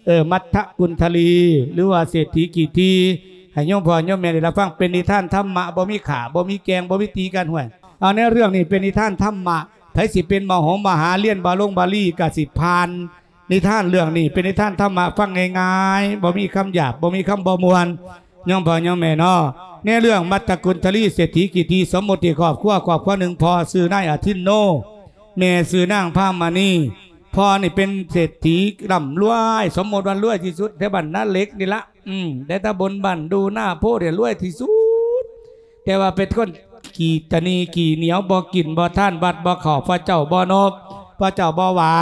ເອີ ມັດທະກຸນທະລີ ຫຼືວ່າເສດຖີຂີ້ຖີ່ ໃຫ້ໂຍມພໍ່ໂຍມແມ່ໄດ້ຮັບຟັງ. ເປັນນິທານທຳມະ ບໍ່ມີຂ້າ ບໍ່ມີແກ່ງ ບໍ່ມີຕີກັນ. ຫ້ວຍ ເອົາ ໃນເລື່ອງນີ້ເປັນນິທານທຳມະ. ໃຜຊິເປັນມະຫົງມະຫາ ຮຽນບາລົງບາລີ ກະຊິຜ່ານ. ນິທານເລື່ອງນີ້ເປັນນິທານທຳມະ ຟັງງ່າຍໆ ບໍ່ມີຄຳຫຍາບ ບໍ່ມີຄຳບໍ່ມ່ວນ ໂຍມພໍ່ໂຍມແມ່ເນາະ. ໃນເລື່ອງມັດທະກຸນທະລີເສດຖີຂີ້ຖີ່ ສົມມຸດທີ່ຄອບຄົວ ຄອບຄົວໜຶ່ງ ພໍ່ຊື່ນາຍອາທິນໂນ ແມ່ຊື່ນາງພາມະນີ. ພໍ່ນີ້ເປັນເສດຖີລ່ຳລວຍ ສົມມຸດວ່າລວຍທີ່ສຸດແຖວບ້ານນາເຫຼັກນີ້ລະ. ອືມ ແຕ່ຕຳບົນບ້ານດູນາໂພນີ້ລວຍທີ່ສຸດ. ແຕ່ວ່າເປັນຄົນຂີ້ຕະໜີ່ຂີ້ໜຽວ ບໍ່ກິນບໍ່ທານ ວັດບໍ່ເຂົ້າ ພະເຈົ້າບໍ່ນົບ ພະເຈົ້າບໍ່ໄຫວ້.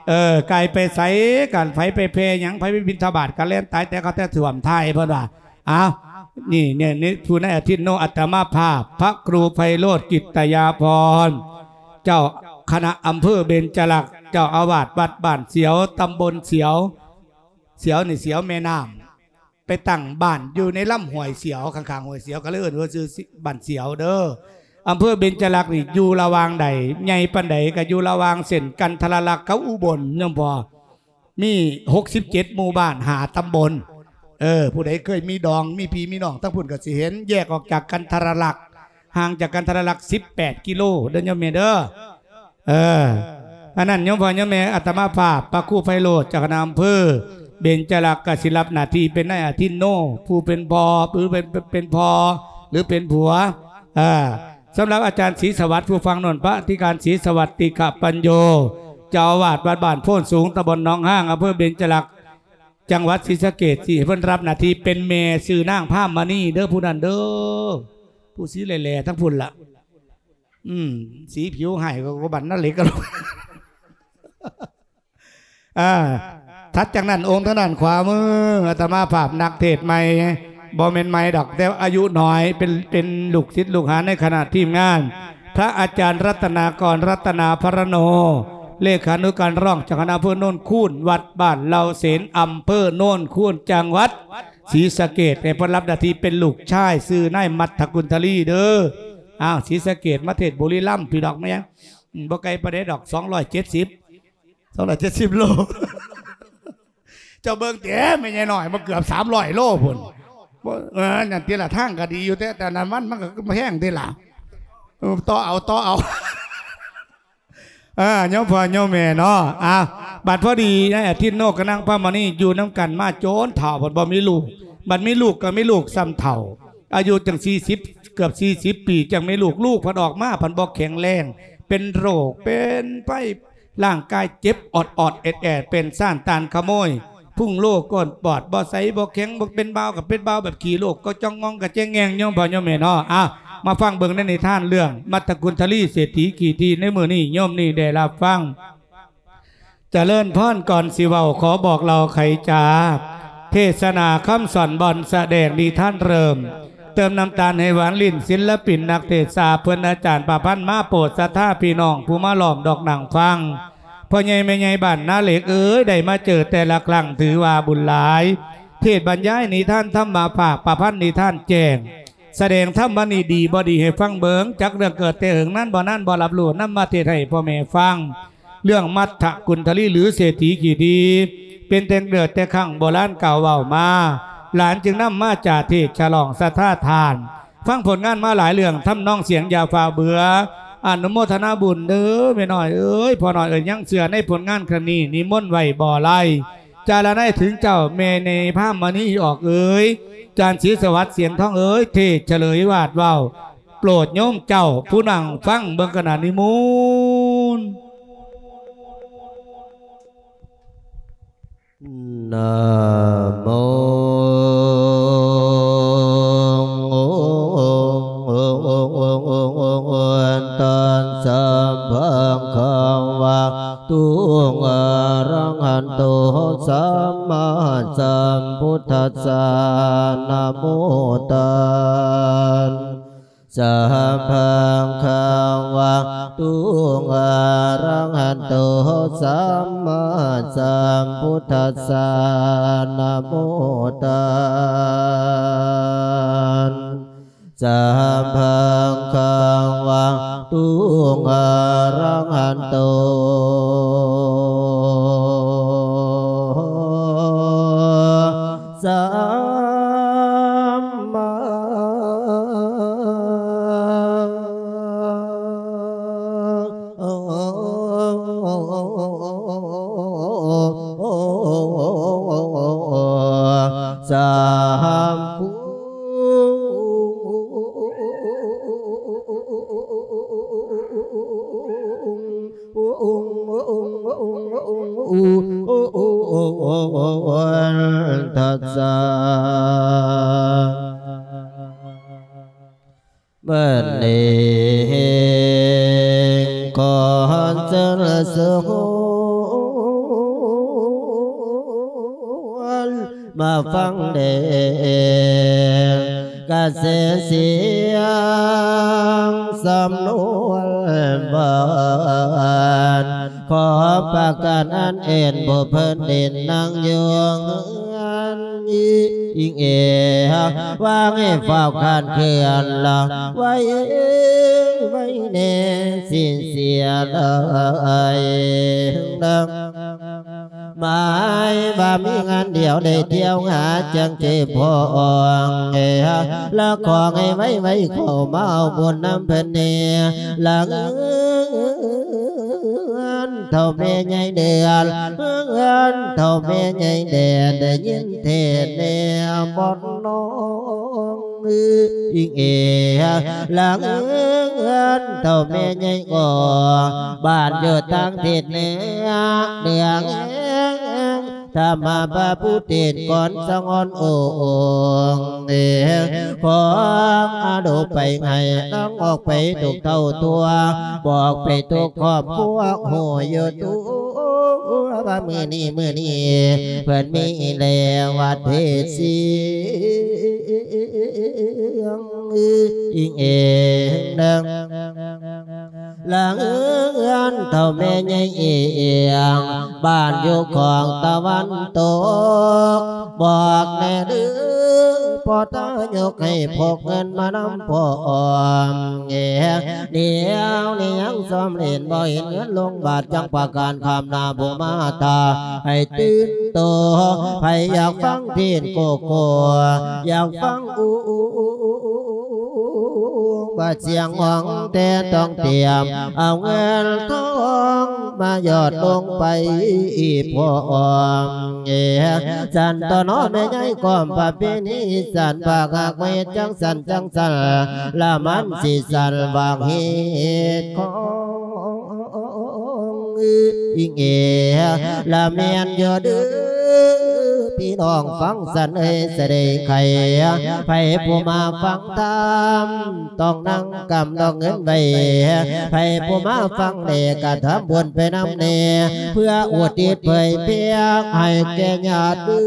ເອີ ໄກ່ໄປໃສກັນ ໃຜໄປແຜ່ຫຍັງ ໃຜໄປບິນທະບາດກະແລ່ນຕາຍແຕ່ເຂົາແຕ່ຖ້ວມໄທ ເພິ່ນວ່າ. ອ້າວ ນີ້ ນີ້ ນີ້ ຜູ້ນາຍອາທິດໂນ ອາດຕະມາພາບ ພະຄູໄພໂຣດ ກິດຕະຍາພອນ ເຈົ້າຄະນະອຳເພີເບັນຈະລັກ ເຈົ້າອາວາດວັດບ້ານສຽວ ຕຳບົນສຽວ ສຽວນີ້ສຽວແມ່ນ້ຳ ໄປຕັ້ງບ້ານຢູ່ໃນລຳຫ້ວຍສຽວ ຂ້າງໆຫ້ວຍສຽວ ກໍເລີຍເອີ້ນວ່າຊື່ບ້ານສຽວເດີ. ອຳເພີເບັນຈະລັກນີ້ຢູ່ລະຫວ່າງໃດ ໃຫຍ່ປານໃດ ກໍຢູ່ລະຫວ່າງເສັ້ນກັນທະລະລັກກັບອຸບົນ ໂຍມພໍ່. ມີຫົກສິບເຈັດໝູ່ບ້ານ ຫ້າຕຳບົນ. ເອີ ຜູ້ໃດເຄີຍມີດອງ ມີພີ່ມີນ້ອງທາງພຸ້ນກໍຊິເຫັນ ແຍກອອກຈາກກັນທະລະລັກ ຫ່າງຈາກກັນທະລະລັກສິບແປດກິໂລເດີໂຍມແມ່ເດີ. ເອີ ອັນນັ້ນໂຍມພໍ່ໂຍມແມ່ ອາດຕະມາພາບ ພະຄູໄພໂຣດ ເຈົ້າຄະນະອຳເພີເບັນຈະລັກ ກໍຊິຮັບໜ້າທີ່ເປັນນາຍອາທິນໂນ ຜູ້ເປັນພໍ່ ຫຼືເປັນ ເປັນພໍ່ ຫຼືເປັນຜົວ. ເອີ ສຳລັບອາຈານສີສະຫວັດ ຜູ້ຟັງໂນ້ນ ພະອະທິການສີສະຫວັດ ຕິຂະປັນໂຍ ເຈົ້າອາວາດວັດບ້ານໂພນສູງ ຕຳບົນໜອງຮາງ ອຳເພີເບັນຈະລັກ ຈັງຫວັດສີສະເກດ ຊິໃຫ້ເພິ່ນຮັບໜ້າທີ່ເປັນແມ່ ຊື່ນາງພາມະນີເດີ ຜູ້ນັ້ນເດີ ຜູ້ສີແຫຼ້ໆທັງພຸ້ນລະ. ອືມ ສີຜິວຮ້າຍກວ່າ ກວ່າບ້ານນາເຫຼັກກັນ. ອ່າ ຖັດຈາກນັ້ນ ອົງທາງດ້ານຂວາມື ອາດຕະມາພາບນັກເທດໃໝ່ ບໍ່ແມ່ນໃໝ່ດອກ ແຕ່ອາຍຸໜ້ອຍ ເປັນ ເປັນລູກສິດລູກຫາໃນຄະນະທີມງານ ພະອາຈານລັດຕະນາກອນ ລັດຕະນາພະລະໂນ ເລຂານຸການຮອງເຈົ້າຄະນະອຳເພີໂນນຄູນ ວັດບ້ານເຫຼົ່າເສນ ອຳເພີໂນນຄູນ ຈັງຫວັດສີສະເກດ ໃຫ້ເພິ່ນຮັບໜ້າທີ່ເປັນລູກຊາຍ ຊື່ນາຍມັດທະກຸນທະລີເດີ. ອ້າວ ສີສະເກດມາເທດບຸລີລຳ ພີ່ດອກແມ່ນຫຍັງ ອືມ ບໍ່ໄກປານໃດດອກ ສອງຮ້ອຍເຈັດສິບ ສອງຮ້ອຍເຈັດສິບໂລ. ເຈົ້າເບິ່ງແຕ່ແມ່ໃຫຍ່ນ້ອຍ ມັນເກືອບສາມຮ້ອຍໂລພຸ້ນ. ບໍ່ ເອີ ນັ້ນຕິລະ ທາງກໍດີຢູ່ ແຕ່ ແຕ່ນ້ຳມັນມັນກໍແພງຕິລະ. ເອີ ຕໍ່ເອົາ ຕໍ່ເອົາ. ເອີ ໂຍມພໍ່ໂຍມແມ່ເນາະ. ອ່າ ບັດພໍດີນາຍອາທິດໂນ ກັບນາງພາມະນີ ຢູ່ນຳກັນມາຈົນເຖົ້າ ບັດບໍ່ມີລູກ ບັດມີລູກກໍມີລູກສ່ຳເຖົ້າ ອາຍຸຈັ່ງສີ່ສິບ ເກືອບສີ່ສິບປີ ຈັ່ງມີລູກ ລູກພັດອອກມາພັດບໍ່ແຂງແຮງ ເປັນໂລກເປັນໄພ ຮ່າງກາຍເຈັບອອດໆແອດໆ ເປັນຊານຕານຂະໂມຍ ພຸ້ງໂລກ້ອນປອດ ບໍ່ໃສບໍ່ແຂງ ບໍ່ເປັນບ່າວກໍເປັນບ່າວແບບຂີ້ໂລກ ກໍຈ່ອງງອງກະແຈງແງງ ໂຍມພໍ່ໂຍມແມ່ເນາະ. ອ່າ ມາຟັງເບິ່ງໃນນິທານເລື່ອງມັດທະກຸນທະລີເສດຖີຂີ້ຖີ່ໃນມື້ນີ້ ໂຍມນີ້ໄດ້ຮັບຟັງ. ຈະເລີນພອນ ກ່ອນຊິເວົ້າ ຂໍບອກເລົ່າໄຂຈາ ເທດສະໜາຄຳສອນ ບ່ອນສະແດງນິທານເລີ່ມ ເຕີມນ້ຳຕານໃຫ້ຫວານ ຫຼິ້ນສິນລະປິນນັກເທດສາ ເພິ່ນອາຈານປະພັນ ມາໂປດສັດທາພີ່ນ້ອງ ຜູ້ມາລ້ອມດອກນັ່ງຟັງ. ພໍ່ໃຫຍ່ແມ່ໃຫຍ່ບ້ານນາເຫຼັກເອີຍ ໄດ້ມາເຈີແຕ່ລະຄັ້ງ ຖືວ່າບຸນຫຼາຍ ເທດບັນຍາຍນິທານທຳມະ ພາກປະພັນນິທານແຈ້ງ ສະແດງທຳມະນີດີບໍ່ດີໃຫ້ຟັງເບິ່ງ ຈັກເລື່ອງເກີດແຕ່ເຫິງນານບໍ່ນານ ບໍ່ຮັບຮູ້ ນຳມາເທດໃຫ້ພໍ່ແມ່ຟັງ. ເລື່ອງມັດທະກຸນທະລີ ຫຼື ເສດຖີຂີ້ຖີ່ ເປັນແຕ່ເກີດແຕ່ຄັ້ງໂບລານກ່າວເວົ້າມາ ຫຼານຈຶ່ງນຳມາຈາເທດສະຫຼອງສັດທາທ່ານ ຟັງຜົນງານມາຫຼາຍເລື່ອງ ທຳນອງສຽງຢ່າຟ້າວເບື່ອ ອະນຸໂມທະນາບຸນເດີແມ່ນ້ອຍເອີຍ ພໍ່ນ້ອຍເອີຍ ຍັງເຊື່ອໃນຜົນງານຄັ້ງນີ້ ນິມົນໄວ້ບໍ່ໄລ ຈາລະໄນເຖິງເຈົ້າ ແມ່ໃຫຍ່ພາມະນີອອກເອີຍ ຈານສີສະຫວັດສຽງທອງເອີຍ ເທດສະເຫຼີຍວາດເວົ້າ ໂປດໂຍມເຈົ້າຜູ້ນັ່ງຟັງເບິ່ງກັນນະ ນິມົນ. ນະໂມ ຕັດສະ ພະຄະວະໂຕ ອະລະຫະໂຕ ສຳມາສຳພຸດທັດສະ ນະໂມຕັດສະ ພະຄະວະໂຕ ອະລະຫະໂຕ ສຳມາສຳພຸດທັດສະ ນະໂມຕັດສະ ພະຄະວະໂຕ ອະລະຫະໂຕ ທັດສະ ມື້ນີ້ຂໍເຊີນຊວນມາຟັງແດ່ ກະແສສຽງສຳນວນຫວານ ຂໍປະການອັນເອັນຜູ້ເພິ່ນເດັ່ນນັ່ງຢູ່ເຮືອນ ອີງເອ ວ່າໃຫ້ຟ້າວຄານເຄື່ອນລະ ໄວ ໄວແດ່ ສິເສຍຫຼາຍ ໝາຍວ່າມີງານດຽວໄດ້ທ່ຽວຫາ ຈັ່ງຊິພໍອອງເອ ລະຂໍໃຫ້ໄວໆເຂົ້າມາເອົາບຸນນຳເພິ່ນແດ່ ລະເຮືອນເຖົ້າແມ່ໃຫຍ່ເດືອນ ເຮືອນເຖົ້າແມ່ໃຫຍ່ແດ່ ໄດ້ຍິນເທດແດ່ບ່ອນນ້ອງ ອີງເອ ລະເຮືອນເຖົ້າແມ່ໃຫຍ່ກໍ ບ້ານຢູ່ທາງທິດເໜືອ ເໜືອແຫ່ງທຳມະພະພູເທດກ່ອນສະຫງອນອົງເອ ຂໍອະນຸໄປໃຫ້ນາງອອກໄປທຸກເທົ່າທົ່ວ ບອກໄປທຸກຄອບຄົວ ຮູ້ຢູ່ຕົວວ່າມື້ນີ້ ມື້ນີ້ ເພິ່ນມີແລ້ວວັດເທດສຽງ ອີງເອງ ລະເຮືອນເຖົ້າແມ່ໃຫຍ່ເອງ ບ້ານຢູ່ຂອງຕາວັນຕົກ ບອກແດ່ເດີພໍ່ຕາຍົກໃຫ້ພົກເງິນມານຳພ້ອມແດ່ ດຽວນີ້ຍັງຊອມເຫັນບໍ່ເຫັນເງິນລົງບາດ ຈັ່ງປະການຂ້າມໜ້າຜູ້ມາຖ້າ ໃຫ້ຕື່ນໂຕ ໃຜຢາກຟັງເທດໂກໂກ ຢາກຟັງອູ ວ່າສຽງຮ້ອງແຕ່ຕ້ອງຕຽມ ເອົາເງິນທອງມາຢອດລົງໄປພ້ອມແດ່ ສັນຕົວເນາະແມ່ໃຫຍ່ກອມປະເພນີ ສັນພາກຮັກເຮັດຈັ່ງສັນຈັ່ງສັນ ລະມັນຊິສັນບາງເຮັດຂອງ ອີງເອ ລະແມ່ນຢູ່ເດີ ພີ່ນ້ອງຟັງສັນເອີຍ ສະເດໄຂ ໃຜຜູ້ມາຟັງທຳ ຕ້ອງນັ່ງກຳດອກເງິນໄວ້ ໃຜຜູ້ມາຟັງແດ່ກະທຳບຸນໄປນຳແດ່ ເພື່ອອຸທິດເຜີຍແຜ່ໃຫ້ແກ່ຍາດເດີ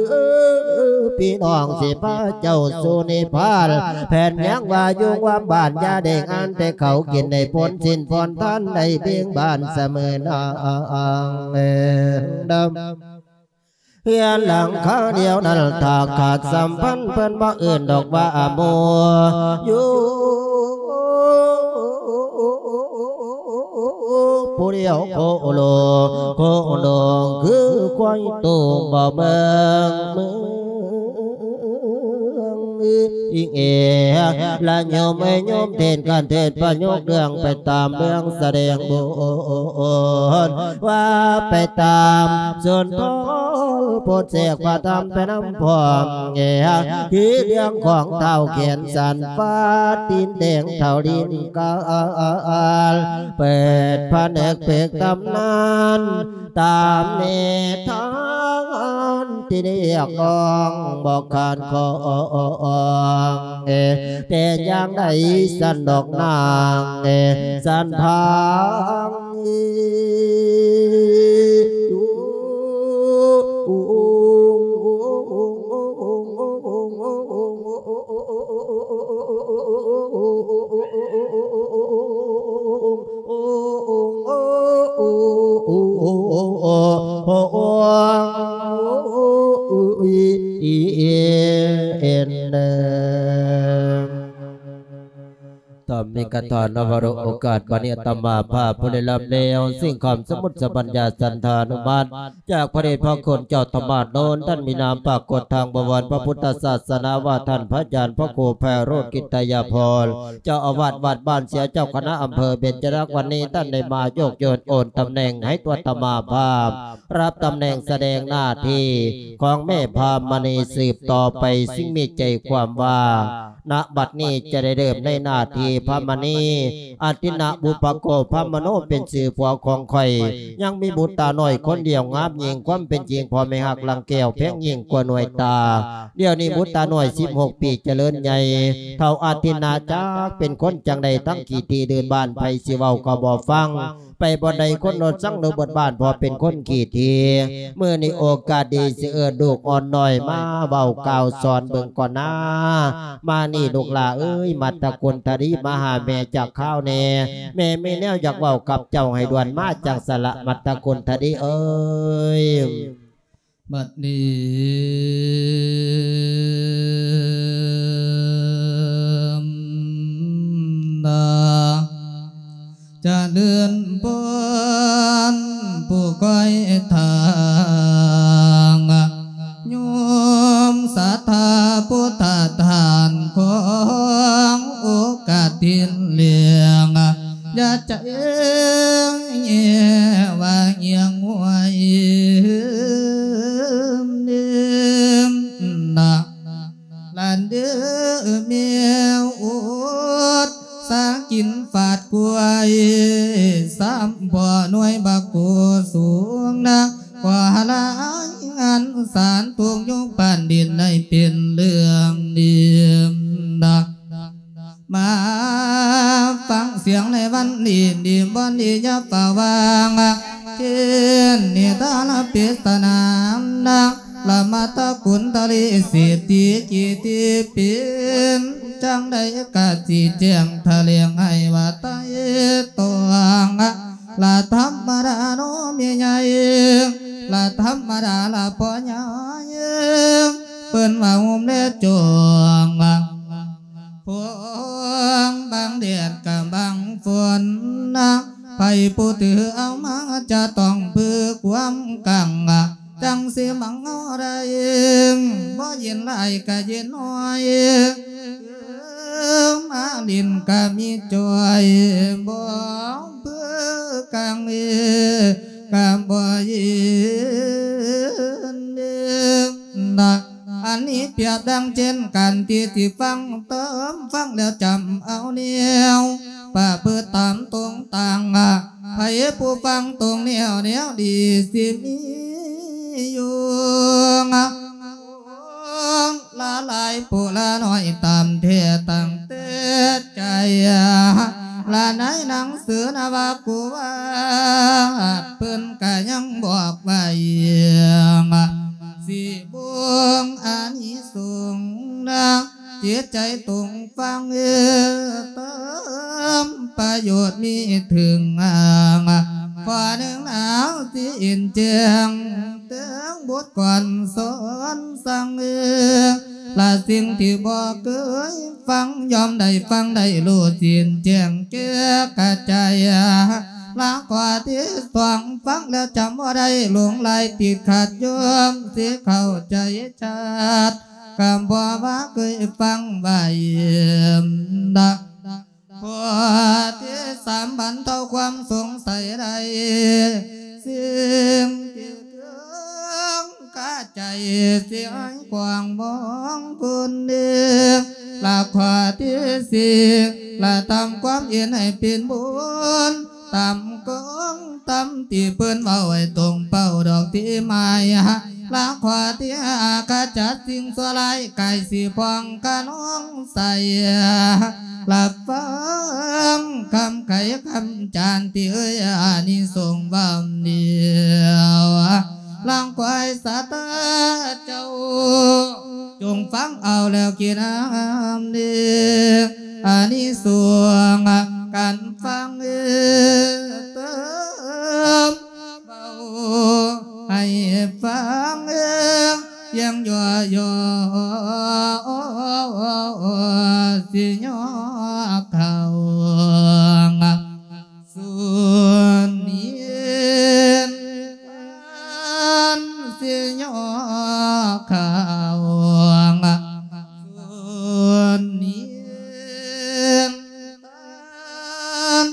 ພີ່ນ້ອງຊິພາເຈົ້າສູ່ນິບພານ ແຜນຍັງວ່າຢູ່ວ່າບ້ານຢ່າໄດ້ງານ ແຕ່ເຂົາກິນໄດ້ພົນສິນພົນທານ ໄດ້ເບ່ງບານສະເໝີນາງເອີນດຳ ເຮືອນຫຼັງຄາດຽວນັ້ນ ຖ້າຂາດສຳພັນ ເພິ່ນບໍ່ເອີ້ນດອກວ່າອາໂມ ຢູ່ຜູ້ດຽວໂຄໂລ ໂຄໂລ ຄືຄວາຍຕູບໍ່ເບິ່ງເມືອງ ອີງເອ ລະໂຍມເອີຍໂຍມເທດການເທດປະໂຫຍກເລື່ອງໄປຕາມເລື່ອງສະແດງບົດ ວ່າໄປຕາມສຸນທອນໂພດແຊກພະທຳໄປນຳພ້ອມແດ່ ຄືເລື່ອງຂອງທ້າວແຂນສັນຟ້າຕີນແດງທ້າວດິນການ ເປີດຜະນຶກເພິກຕຳນານ ຕາມນິທານທີ່ຮຽກຮ້ອງບໍ່ຂາດຂ້ອງ ແຕ່ຢ່າງໃດສັນດອກນາງສັນພາງ ຕາມນີ້ກະທານະວະໂລກາດ ບັດນີ້ອາດຕະມາພາບຜູ້ໄດ້ຮັບແນວສິ່ງຄຳສະມຸດສະບັນຍາສັນທານຸມັດ ຈາກພະເດດພະຄຸນເຈົ້າທຳມາດໂນນ ທ່ານມີນາມປາກົດທາງບະວອນພະພຸດທະສາສະໜາ ວ່າທ່ານພະອາຈານພະຄູໄພໂຣດ ກິດຕະຍາພອນ ເຈົ້າອາວາດວັດບ້ານເສຍ ເຈົ້າຄະນະອຳເພີເບັນຈະລັກ ວັນນີ້ທ່ານໄດ້ມາໂຍກໂຍນໂອນຕຳແໜ່ງໃຫ້ຕົວອາດຕະມາພາບ ຮັບຕຳແໜ່ງສະແດງໜ້າທີ່ຂອງແມ່ພາມະນີສືບຕໍ່ໄປ ຊຶ່ງມີໃຈຄວາມວ່າ ນະບັດນີ້ຈະໄດ້ເລີ່ມໃນໜ້າທີ່ພະມະນີ ອາທິນະບຸບພະໂກ ພະມະໂນ ເປັນຊື່ຜົວຂອງຂ້ອຍ ຍັງມີບຸດຕານ້ອຍຄົນດຽວງາມຍິ່ງ ຄວາມເປັນຈິງພໍ່ແມ່ຮັກລັງແກ້ວແພງຍິ່ງກວ່າໜ່ວຍຕາ. ດຽວນີ້ບຸດຕານ້ອຍສິບຫົກປີຈະເລີນໃຫຍ່ ເຖົ້າອາທິນະຈັກເປັນຄົນຈັ່ງໃດ ທັງຂີ້ຖີ່ເດີ່ນບ້ານ ໃຜຊິເວົ້າກໍບໍ່ຟັງ ໄປບ່ອນໃດຄົນໂນນສັງໂນເບິດບ້ານ ເພາະເປັນຄົນຂີ້ຖີ່. ມື້ນີ້ໂອກາດດີ ຊິເອີ້ນລູກອ່ອນນ້ອຍມາເວົ້າກ່າວສອນເບິ່ງກ່ອນນາ. ມານີ້ລູກຫຼ້າເອີຍ ມັດຕະກຸນທະດີ ມາຫາແມ່ຈັກຄາວແດ່. ແມ່ມີແນວຢາກເວົ້າກັບເຈົ້າ ໃຫ້ດ່ວນມາຈັ່ງຊັ້ນລະ ມັດຕະກຸນທະດີເອີຍ. ບັດນີ້ນາ ຈະເລີນພອນຜູ້ຄອຍທາງ ໂຍມສັດທາພຸດທະທ່ານ ຂອງໂອກາດທີນເລື່ອງ ຢ່າໃຈແຍ່ວ່າຮຽງຫວຍນະ ລະເດີແມວອົດສາກິນຟາດກວຍ ຊ້ຳບໍ່ໜ່ວຍບັກໂກສູງນະ ກວ່າລາຍງານສານທຸກຍຸກປານດິນໃນເປັນເລື່ອງດີນະ. ມາຟັງສຽງໃນວັນນີ້ ດີບໍ່ດີຢ່າຟ້າວວາງ ເຄນນິທານປິດສະໜາມນາງ ລະມາຕະກຸນຕະລິສິດທິກິຕິປິນ ຈັ່ງໃດກະຊິແຈ້ງຖະແຫຼງໃຫ້ວ່າໄຕ່ຕອງ ລະທຳມະດາເນາະແມ່ໃຫຍ່ ລະທຳມະດາລະພໍ່ໃຫຍ່ ເພິ່ນວ່າໂຮມແລະຈອງ ຝົນບາງແດດກະບາງຝົນນະ ໃຜຜູ້ຖືເອົາມາຈະຕ້ອງເພື່ອຄວາມກັງ ຈັ່ງຊິມັງເອົາໄດ້ ບໍ່ເຢັນຫຼາຍກະເຢັນໜ້ອຍ ມາຫຼິ້ນກະມີຈ່ອຍ ບໍ່ເພື່ອກັງເອ ກະບໍ່ເຢັນເດນະ. ອັນນີ້ປຽບດັ່ງເຊັ່ນກັນທີ່ຊິຟັງເຕີມ ຟັງແລ້ວຈຳເອົາແນວ ປະພຶດຕາມຕົງຕາງ ໃຜຜູ້ຟັງຕົງແນວ ແນວດີຊິມີຢູ່ ລະຫຼາຍຜູ້ລະໜ້ອຍຕາມແທ້ຕັ້ງແຕ່ໃຈ ລະໃນໜັງສືນະວ່າກູວາດ ເພິ່ນກະຍັງບອກໄວ້ ຊິບວງອານິສົງນະ ຈິດໃຈຕົງຟັງເອີ ເຕີມປະໂຫຍດມີເຖິງ ກວ່າໜຶ່ງໜາວຊິເຫັນແຈ້ງ ເຖິງບົດກອນສອນສັ່ງເອີ ລະສິ່ງທີ່ບໍ່ເຄີຍຟັງ ຍ່ອມໄດ້ຟັງໄດ້ຮູ້ເຫັນແຈ້ງແກ່ກະຈ່າຍ ລະຂໍ້ທີ່ສອງ ຟັງແລ້ວຈຳບໍ່ໄດ້ ຫຼົງໄຫຼຕິດຂັດ ໂຍມຊິເຂົ້າໃຈ ຊາດກະບໍ່ວ່າເຄີຍຟັງໄວ້ດອກ ຂໍ້ທີສາມ ບັນເທົາຄວາມສົງໄສໄດ້ ສິ່ງທີ່ເຄືອງຄາໃຈ ຊິໃຫ້ກວ້າງມອງຄຸນເດ ລະຂໍ້ທີສີ່ ລະທຳຄວາມເຫັນໃຫ້ເປັນບຸນ ຕາມກອງ ຕາມທີ່ເພິ່ນເວົ້າໃຫ້ຕົງເປົ້າດອກທີ່ໝາຍ ລະຂໍ້ທີຫ້າ ຂະຈັດສິ່ງຊົ່ວຮ້າຍ ກາຍສີພອງຂະນອງໃສ ລະຟັງຄຳໄຂຄຳຈານທີ່ເອີ່ຍອານິສົງເວົ້ານີ້ ລະຄວາຍສາທາເຈົ້າ ຈົ່ງຟັງເອົາແລ້ວກິນນ້ຳເດ ອານິສົງການຟັງເອີ ເຕີມເວົ້າໃຫ້ຟັງເອີ ພຽງຍໍຍໍຊິຍໍເຂົ້າ ສ່ວນນີ້ທ່ານຊິຍໍເຂົ້າ ສ່ວນນີ້ທ່ານ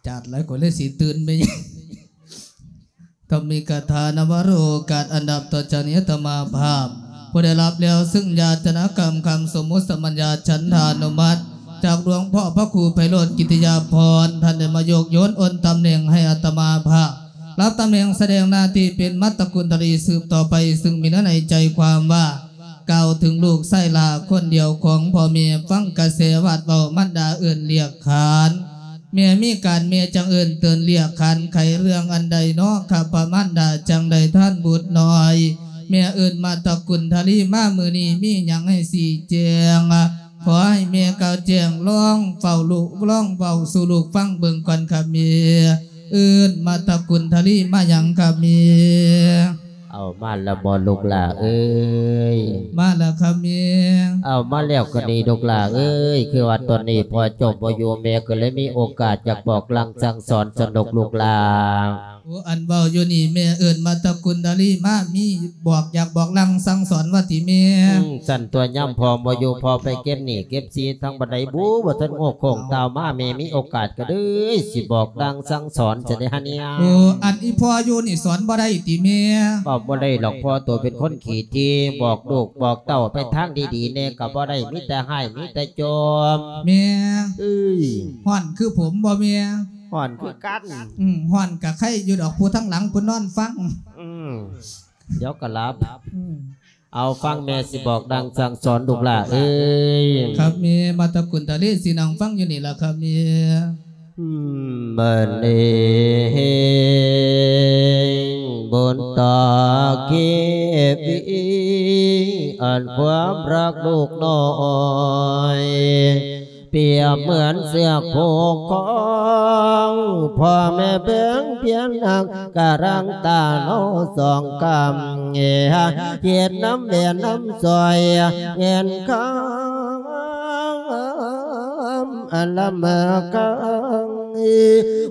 ຈາດຫຼາຍ ຂ້ອຍເລີຍຊິຕື່ນໄປ. ທຳມິກະຖານະວະໂລກາດ ອັນດັບຕໍ່ຈາກນີ້ ອາດຕະມາພາບ ຜູ້ໄດ້ຮັບແລ້ວ ຊຶ່ງຍາດຕະນາກຳ ຄຳສົມມຸດສະມັນຍາ ສັນທານຸມັດ ຈາກຫຼວງພໍ່ພະຄູໄພໂຣດ ກິດຕິຍາພອນ ທ່ານໄດ້ມາຍົກໂຍນໂອນຕຳແໜ່ງໃຫ້ອາດຕະມາພາບ ຮັບຕຳແໜ່ງສະແດງໜ້າທີ່ເປັນມາດຕະກຸນທະລີສືບຕໍ່ໄປ, ຊຶ່ງມີເນື້ອໃນໃຈຄວາມວ່າ ກ່າວເຖິງລູກຊາຍຫຼ້າຄົນດຽວຂອງພໍ່ແມ່, ຟັງກະແສວາດເວົ້າ ມານດາເອີ້ນລຽກຂານ. ແມ່ມີການແມ່ຈັ່ງເອີ້ນເຕີນລຽກຂານ ໄຂເລື່ອງອັນໃດນໍ ຂ້າພະມານດາຈັ່ງໄດ້ທານບຸດນ້ອຍ. ແມ່ເອີ້ນມາດຕະກຸນທະລີມາມື້ນີ້ ມີຫຍັງໃຫ້ຊີ້ແຈງ? ຂໍໃຫ້ແມ່ກ່າວແຈ້ງ ລອງເວົ້າລູກ ລອງເວົ້າສູ່ລູກຟັງເບິ່ງກ່ອນຄ່ະແມ່. ເອີ້ນມາດຕະກຸນທະລີມາຫຍັງຄ່ະແມ່? ເອົາມາແລ້ວບໍ່ລູກຫຼ້າເອີຍ? ມາແລ້ວຄ່ະແມ່. ເອົາມາແລ້ວກໍດີລູກຫຼ້າເອີຍ, ຄືວ່າຕອນນີ້ພໍ່ເຈົ້າບໍ່ຢູ່ ແມ່ກໍເລີຍມີໂອກາດຢາກບອກລາງສັ່ງສອນສະດົກລູກຫຼ້າ. ໂອ້ ອັນເວົ້າຢູ່ນີ້ແມ່ເອີ້ນມາດຕະກຸນທະລີມາ ມີບອກ ຢາກບອກລາງສັ່ງສອນວ່າຕິແມ່? ອືມ ຊັ້ນຕົວະ ຍາມພໍ່ບໍ່ຢູ່ ພໍ່ໄປເກັບໜີ້ເກັບສິນທາງບ່ອນໃດບູ ບໍ່ທັນຮູ້ໂຄ້ງຕ່າວມາ ແມ່ມີໂອກາດກໍເລີຍຊິບອກລາງສັ່ງສອນຊະເດຫະເນຍ. ໂອ້ ອັນອີ່ພໍ່ຢູ່ນີ້ສອນບໍ່ໄດ້ຕິແມ່? ເວົ້າບໍ່ໄດ້ດອກ ພໍ່ໂຕເປັນຄົນຂີ້ຖີ່ ບອກລູກບອກເຕົ້າໄປທາງດີໆແດ່ກໍບໍ່ໄດ້ ມີແຕ່ຮ້າຍມີແຕ່ໂຈມ. ແມ່ ເອີຍ ຮ້ອນຄືຜົມບໍ່ແມ່? ຮ້ອນຄືກັນ. ອືມ ຮ້ອນກະໄຄຢູ່ດອກ ຜູ້ທາງຫຼັງເພິ່ນນອນຟັງ. ອືມ ດຽວກໍຫຼັບ. ອືມ ເອົາ ຟັງແມ່ຊິບອກດັງສັ່ງສອນລູກຫຼ້າເອີຍ. ຄັບແມ່ ມາດຕະກຸນທະລີຊິນັ່ງຟັງຢູ່ນີ້ລະຄັບແມ່. ອືມ ບັດນີ້ບຸນຕາເຄປີ ອັນຄວາມຮັກລູກນ້ອຍ ປຽບເໝືອນເຊືອກຜູກຄອງ ພໍ່ແມ່ເບິ່ງພຽງນັກ ກະລັງຕາລໍສອງກຳ ເຮັດນຳແບນນຳຊ່ອຍ ເງິນຄຳອັນລຳເມີຄັງ.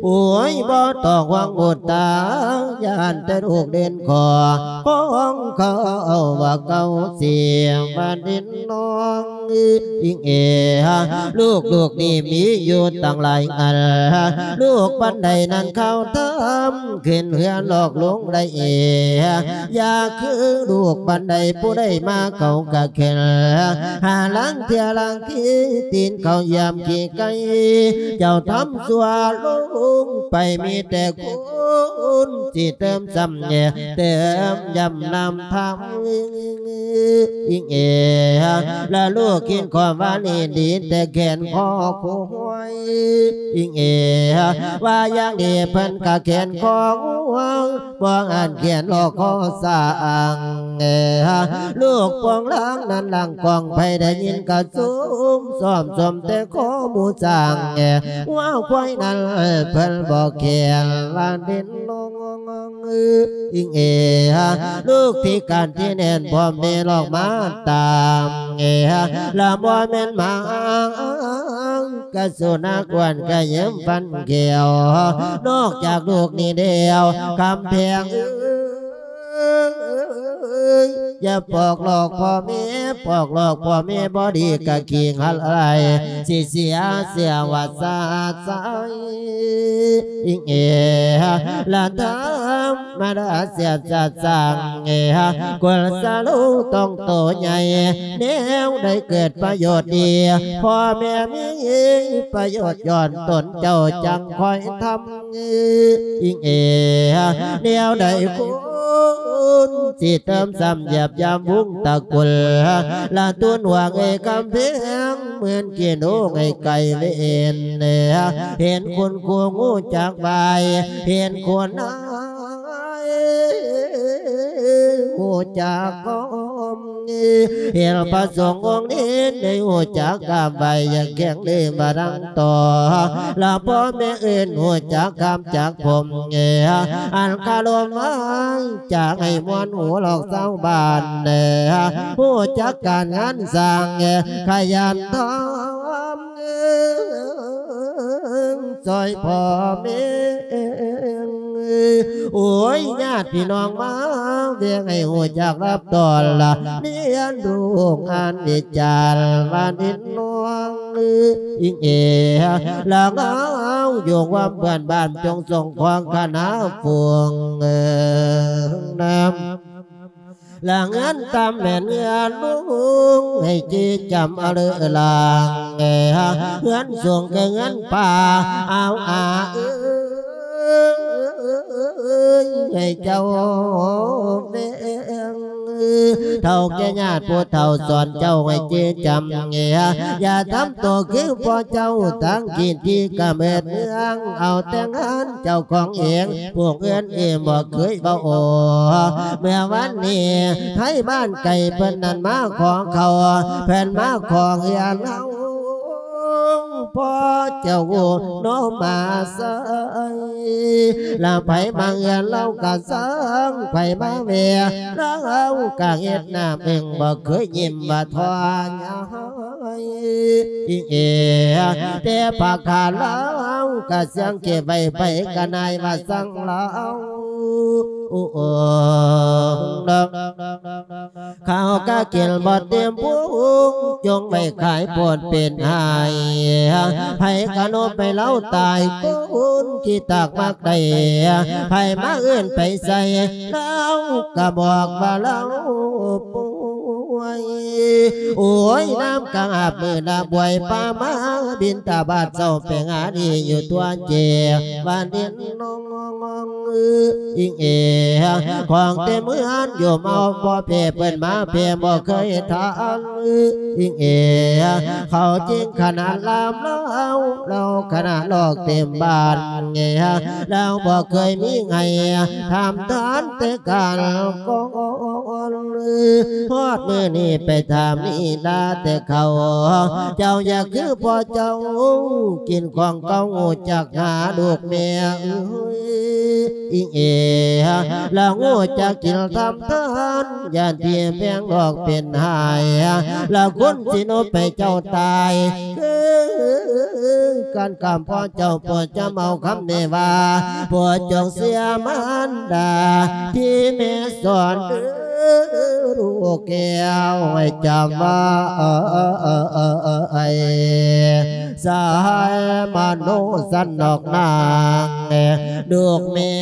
ໂອ້ຍ ບໍ່ຕ້ອງຫວັງບຸດຕາ ຢ້ານແຕ່ລູກເດັ່ນຂໍ ຂອງເຂົາວ່າເກົ່າສຽງບ້ານດິນນ້ອງ. ອີງເອ ລູກ ລູກນີ້ມີຢູ່ຕັ້ງຫຼາຍອັນ ລູກປານໃດນັ້ນເຂົາທຳ ຂຶ້ນເຮືອນອອກລົງໄດ້ເອ ຢ່າຄືລູກປານໃດ ຜູ້ໃດມາເຂົາກະເຂັນ ຫາລາງເທື່ອລາງຂີ້ຕີນເຂົາຢາມຂີ້ໄກ່ ເຈົ້າທຳຊົ່ວລົງໄປ ມີແຕ່ຄຸນຊິເຕີມຊ້ຳແດ່ ເຕີມຢ້ຳນຳທຳ. ອີງເອ ລະລູກກິນຂອງຫວານນີ້ດີແຕ່ແຂນຄໍຄວາຍ. ອີງເອ ວ່າຢ່າງດີເພິ່ນກະແຂນຄໍງວາງ ບໍ່ອັນແຂນລໍຄໍສ້າງ. ລູກປອງລາງນັ້ນລາງກອງ ໃຜໄດ້ຍິນກະຊຸມຊອມຊົມແຕ່ຄໍໝູຊ້າງ. ງົວຄວາຍນັ້ນເພິ່ນບໍ່ແຂນວ່າເດັ່ນ ອີງເອ ລູກພິການທີ່ແໜ້ນ ພໍ່ແມ່ລອກມາຕາມ ລະບໍ່ແມ່ນໝາງ ກະສຸນັກອ້ວນກະເຍິມຟັນແກ້ວ ນອກຈາກລູກນີ້ແລ້ວ ຄຳແພງເອີຍ ຢ່າປອກຫຼອກພໍ່ແມ່ ປອກຫຼອກພໍ່ແມ່ບໍ່ດີກະຂີ້ງຫັນໄຫຼ ຊິເສຍເສຍວ່າຊາດຊາຍ. ອີງເອ ລະທຳມະດາເສຍຊາດສ້າງ ເອ ກຸນສະລູຕ້ອງໂຕໃຫຍ່ ແນວໃດເກີດປະໂຫຍດດີ ພໍ່ແມ່ມີປະໂຫຍດຍ້ອນຕົນເຈົ້າຈັ່ງຄ່ອຍທຳ. ອີງເອ ແນວໃດຄຸນຊິເຕີມຊ້ຳຢາບຢາມວົງຕະກຸນ ລະຕູນຫວງເອກຳແພງ ເໝືອນກິນໂອງໃຫ້ໄກ່ເວນ ເຫັນຄຸນຄູຮູ້ຈັກບາຍ ເຫັນຄຸນນາຍຮູ້ຈັກກ້ອມ ເຫັນພະສົງອົງນີ້ໄດ້ຮູ້ຈັກກາບໄຫວ້ ຢ່າແຂງເລີບາດັງ ຕໍ່ ລະພໍ່ແມ່ເອີ້ນຮູ້ຈັກຄຳຈັກຜົມ ອັນຄາລົມວາງຈາກໃຫ້ມ່ວນຫູຫຼອກຊາວບ້ານ ຮູ້ຈັກການງານສ້າງ ຂະຫຍັນທຳ ຊ່ອຍພໍ່ແມ່ ໂອ້ຍ ຍາດພີ່ນ້ອງມາວຽງ ໃຫ້ຮູ້ຈັກຮັບຕ້ອນລະ ລຽນຮູ້ອ່ານວິຈານວ່ານິດນ້ອງ ອີງເອ ລະເອົາຢູ່ຄວາມເພື່ອນບ້ານ ຈົ່ງສົ່ງຂອງຄະນະຝູງນຳ ລະເຮືອນຕ່ຳແມ່ນເຮືອນລຸງ ໃຫ້ຈີຈຳເອົາເລີລາງ ເຮືອນສູງຄືເຮືອນປ່າ ເອົາອາເອີຍ ໃຫ້ເຈົ້າແວງ ເຖົ້າແກ່ຍາດຜູ້ເຖົ້າສອນເຈົ້າໃຫ້ຈື່ຈຳ ຢ່າທຳໂຕຄືພໍ່ເຈົ້າ ຕັ້ງກິດທີ່ກຳເນີດເມືອງ ເອົາແຕ່ງານເຈົ້າຂອງເອງ ຜູ້ອື່ນເອງບໍ່ເຄີຍເວົ້າ. ເມື່ອວານນີ້ໄທບ້ານໄກເພິ່ນນັ້ນມາຂໍເຂົ້າ ເພິ່ນມາຂໍເຮືອນເຮົາ ພໍ່ເຈົ້າໂນມາໄຊ ລະໃຜມາເຮືອນລາວກະຊ່າງ ໃຜມາແວ່ລາວກະເຮັດໜ້າເບິ່ງ ບໍ່ເຄີຍຍິ້ມວ່າທໍ້ຍາຍ ອີງເອ ແຕ່ຜ້າຂາວລາວກະຊ່າງເກັບໄວ້ ໃຜກະນາຍວ່າຊ່າງລາວ ໂອ້ ເຂົ້າກະກິນບໍ່ເຕັມພຸງ ຈົ່ງໄວ້ຂາຍໂພດເປັນຫາຍ ໃຜກະນົບໃຫ້ລາວຕາຍ ຄົນຂີ້ຕາກມັກໄດ້ ໃຜມາເອີ້ນໄປໃສ່ ລາວກະບອກວ່າລາວປ່ວຍ ໂອ້ຍ ນ້ຳກະອາບມື້ລະບວຍ ປາມາບິນທະບາດເຊົ້າ ໄປຫາດີຢູ່ຕົວເຈ ວ່າດິນ ນ້ອງ ອີງເອ ຂອງເຕັມເຮືອນຢູ່ເມົາບໍ່ເພ ເພິ່ນມາເພບໍ່ເຄີຍທານ ອີງເອ ເຂົາຈິງຂະໜາດລາມລາວ ລາວຂະໜາດລອກເຕັມບ້ານ ລາວບໍ່ເຄີຍມີໃຫ້ ຖາມທານແຕ່ການກ່ອນ ຮອດມື້ນີ້ໄປຖາມນີລາແຕ່ເຂົາ ເຈົ້າຢ່າຄືພໍ່ເຈົ້າ ກິນຂອງເກົ່າ ຮູ້ຈັກຫາລູກແມ່ເອີຍ ອີງເອ ລະຮູ້ຈັກກິນທຳທານ ຢ້ານທີ່ແພງອອກເປັນຫາຍ ລະຄົນຊິນົບໃຫ້ເຈົ້າຕາຍ ຄືກັນກັບພໍ່ເຈົ້າ ໂປດຈຳເອົາຄຳນີ້ວ່າ ໂປດຈົ່ງເຊື່ອມານດາ ທີ່ແມ່ສອນເດີ ລູກແກ້ວໃຫ້ຈຳໄວ້ ສາຍມະໂນສັນນອກນາງ ລູກແມ່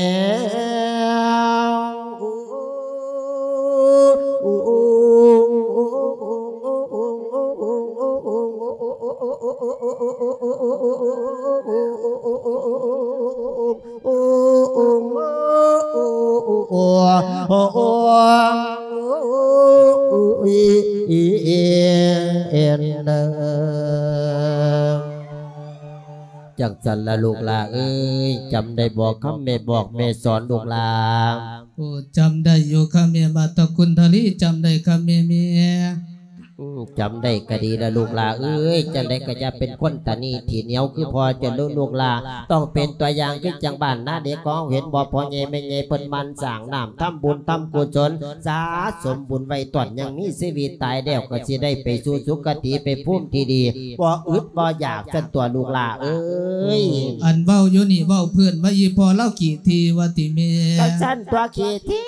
ຈັ່ງຊັ້ນລະລູກຫຼ້າເອີຍ ຈຳໄດ້ບໍ່ຄຳແມ່ບອກແມ່ສອນລູກຫຼ້າ? ໂອ້ ຈຳໄດ້ຢູ່ຄ່ະແມ່ ມາຕະກຸນທະລີ ຈຳໄດ້ຄ່ະແມ່ ແມ່ ອືມ ຈຳໄດ້ກະດີລະລູກຫຼ້າເອີຍ ຈັ່ງໃດກະຢ່າເປັນຄົນຕະໜີ້ຂີ້ໜຽວຄືພໍ່ເຈົ້າເດີລູກຫຼ້າ ຕ້ອງເປັນຕົວຢ່າງຄືຈັ່ງບ້ານນາເດັກຂອງເຮົາ ເຫັນບໍ່ ພໍ່ໃຫຍ່ແມ່ໃຫຍ່ເພິ່ນໝັ່ນສ້າງນ້ຳ ທຳບຸນທຳກຸສົນ ສະສົມບຸນໄວ້ ຕອນຍັງມີຊີວິດ ຕາຍແລ້ວກະຊິໄດ້ໄປສູ່ສຸຄະຕິ ໄປພູມທີ່ດີ ບໍ່ອຶດບໍ່ຢາກຊັ້ນຕົວະລູກຫຼ້າເອີຍ. ອັນເວົ້າຢູ່ນີ້ເວົ້າເພື່ອນວ່າ ອີ່ພໍ່ລາວຂີ້ຖີ່ວ່າຕິແມ່? ກະຊັ້ນຕົວະຂີ້ຖີ່.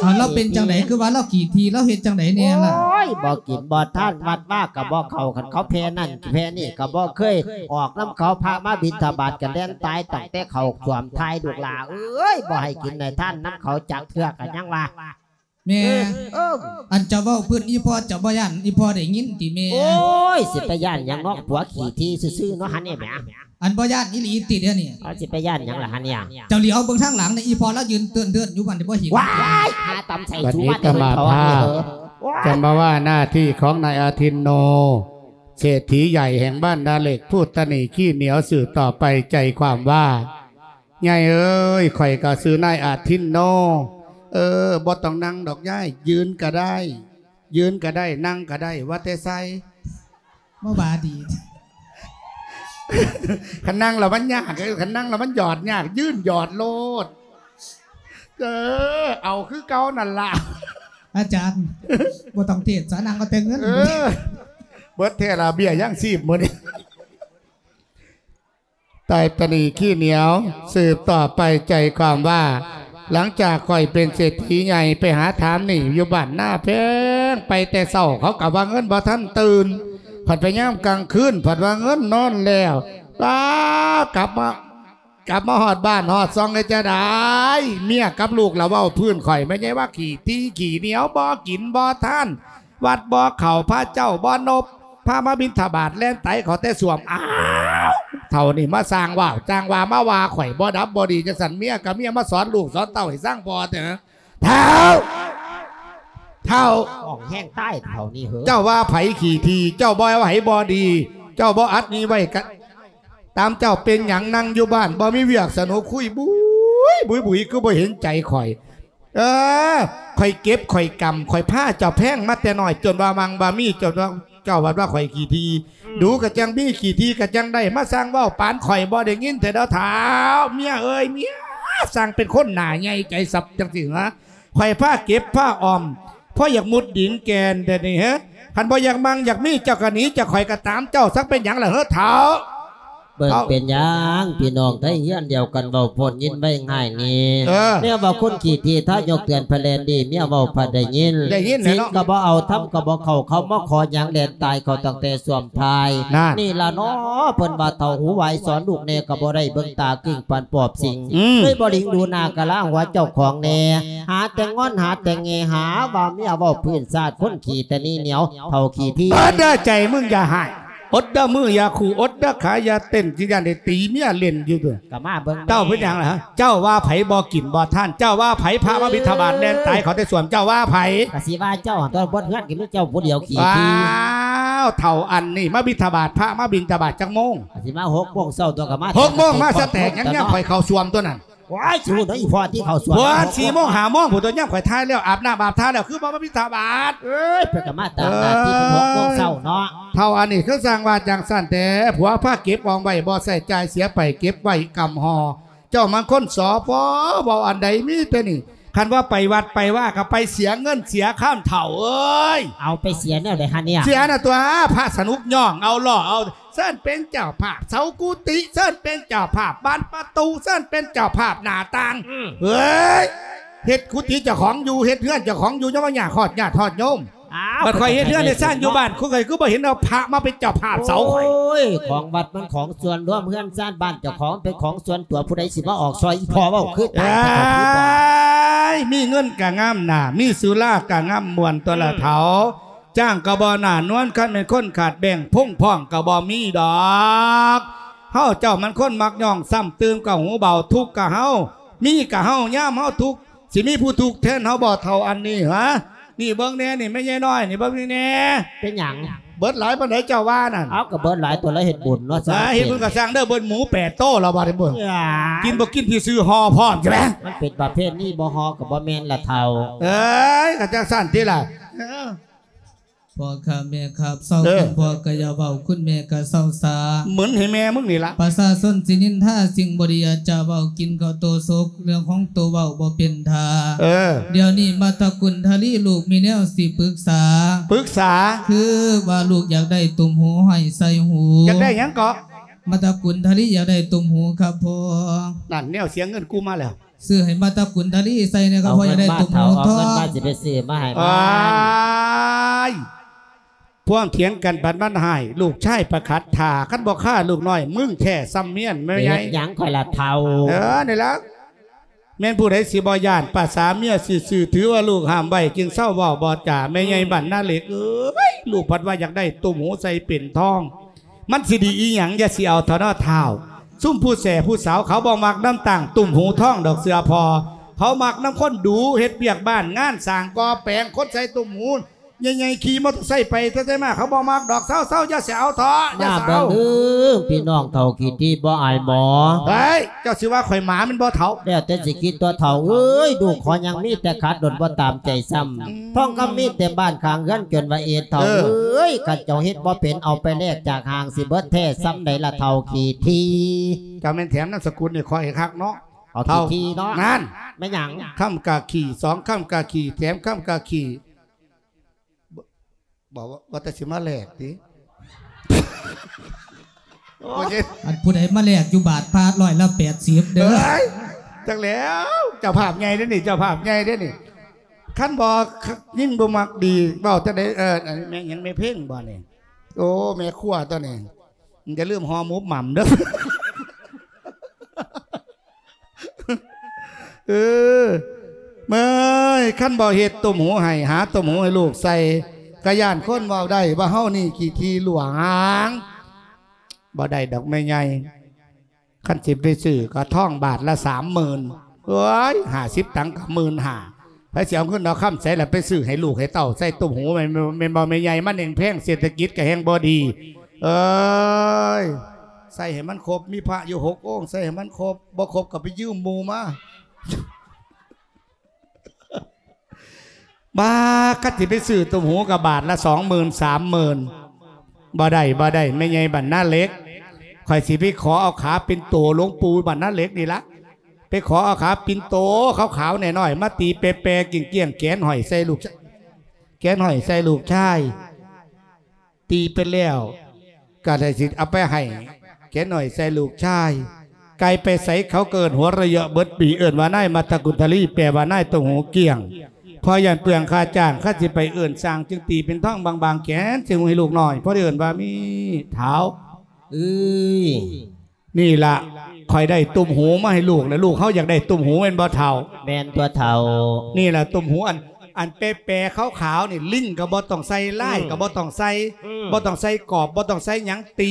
ເອົາ ລາວເປັນຈັ່ງໃດຄືວ່າລາວຂີ້ຖີ່ ລາວເຮັດຈັ່ງໃດແດ່ລະ? ໂອ້ຍ ບໍ່ກິນບໍ່ທານ ວັດວາກະບໍ່ເຂົ້າ ຄັນເຂົາແຜ່ນັ້ນແຜ່ນີ້ກະບໍ່ເຄີຍອອກນຳເຂົາ ພະມາບິນທະບາດກະແລ່ນຕາຍຕັ້ງແຕ່ເຂົ້າສວມທ້າຍ ລູກຫຼ້າເອີຍ ບໍ່ໃຫ້ກິນໃຫ້ທານນຳເຂົາຈັກເທື່ອ ກະຍັງວ່າ ແມ່ ເອີ ອັນເຈົ້າເວົ້າເພິ່ນ ອີ່ພໍ່ເຈົ້າບໍ່ຢ້ານ ອີ່ພໍ່ໄດ້ຍິນຕິແມ່? ໂອ້ຍ ຊິໄປຢ້ານຫຍັງເນາະ ຜົວຂີ້ຖີ່ຊື່ໆເນາະ ຫັ້ນນີ້ແໝ. ອັນບໍ່ຢ້ານອີ່ຫຼີຕິດຽວນີ້? ເອົາ ຊິໄປຢ້ານຫຍັງລະຫັ້ນນີ້? ເຈົ້າຫຼຽວເບິ່ງທາງຫຼັງນີ້ ອີ່ພໍ່ລາວຢືນເຕີນໆຢູ່ ບັດນີ້ບໍ່ເຫັນ. ວ້າຍ ຫາຕຳໃສ່ສູມາແຕ່ເຫັນເຂົາອັນນີ້ເຮີ. ຈຳມາວ່າໜ້າທີ່ຂອງນາຍອາທິນໂນ ເສດຖີໃຫຍ່ແຫ່ງບ້ານນາເຫຼັກ ພູດຕະໜີ້ຂີ້ໜຽວ ສືບຕໍ່ໄປໃຈຄວາມວ່າ ໃຫຍ່ເອີຍ ຂ້ອຍກະຊື່ນາຍອາທິນໂນ. ເອີ ບໍ່ຕ້ອງນັ່ງດອກຍາຍ ຢືນກະໄດ້ ຢືນກະໄດ້ ນັ່ງກະໄດ້ ວ່າແຕ່ໃສ່ ມາວ່າດີ. ຄັນນັ່ງລະມັນຍາກ ຄັນນັ່ງລະມັນຢອດຍາກ ຢືນຢອດໂລດ. ເອີ ເອົາຄືເກົ່ານັ້ນລະ ອາຈານ ບໍ່ຕ້ອງເທດສາ ນັ່ງເອົາແຕ່ເງິນ. ເອີ ເບິດແທ້ລະ ເບ້ຍຍັງຊີບມື້ນີ້. ຕາຍຕະໜີ້ຂີ້ໜຽວ ສືບຕໍ່ໄປໃຈຄວາມວ່າ ຫຼັງຈາກຂ້ອຍເປັນເສດຖີໃຫຍ່ ໄປຫາຖາມໜີ້ຢູ່ບ້ານນາແພງ ໄປແຕ່ເຊົ້າເຂົາກະວ່າເງິນບໍ່ທັນຕື່ນ ພັດໄປຍາມກາງຄືນ ພັດວ່າເງິນນອນແລ້ວ ປ້າບ ກັບມາ ກັບມາຮອດບ້ານຮອດຊ່ອງ ເຮັດຈັ່ງໃດ ເມຍກັບລູກລະເວົ້າພື້ນຂ້ອຍ ແມ່ໃຫຍ່ວ່າຂີ້ຖີ່ຂີ້ໜຽວ ບໍ່ກິນບໍ່ທານ ວັດບໍ່ເຂົ້າ ພະເຈົ້າບໍ່ນົບ ພະມາບິນທະບາດ ແລ່ນໄຕເຂົ້າແຕ່ສ້ວມ. ອ້າວ ເຖົ້ານີ້ມາສ້າງວ້າວ ຈ້າງວ່າມາວ່າຂ້ອຍ ບໍ່ດັບບໍ່ດີ ຈັ່ງຊັ້ນ ເມຍກັບເມຍມາສອນລູກສອນເຕົ້າໃຫ້ຊ່າງພໍ່ແທ້. ເຖົ້າ ເຖົ້າ ຫ້ອງແຮງຕາຍເຖົ້ານີ້ເຫີ ເຈົ້າວ່າໃຜຂີ້ຖີ່ ເຈົ້າບໍ່ໃຜບໍ່ດີ ເຈົ້າບໍ່ອັດນີ້ໄວ້ກະຕາມເຈົ້າ. ເປັນຫຍັງນັ່ງຢູ່ບ້ານບໍ່ມີວຽກສະໜຸກ ຄຸຍບຸຍບຸຍບຸຍ ຄືບໍ່ເຫັນໃຈຂ້ອຍ? ເອີ ຂ້ອຍເກັບຂ້ອຍກຳ ຂ້ອຍພາເຈົ້າແພງມາແຕ່ນ້ອຍ ຈົນວ່າມັ່ງວ່າມີ ເຈົ້າ ເຈົ້າວ່າ ວ່າຂ້ອຍຂີ້ຖີ່ ອືມ ດູກະຈັ່ງມີ ຂີ້ຖີ່ກະຈັ່ງໄດ້ ມາຊ່າງເວົ້າ ປານຂ້ອຍບໍ່ໄດ້ຍິນແທ້ເດີເຖົ້າ. ເມຍເອີຍ ເມຍ ຊ່າງເປັນຄົນໜ້າໃຫຍ່ໃຈສັບຈັ່ງຊີ້ຫະ? ຂ້ອຍພາເກັບພາອອມ ພໍຢາກມຸດດິນແກ່ນແຕ່ນີ້ເຮີ ຄັນບໍ່ຢາກມັ່ງຢາກມີ ເຈົ້າກະໜີຈາກຂ້ອຍກະຕາມເຈົ້າ. ສັກເປັນຫຍັງລະເຮີເຖົ້າ? ເບິ່ງເປັນຫຍັງ ພີ່ນ້ອງໄທເຮືອນດຽວກັນ ເວົ້າໂພດຍິນໄວງ່າຍນີ້ ເອີ ແນວວ່າຄົນຂີ້ຖີ່ ຖ້າຍົກເຕືອນພະແລນດີ ເມຍເວົ້າພະໄດ້ຍິນ ໄດ້ຍິນແຫຼະເນາະ ສິນກະບໍ່ເອົາ ທຳກະບໍ່ເຂົ້າ ເຂົາມາຂໍຫຍັງ ແລ່ນຕາຍເຂົ້າຕັ້ງແຕ່ຊ່ວມທ້າຍ. ນັ້ນ ນີ້ລະເນາະ ເພິ່ນວ່າເຖົ້າຫູຫວາຍ ສອນລູກແດ່ກະບໍ່ໄດ້ ເບິ່ງຕາກິ່ງປານປອບສິງ ອືມ ເລີຍບໍ່ຫຼິງດູໜ້າກະລາຫົວເຈົ້າຂອງແດ່ ຫາແຕ່ງອນຫາແຕ່ແງ່ ຫາວ່າເມຍເວົ້າພື້ນຊາດ ຄົນຂີ້ຕະໜີໜຽວ ເຖົ້າຂີ້ຖີ່. ເບິດເດີ ໃຈມຶງຢ່າຮ້າຍ ອົດເດີ ມືຢ່າຂູ່ ອົດເດີ ຂາຢ່າເຕັ້ນ ຊິຢ້ານໄດ້ຕີເມຍເຫຼັ້ນຢູ່ເດີ. ກະມາເບິ່ງ ເຈົ້າເປັນຫຍັງລະ? ເຈົ້າວ່າໃຜບໍ່ກິນບໍ່ທານ? ເຈົ້າວ່າໃຜ? ພະມາບິນທະບາດແລ່ນຕາຍເຂົ້າແຕ່ສ້ວມ ເຈົ້າວ່າໃຜ? ກະຊິວ່າເຈົ້າຫັ້ນຕົວະ ເບິດເຮືອນກະມີເຈົ້າຜູ້ດຽວຂີ້ຖີ່. ອ້າວ ເຖົ້າອັນນີ້ມາບິນທະບາດ ພະມາບິນທະບາດຈັກໂມງ? ກະຊິມາຫົກໂມງເຊົ້າຕົວະ ກະມາ ຫົກໂມງມາສະແຕກຫຍັງ ຍາມຂ້ອຍເຂົ້າສ້ວມຕົວນັ້ນ. ໂອ້ຍ ຊິຮູ້ເນາະ ອີ່ພໍ່ທີ່ເຂົ້າສວນ ເພິ່ນສີ່ໂມງຫ້າໂມງພຸ້ນຕົວະ ຍາມຂ້ອຍຖ່າຍແລ້ວ ອາບນ້ຳອາບທ່າແລ້ວ ຄືບໍ່ມາບິນທະບາດ. ເອີຍ ເພິ່ນກະມາຕາມໜ້າທີ່ ເອີຍ ຫົກໂມງເຊົ້າເນາະ. ເຖົ້າອັນນີ້ຄືຊ່າງວ່າຈັ່ງຊັ້ນແທ້ ຜົວພາເກັບອອມໄວ້ ບໍ່ໃຊ້ຈ່າຍ ເສຍໄປເກັບໄວ້ກຳຫໍ່. ເຈົ້າມັນຄົນ ສ ພ ເວົ້າອັນໃດມີແຕ່ນີ້ ຄັນວ່າໄປວັດໄປວາກະໄປເສຍເງິນເສຍຄຳ ເຖົ້າເອີຍ. ເອົາ ໄປເສຍແນວໃດຫັ້ນເນຍ? ເສຍນະຕົວະ ພະສະໜຸກຍ້ອງເອົາ ລໍ້ເອົາ ເຊີນເປັນເຈົ້າພາບເສົາກຸຕິ ເຊີນເປັນເຈົ້າພາບບານປະຕູ ເຊີນເປັນເຈົ້າພາບໜ້າຕ່າງ. ອືມ ເອີຍ ເຮັດກຸຕິເຈົ້າຂອງຢູ່ ເຮັດເຮືອນເຈົ້າຂອງຢູ່ ຍັງມາຍາກຮອດຍາດຮອດໂຍມ. ອ້າວ ບັດຂ້ອຍເຮັດເຮືອນເຮັດຊານຢູ່ບ້ານ ຂ້ອຍຄືບໍ່ເຫັນເອົາພະມາເປັນເຈົ້າພາບເສົາຂ້ອຍ. ໂອ້ຍ ຂອງວັດມັນຂອງສ່ວນລວມ ເຮືອນຊານບ້ານເຈົ້າຂອງເປັນຂອງສ່ວນຕົວ ຜູ້ໃດຊິມາອອກຊ່ອຍ ອີ່ພໍ່ເວົ້າຄືຕາຍ. ເອີຍ ມີເງິນກະງາມໜ້າ ມີສຸລາກະງາມມ່ວນຕົວະລະເຖົ້າ. ອືມ ຈ້າງກະບໍ່ໜ້ານວນ ຄັນແມ່ນຄົນຂາດແບ່ງ ພົງພ້ອງກະບໍ່ມີດອກ. ເຮົາເຈົ້າມັນຄົນມັກຍ້ອງ ຊ້ຳຕື່ມກະຫູເບົາ ທຸກກະເຮົາ ມີກະເຮົາ ຍາມເຮົາທຸກ ຊິມີຜູ້ທຸກແທນເຮົາບໍ່ ເຖົ້າອັນນີ້ຫະ? ນີ້ເບິ່ງແດ່ ນີ້ແມ່ໃຫຍ່ນ້ອຍ ນີ້ເບິ່ງນີ້ແດ່. ເປັນຫຍັງ? ເບິດຫຼາຍປານໃດເຈົ້າວ່ານັ້ນ? ເອົາ ກະເບິດຫຼາຍຕົວະ ລະເຮັດບຸນເນາະ. ເອີຍ ເຮັດບຸນກະຊ່າງເດີ ເບິດໝູແປດໂຕແລ້ວບາດນີ້ເບິ່ງ. ກິນບໍ່ກິນທີ່ຊື້ຫໍ່ພ້ອມ ໃຊ່ໄໝ? ມັນເປັນປະເພນີ ບໍ່ຫໍ່ກະບໍ່ແມ່ນລະເຖົ້າ. ເອີຍ ກະຈັ່ງຊັ້ນຕິລະ. ເອີ ພໍ່ຂ້າແມ່ຂ້າ ເຊົາ ເອີ ຄຸນພໍ່ກະຢ່າເວົ້າ ຄຸນແມ່ກະເຊົາສາ ໝືນໃຫ້ແມ່ມຶງນີ້ລະ. ປະຊາຊົນຊິນິນທາສິ່ງບໍ່ດີ ຢ່າຈະເວົ້າ ກິນເຂົ້າໂຕສົກ ເລື່ອງຂອງໂຕເວົ້າບໍ່ເປັນທ່າ. ເອີ ດຽວນີ້ມາຕະກຸນທະລີ ລູກມີແນວຊິປຶກສາ. ປຶກສາ? ຄືວ່າລູກຢາກໄດ້ຕຸ່ມຫູຫ້ອຍໃສ່ຫູ. ຢາກໄດ້ຫຍັງເກາະ? ມາຕະກຸນທະລີຢາກໄດ້ຕຸ່ມຫູຄັບພໍ່. ນັ້ນ ແນວເສຍເງິນກູມາແລ້ວ. ຊື້ໃຫ້ມາຕະກຸນທະລີໃສ່ແດ່ຄັບພໍ່ ເອົາເງິນມາເຖົ້າ ຢາກໄດ້ຕຸ່ມຫູທອງ. ເອົາເງິນມາຊິໄປຊື້ມາໃຫ້ມັນ. ອ້າຍ ພວງຖຽງກັນປານມັນຮ້າຍ ລູກຊາຍປະຂັດຖ້າ ຄັນບໍ່ຄາລູກນ້ອຍ ມຶງແທ້ຊ່ຳເມຍນແມ່ໃຫຍ່. ເຮັດຫຍັງຂ້ອຍລະເຖົ້າ? ເອີ ນີ້ລະ ແມ່ນຜູ້ໃດຊິບໍ່ຢ້ານ ປະສາເມຍຊື່ໆ ຖືວ່າລູກຫ້າມໄວ້ ຈຶ່ງເຊົາເວົ້າບໍ່ຈາ. ແມ່ໃຫຍ່ ອືມ ບ້ານນາເຫຼັກເອີຍ ລູກພັດວ່າຢາກໄດ້ຕຸ່ມຫູໃສ່ເປັນທອງ. ມັນຊິດີອີ່ຫຍັງ ຢ່າຊິເອົາເຖາະເນາະທ້າວ. ຊຸມຜູ້ແສຜູ້ສາວເຂົາບໍ່ມັກນຳຕັ້ງຕຸ່ມຫູທອງດອກ ເຊື່ອພໍ່. ເຂົາມັກນຳຄົນດູ ເຮັດວຽກບ້ານງານ ສ້າງກໍ່ແປງ ຄົນໃສ່ຕຸ່ມຫູໃຫຍ່ໆ ຂີ່ມໍເຕີໄຊໄປໄສມາ ເຂົາບໍ່ມັກດອກ. ເຊົາໆ ຢ່າຊິເອົາເຖາະ ຢ່າຊິເອົາ. ມາເບິ່ງເດີ ພີ່ນ້ອງເຖົ້າຂີ້ຖີ່ບໍ່ອາຍໝໍ. ເຮີ້ຍ ເຈົ້າຊິວ່າຂ້ອຍໝາແມ່ນບໍ່ເຖົ້າ? ແລ້ວແຕ່ຊິຄິດຕົວະເຖົ້າເອີຍ ລູກຂໍຫຍັງມີແຕ່ຂາດດົນບໍ່ຕາມໃຈຊ້ຳ. ອືມ ທອງຄຳມີເຕັມບ້ານຂ້າງເຮືອນ ຈົນວ່າເອດເຖົ້າ ເອີ ເອີຍ ຄັນເຈົ້າເຮັດບໍ່ເປັນ ເອົາໄປແລກຈາກຫ້າງ ຊິເບິດແທ້ຊ່ຳໃດລະເຖົ້າຂີ້ຖີ່. ເຈົ້າແມ່ນແຖມນາມສະກຸນໃຫ້ຂ້ອຍຄັກເນາະ ເຖົ້າຂີ້ຖີ່ເນາະ. ນັ້ນ ແມ່ນຫຍັງ? ຄຳກະຂີ້ ສອງຄຳກະຂີ້ ແຖມຄຳກະຂີ້. ບ- ບ- ວ່າແຕ່ຊິມາແລກຕິ. ໂອ້ຍ ອັນຜູ້ໃດມາແລກຢູ່ບາດພະຮ້ອຍລະແປດສິບເດີ. ເອີຍ ຈັກແລ້ວ ເຈົ້າພາບໃຫຍ່ເດ້ນີ້ ເຈົ້າພາບໃຫຍ່ເດ້ນີ້. ຄັນບໍ່ ຍິງບໍ່ມັກດີ ເວົ້າຈັ່ງໃດ? ເອີ ອັນແມ່ນຫຍັງ ແມ່ເພັງບໍ່ນີ້? ໂອ້ ແມ່ຄົວຕົວນີ້ ຢ່າລືມຫໍ່ໝູບໝ່ຳເດີ້. ເອີ ເມີຍ ຄັນບໍ່ເຮັດຕຸ້ມຫູໃຫ້ ຫາຕຸ້ມຫູໃຫ້ລູກໃສ່ ກະຢ້ານຄົນເວົ້າໄດ້ວ່າເຮົານີ້ຂີ້ຖີ່ຫຼວງ. ບໍ່ໄດ້ດອກແມ່ໃຫຍ່. ຄັນຊິໄປຊື້ກະທອງບາດລະສາມໝື່ນ ໂອ້ຍ ຫ້າສິບຕັງກະໝື່ນຫ້າ ໃຜຊິເອົາເງິນເອົາຄຳໃສລະໄປຊື້ໃຫ້ລູກໃຫ້ເຕົ້າໃສ່ຕຸ້ມຫູ ແມ່ນ ແມ່ນບໍ່ແມ່ໃຫຍ່? ມັນແຮງແພງ ເສດຖະກິດກະແຮງບໍ່ດີ. ເອີຍ ໃສ່ໃຫ້ມັນຄົບ ມີພະຢູ່ຫົກອົງ ໃສ່ໃຫ້ມັນຄົບ ບໍ່ຄົບກະໄປຢືມໝູ່ມາ. ບາດ ຄັນຊິໄປຊື້ຕຸ້ມຫູກະບາດລະສອງໝື່ນ ສາມໝື່ນ. ບໍ່ໄດ້ ບໍ່ໄດ້ ແມ່ໃຫຍ່ບັນນາເຫຼັກ ຂ້ອຍຊິໄປຂໍເອົາຂາເປັນໂຕຫຼວງປູ່ບັນນາເຫຼັກນີ້ລະ ໄປຂໍເອົາຂາປິ່ນໂຕຂາວໆນ້ອຍໆ ມາຕີແປໆກ້ຽງໆ ແຂນຫ້ອຍໃສ່ລູກ ແຂນຫ້ອຍໃສ່ລູກຊາຍ. ຕີເປັນແລ້ວກະໄດ້ຊິເອົາໄປໃຫ້ແກນ້ອຍໃສ່ລູກຊາຍ. ໄກ່ໄປໃສເຂົາກະເອີ້ນຫົວເຣາະເຍາະເບິດປີ ເອີ້ນວ່ານາຍມັດຕະກຸນທະລີ ແປວ່ານາຍໂຕຫູກ້ຽງ. ເພາະຢ້ານເປືອງຄ່າຈ້າງ ຄັນຊິໄປເອີ້ນຊ່າງ ຈຶ່ງຕີເປັນທອງບາງໆແຂນໃສ່ໃຫ້ລູກນ້ອຍ ເພາະໄດ້ເອີ້ນວ່າມີເຖົ້າ. ເອີຍ ນີ້ລະ ຂ້ອຍໄດ້ຕຸ້ມຫູມາໃຫ້ລູກ ແລະ ລູກເຮົາຢາກໄດ້ຕຸ້ມຫູແມ່ນບໍ່ເຖົ້າ? ແມ່ນຕົວະເຖົ້າ. ນີ້ລະຕຸ້ມຫູ ອັນ ອັນແປໆຂາວໆນີ້ ລິງກະບໍ່ຕ້ອງໃສ່ ລາຍກະບໍ່ຕ້ອງໃສ່ ອືມ ບໍ່ຕ້ອງໃສ່ກອບ ບໍ່ຕ້ອງໃສ່ຫຍັງ ຕີ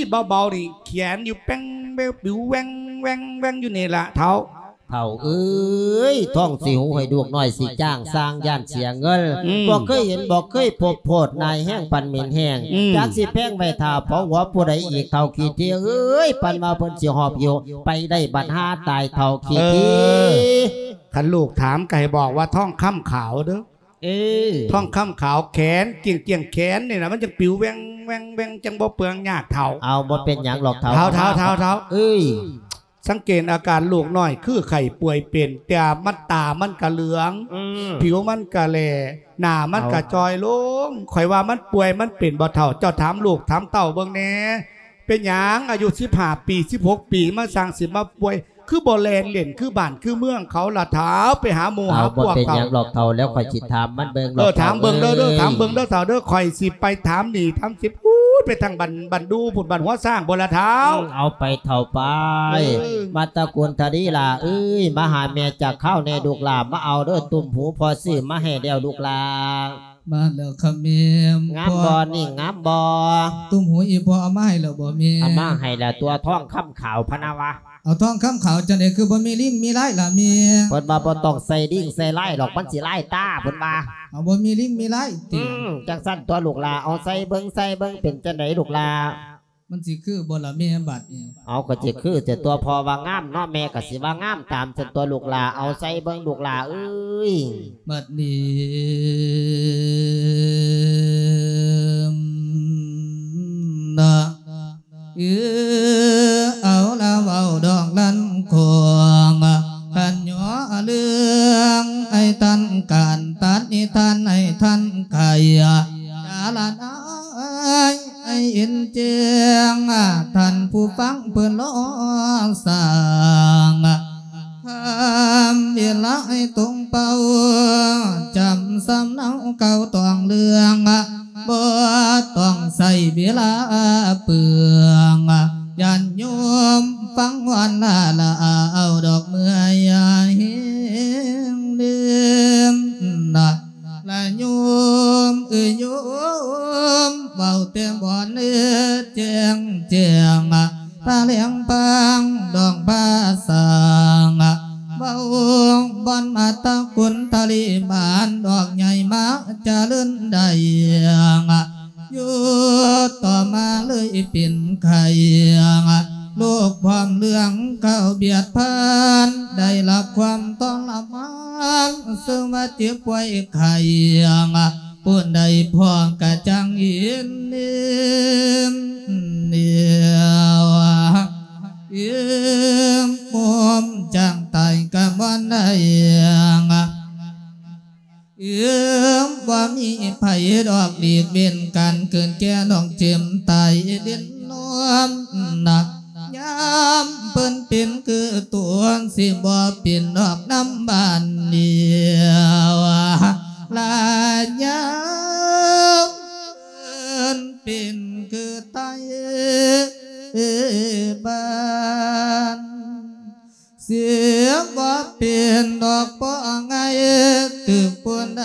ເບົາໆນີ້ ແຂນຢູ່ແປ້ງແວວ ປິວແວ່ງແວ່ງແວ່ງຢູ່ນີ້ລະເຖົ້າ. ເຖົ້າເອີຍ ທ້ອງຊິຫິວໃຫ້ລູກນ້ອຍ ຊິຈ້າງຊ່າງຢ້ານເສຍເງິນ. ອືມ ບໍ່ເຄີຍເຫັນບໍ່ເຄີຍພົບ ໂພດນາຍແຮງປານເໝັນແຫ້ງ. ອືມ ຈັກຊິແພງໄວ້ຖ້າເຜົາຫົວຜູ້ໃດອີກ ເຖົ້າຂີ້ຖີ່ເອີຍ ປານວ່າເພິ່ນຊິຫອບຫິວໄປໄດ້ບັດຫາຕາຍ ເຖົ້າຂີ້ຖີ່. ເອີ ຄັນລູກຖາມກະໃຫ້ບອກວ່າທອງຄຳຂາວເດີ້. ເອີ ທອງຄຳຂາວ ແຂນກ້ຽງໆແຂນນີ້ລະ ມັນຈັ່ງປິວແວ່ງແວ່ງແວ່ງ ຈັ່ງບໍ່ເປືອງຍາກເຖົ້າ. ເອົາ ບໍ່ເປັນຫຍັງດອກເຖົ້າ. ເຖົ້າ ເຖົ້າ ເຖົ້າ ເຖົ້າ ເອີຍ ສັງເກດອາການລູກນ້ອຍຄືໄຂ້ປ່ວຍເປັນ ແຕ່ມັນ ຕາມັນກະເຫຼືອງ ອືມ ຜິວມັນກະແຫຼ້ ໜ້າມັນກະຈ່ອຍລົງ. ເອົາ ຂ້ອຍວ່າມັນປ່ວຍມັນເປັນບໍ່ເຖົ້າ? ເຈົ້າຖາມລູກຖາມເຕົ້າເບິ່ງແດ່. ເປັນຫຍັງອາຍຸສິບຫ້າປີ ສິບຫົກປີ ມາຊ່າງຊິມາປ່ວຍ ຄືບໍ່ແລ່ນຫຼິ້ນຄືບ້ານຄືເມືອງເຂົາລະເຖົ້າ? ໄປຫາໝູ່ຫາພວກເຂົາ. ເອົາ ບໍ່ເປັນຫຍັງດອກເຖົ້າ ແລ້ວຂ້ອຍຊິຖາມມັນເບິ່ງດອກ. ເອີ ຖາມເບິ່ງເດີ້ ເດີ້ ເຖົ້າເອີຍ ຖາມເບິ່ງເດີ້ເຖົ້າເດີ້. ຂ້ອຍຊິໄປຖາມໜີ້ຖາມສິນ ອູ້ນ ໄປທາງບ້ານ ບ້ານດູພຸ້ນ ບ້ານຫົວຊ້າງພຸ້ນລະເຖົ້າ. ອືມ ເອົາໄປເຖົ້າໄປ. ເອີ ມັດຕະກຸນທະລີຫຼ້າເອີຍ ມາຫາແມ່ຈັກຄາວແດ່ລູກຫຼ້າ ມາເອົາເດີ້ ຕຸ້ມຫູພໍ່ຊື້ມາໃຫ້ແລ້ວລູກຫຼ້າ. ມາແລ້ວຄະແມ່. ງາມບໍ່ນີ້ ງາມບໍ່? ຕຸ້ມຫູອີ່ພໍ່ເອົາມາໃຫ້ແລ້ວບໍ່ແມ່? ເອົາມາໃຫ້ແລ້ວຕົວະ ທອງຄຳຂາວພະນະວະ. ເອົາທອງຄຳຂາວຈັ່ງໃດ ຄືບໍ່ມີລິງມີລາຍລະແມ່? ເພິ່ນວ່າບໍ່ຕ້ອງໃສ່ລິງໃສ່ລາຍດອກ ມັນຊິລາຍຕາ ເພິ່ນວ່າ. ເອົາ ບໍ່ມີລິງມີລາຍຕິ? ອືມ ຈັ່ງຊັ້ນຕົວະລູກຫຼ້າ ເອົາໃສ່ເບິ່ງ ໃສ່ເບິ່ງ ເປັນຈັ່ງໃດລູກຫຼ້າ? ມັນຊິຄືບໍ່ລະແມ່ບາດນີ້? ເອົາ ກະຊິຄືແຕ່ຕົວະ ພໍ່ວ່າງາມເນາະ ແມ່ກະຊິວ່າງາມຕາມຊັ້ນຕົວະລູກຫຼ້າ. ເອົາໃສ່ເບິ່ງລູກຫຼ້າເອີຍ. ບັດນີ້ນະ ເອີ ເອົາລະເວົ້າດອກລັນຂອງ ຄັນຍໍເລື່ອງໃຫ້ທັນການ ຕັດນິທານໃຫ້ທັນໄຂ ຈາລະນາຍ ໃຫ້ເຫັນແຈ້ງ ທ່ານຜູ້ຟັງເພິ່ນລໍສ້າງ ຄຳເວລາໃຫ້ຕົງເປົ່າ ຈຳສຳເນົາເກົ່າຕ້ອງເລື່ອງ ບໍ່ຕ້ອງໃຊ້ເວລາເປືອງ ຍາດໂຍມຟັງວອນລາລາ ເອົາດອກເມື່ອຍເຮັງເດີມນະ ລະໂຍມເອີຍໂຍມ ເວົ້າແຕ່ບ່ອນເອີຍແຈ້ງແຈ້ງ ພະແຫຼງພາງດອງພາສາງ ເວົ້າບ່ອນມາຕະກຸນທະເລມານດອກໃຫຍ່ມາຈະເລີນໄດ້ ຢູ່ຕໍ່ມາເລີຍເປັນໄຂ້ ໂລກພ້ອມເລື່ອງເຂົ້າບຽດພັນ ໄດ້ຮັບຄວາມທໍລະມານ ເຊິ່ງວ່າເຈັບປ່ວຍໄຂ້ ຜູ້ໃດພໍກະຈັ່ງເຫັນເຫັນ ເອີ ໂຮມຈັ່ງຕາຍກະບໍ່ໄດ້ ເອີ ບໍ່ມີໃຜດອກຫຼີກເວັ້ນ ການເກີດແກ່ຕ້ອງເຈັບຕາຍເດັນນອນນະ ຍາມເພິ່ນເປັນຄືຕົວ ຊິບໍ່ເປັນດອກນຳບ້ານດຽວ ລະຍາມເພິ່ນເປັນ ບ້ານ ເສຍບໍ່ເປັນດອກ ບໍ່ງ່າຍຖືກຜູ້ໃດ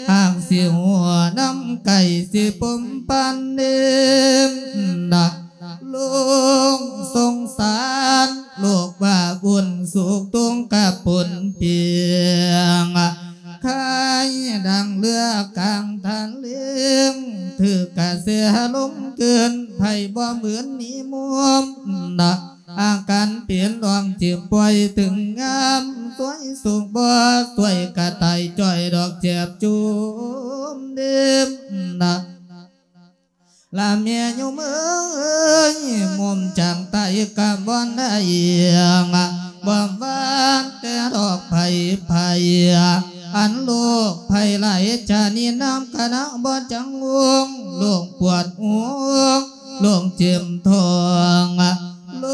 ຫາກຊິຫົວນຳໄກ ຊິພົມພັນເນມນະ ລົງສົງສານ ໂລກວ່າບຸນສຸກ ທຸກກະປົນປ່ຽງ ຄາຍດັ່ງເຮືອກາງທະເລ ຖືກກະແສລົມເກີນ ໃຜບໍ່ໝື່ນນິມົນນະ ອາການເປັນດອງຈິບປ່ອຍ ເຖິງຍາມຊ່ວຍສຸກບໍ່ຊ່ວຍ ກະຕາຍຈ້ອຍດອກ ເຈັບຈຸ່ມເດັບນະ ລະແມ່ໂຍມເອີຍ ມຸມຈາກໃຕ້ກະບໍ່ໄດ້ ບໍ່ວ່າແຕ່ດອກໄພໄພ ອັນໂລກໄພຫຼາຍຊະນິດ ນຳຄະນະບໍ່ຈັງວົງ ໂລກປວດຫົວ ໂລກເຈັບທ້ອງ ໂລ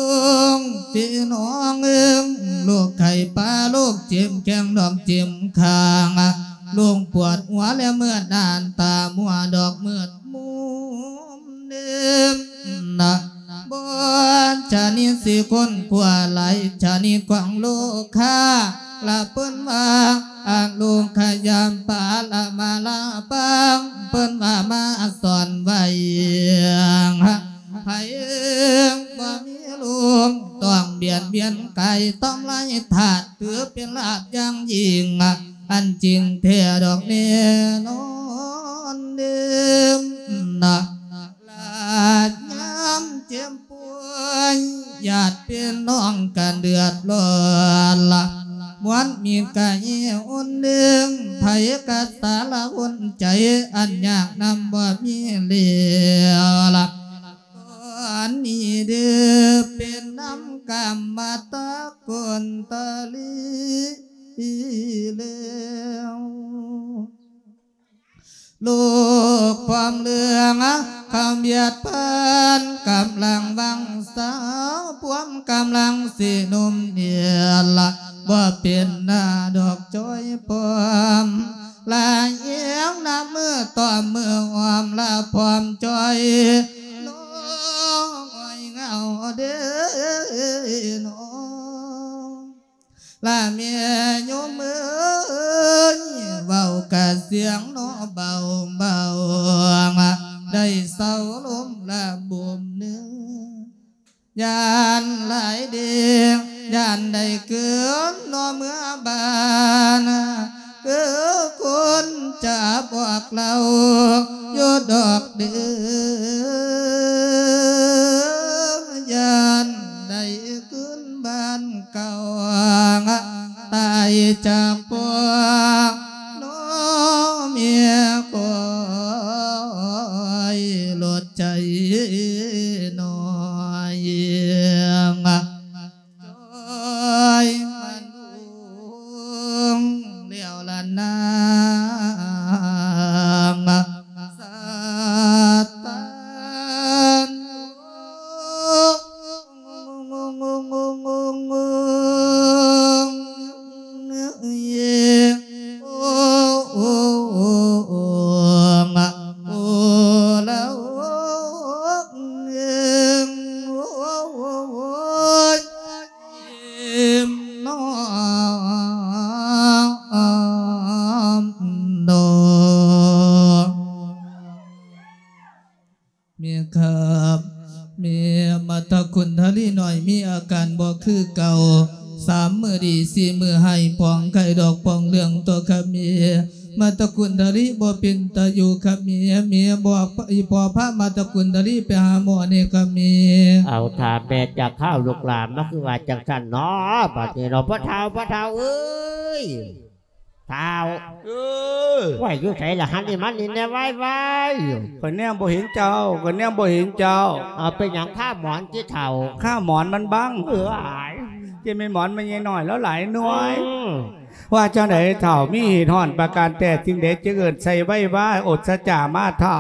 ກພີ່ນ້ອງເອີຍ ໂລກໄຂ້ປ່າ ໂລກເຈັບແຂ້ງ ໂລກເຈັບຂ້າງ ໂລກປວດຫົວ ແລະເມື່ອນານຕາມົວ ດອກມືດມຸມເດີມນະ ບໍ່ຊະນິດຊິຄົ້ນຄວ້າ ຫຼາຍຊະນິດຂອງໂລກຄາ ລະເພິ່ນວ່າອະໂລກຂະຍາມປາລະມາລາປັງ ເພິ່ນວ່າມາສອນໄວ້ ໃຜບໍ່ມີລູກ ຕ້ອງບຽດບຽນກາຍ ທຳລາຍທາດ ຖືເປັນລາບຢ່າງຍິ່ງ ອັນຈິງແທ້ດອກແນ່ນອນເດີມນະ ລະຍາມເຈັບປ່ວຍ ຍາດພີ່ນ້ອງກະເດືອດຮ້ອນລະ ມວນມີກະເຫ່ອຸ່ນເດີງ ໃຜກະສາລະອຸ່ນໃຈ ອັນຍາກນຳບໍ່ມີແລ້ວລະ ຕອນນີ້ເດີເປັນນຳກຳມະຕະກຸນຕະລີແລ້ວ ໂລກຄວາມເລື່ອງຄຳຫວຽດພັນ ກຳລັງວັງສາວ ພວມກຳລັງຊິໜຸ່ມເນຍລະ ບໍ່ເປັນໜ້າດອກຈ້ອຍພອມ ລະແຍງນຳມືຕອມມືອ້ອມລະພອມຈ້ອຍ ນ້ອຍເຫງົາເດີນ້ອງ ລະແມ່ໂຍມເອີຍ ເວົ້າກະສຽງເນາະເບົາເບົາ ໄດ້ເຊົາລົມລະບຸມເໜືອ ຢ້ານຫຼາຍເດ ຢ້ານໄດ້ຄືນເນາະເມືອບ້ານ ຄືຄົນຈະບອກເລົ່າຢູ່ດອກເດີ ຢ້ານໄດ້ຄືນບ້ານເກົ່າ ຕາຍຈາກພໍ່ນ້ອງເມຍ ຄອຍລົດໃຈໜ້ອຍ ຈ້ອຍມັນລຸງແລ້ວລະນາງ ສະຕານ ແມ່ນຄັບ ແມ່ມາດຕະກຸນທະລີນ້ອຍ ມີອາການບໍ່ຄືເກົ່າ ສາມມື້ດີ ສີ່ມື້ຮ້າຍ ປອງໄຂ້ດອກປອງເລື່ອງຕົວະຄັບແມ່ ມາດຕະກຸນທະລີບໍ່ເປັນຕາຢູ່ຄັບແມ່ ແມ່ບອກອີ່ພໍ່ພາມາດຕະກຸນທະລີໄປຫາໝໍແດ່ຄັບແມ່. ເອົາ ຖ້າແມ່ຈະຄາວລູກຫຼານ ມາຄືວ່າຈັ່ງຊັ້ນເນາະ ບັດນີ້ເນາະ ພໍ່ເຖົ້າ ພໍ່ເຖົ້າເອີຍ. ທ້າວ ເອີ ໄວ້ຢູ່ໃສລະຫັ້ນນີ້ ມານີ້ແນ່ ໄວໆ ຂ້ອຍແນມບໍ່ເຫັນເຈົ້າ ຂ້ອຍແນມບໍ່ເຫັນເຈົ້າ. ເອົາ ເປັນຫຍັງຄາໝອນຕິເຖົ້າ? ຄາໝອນມັນບັງ. ເອີ ອ້າຍ ເຈົ້າແມ່ນໝອນແມ່ໃຫຍ່ນ້ອຍລາວຫຼາຍໜ່ວຍ. ອືມ ວ່າຈັ່ງໃດເຖົ້າ ມີເຫດຮ້ອນປະການແຕ່ສິ່ງໃດ ຈຶ່ງເອີ້ນໃສ່ໄວວາ ອົດສະຈາມາເຖົ້າ?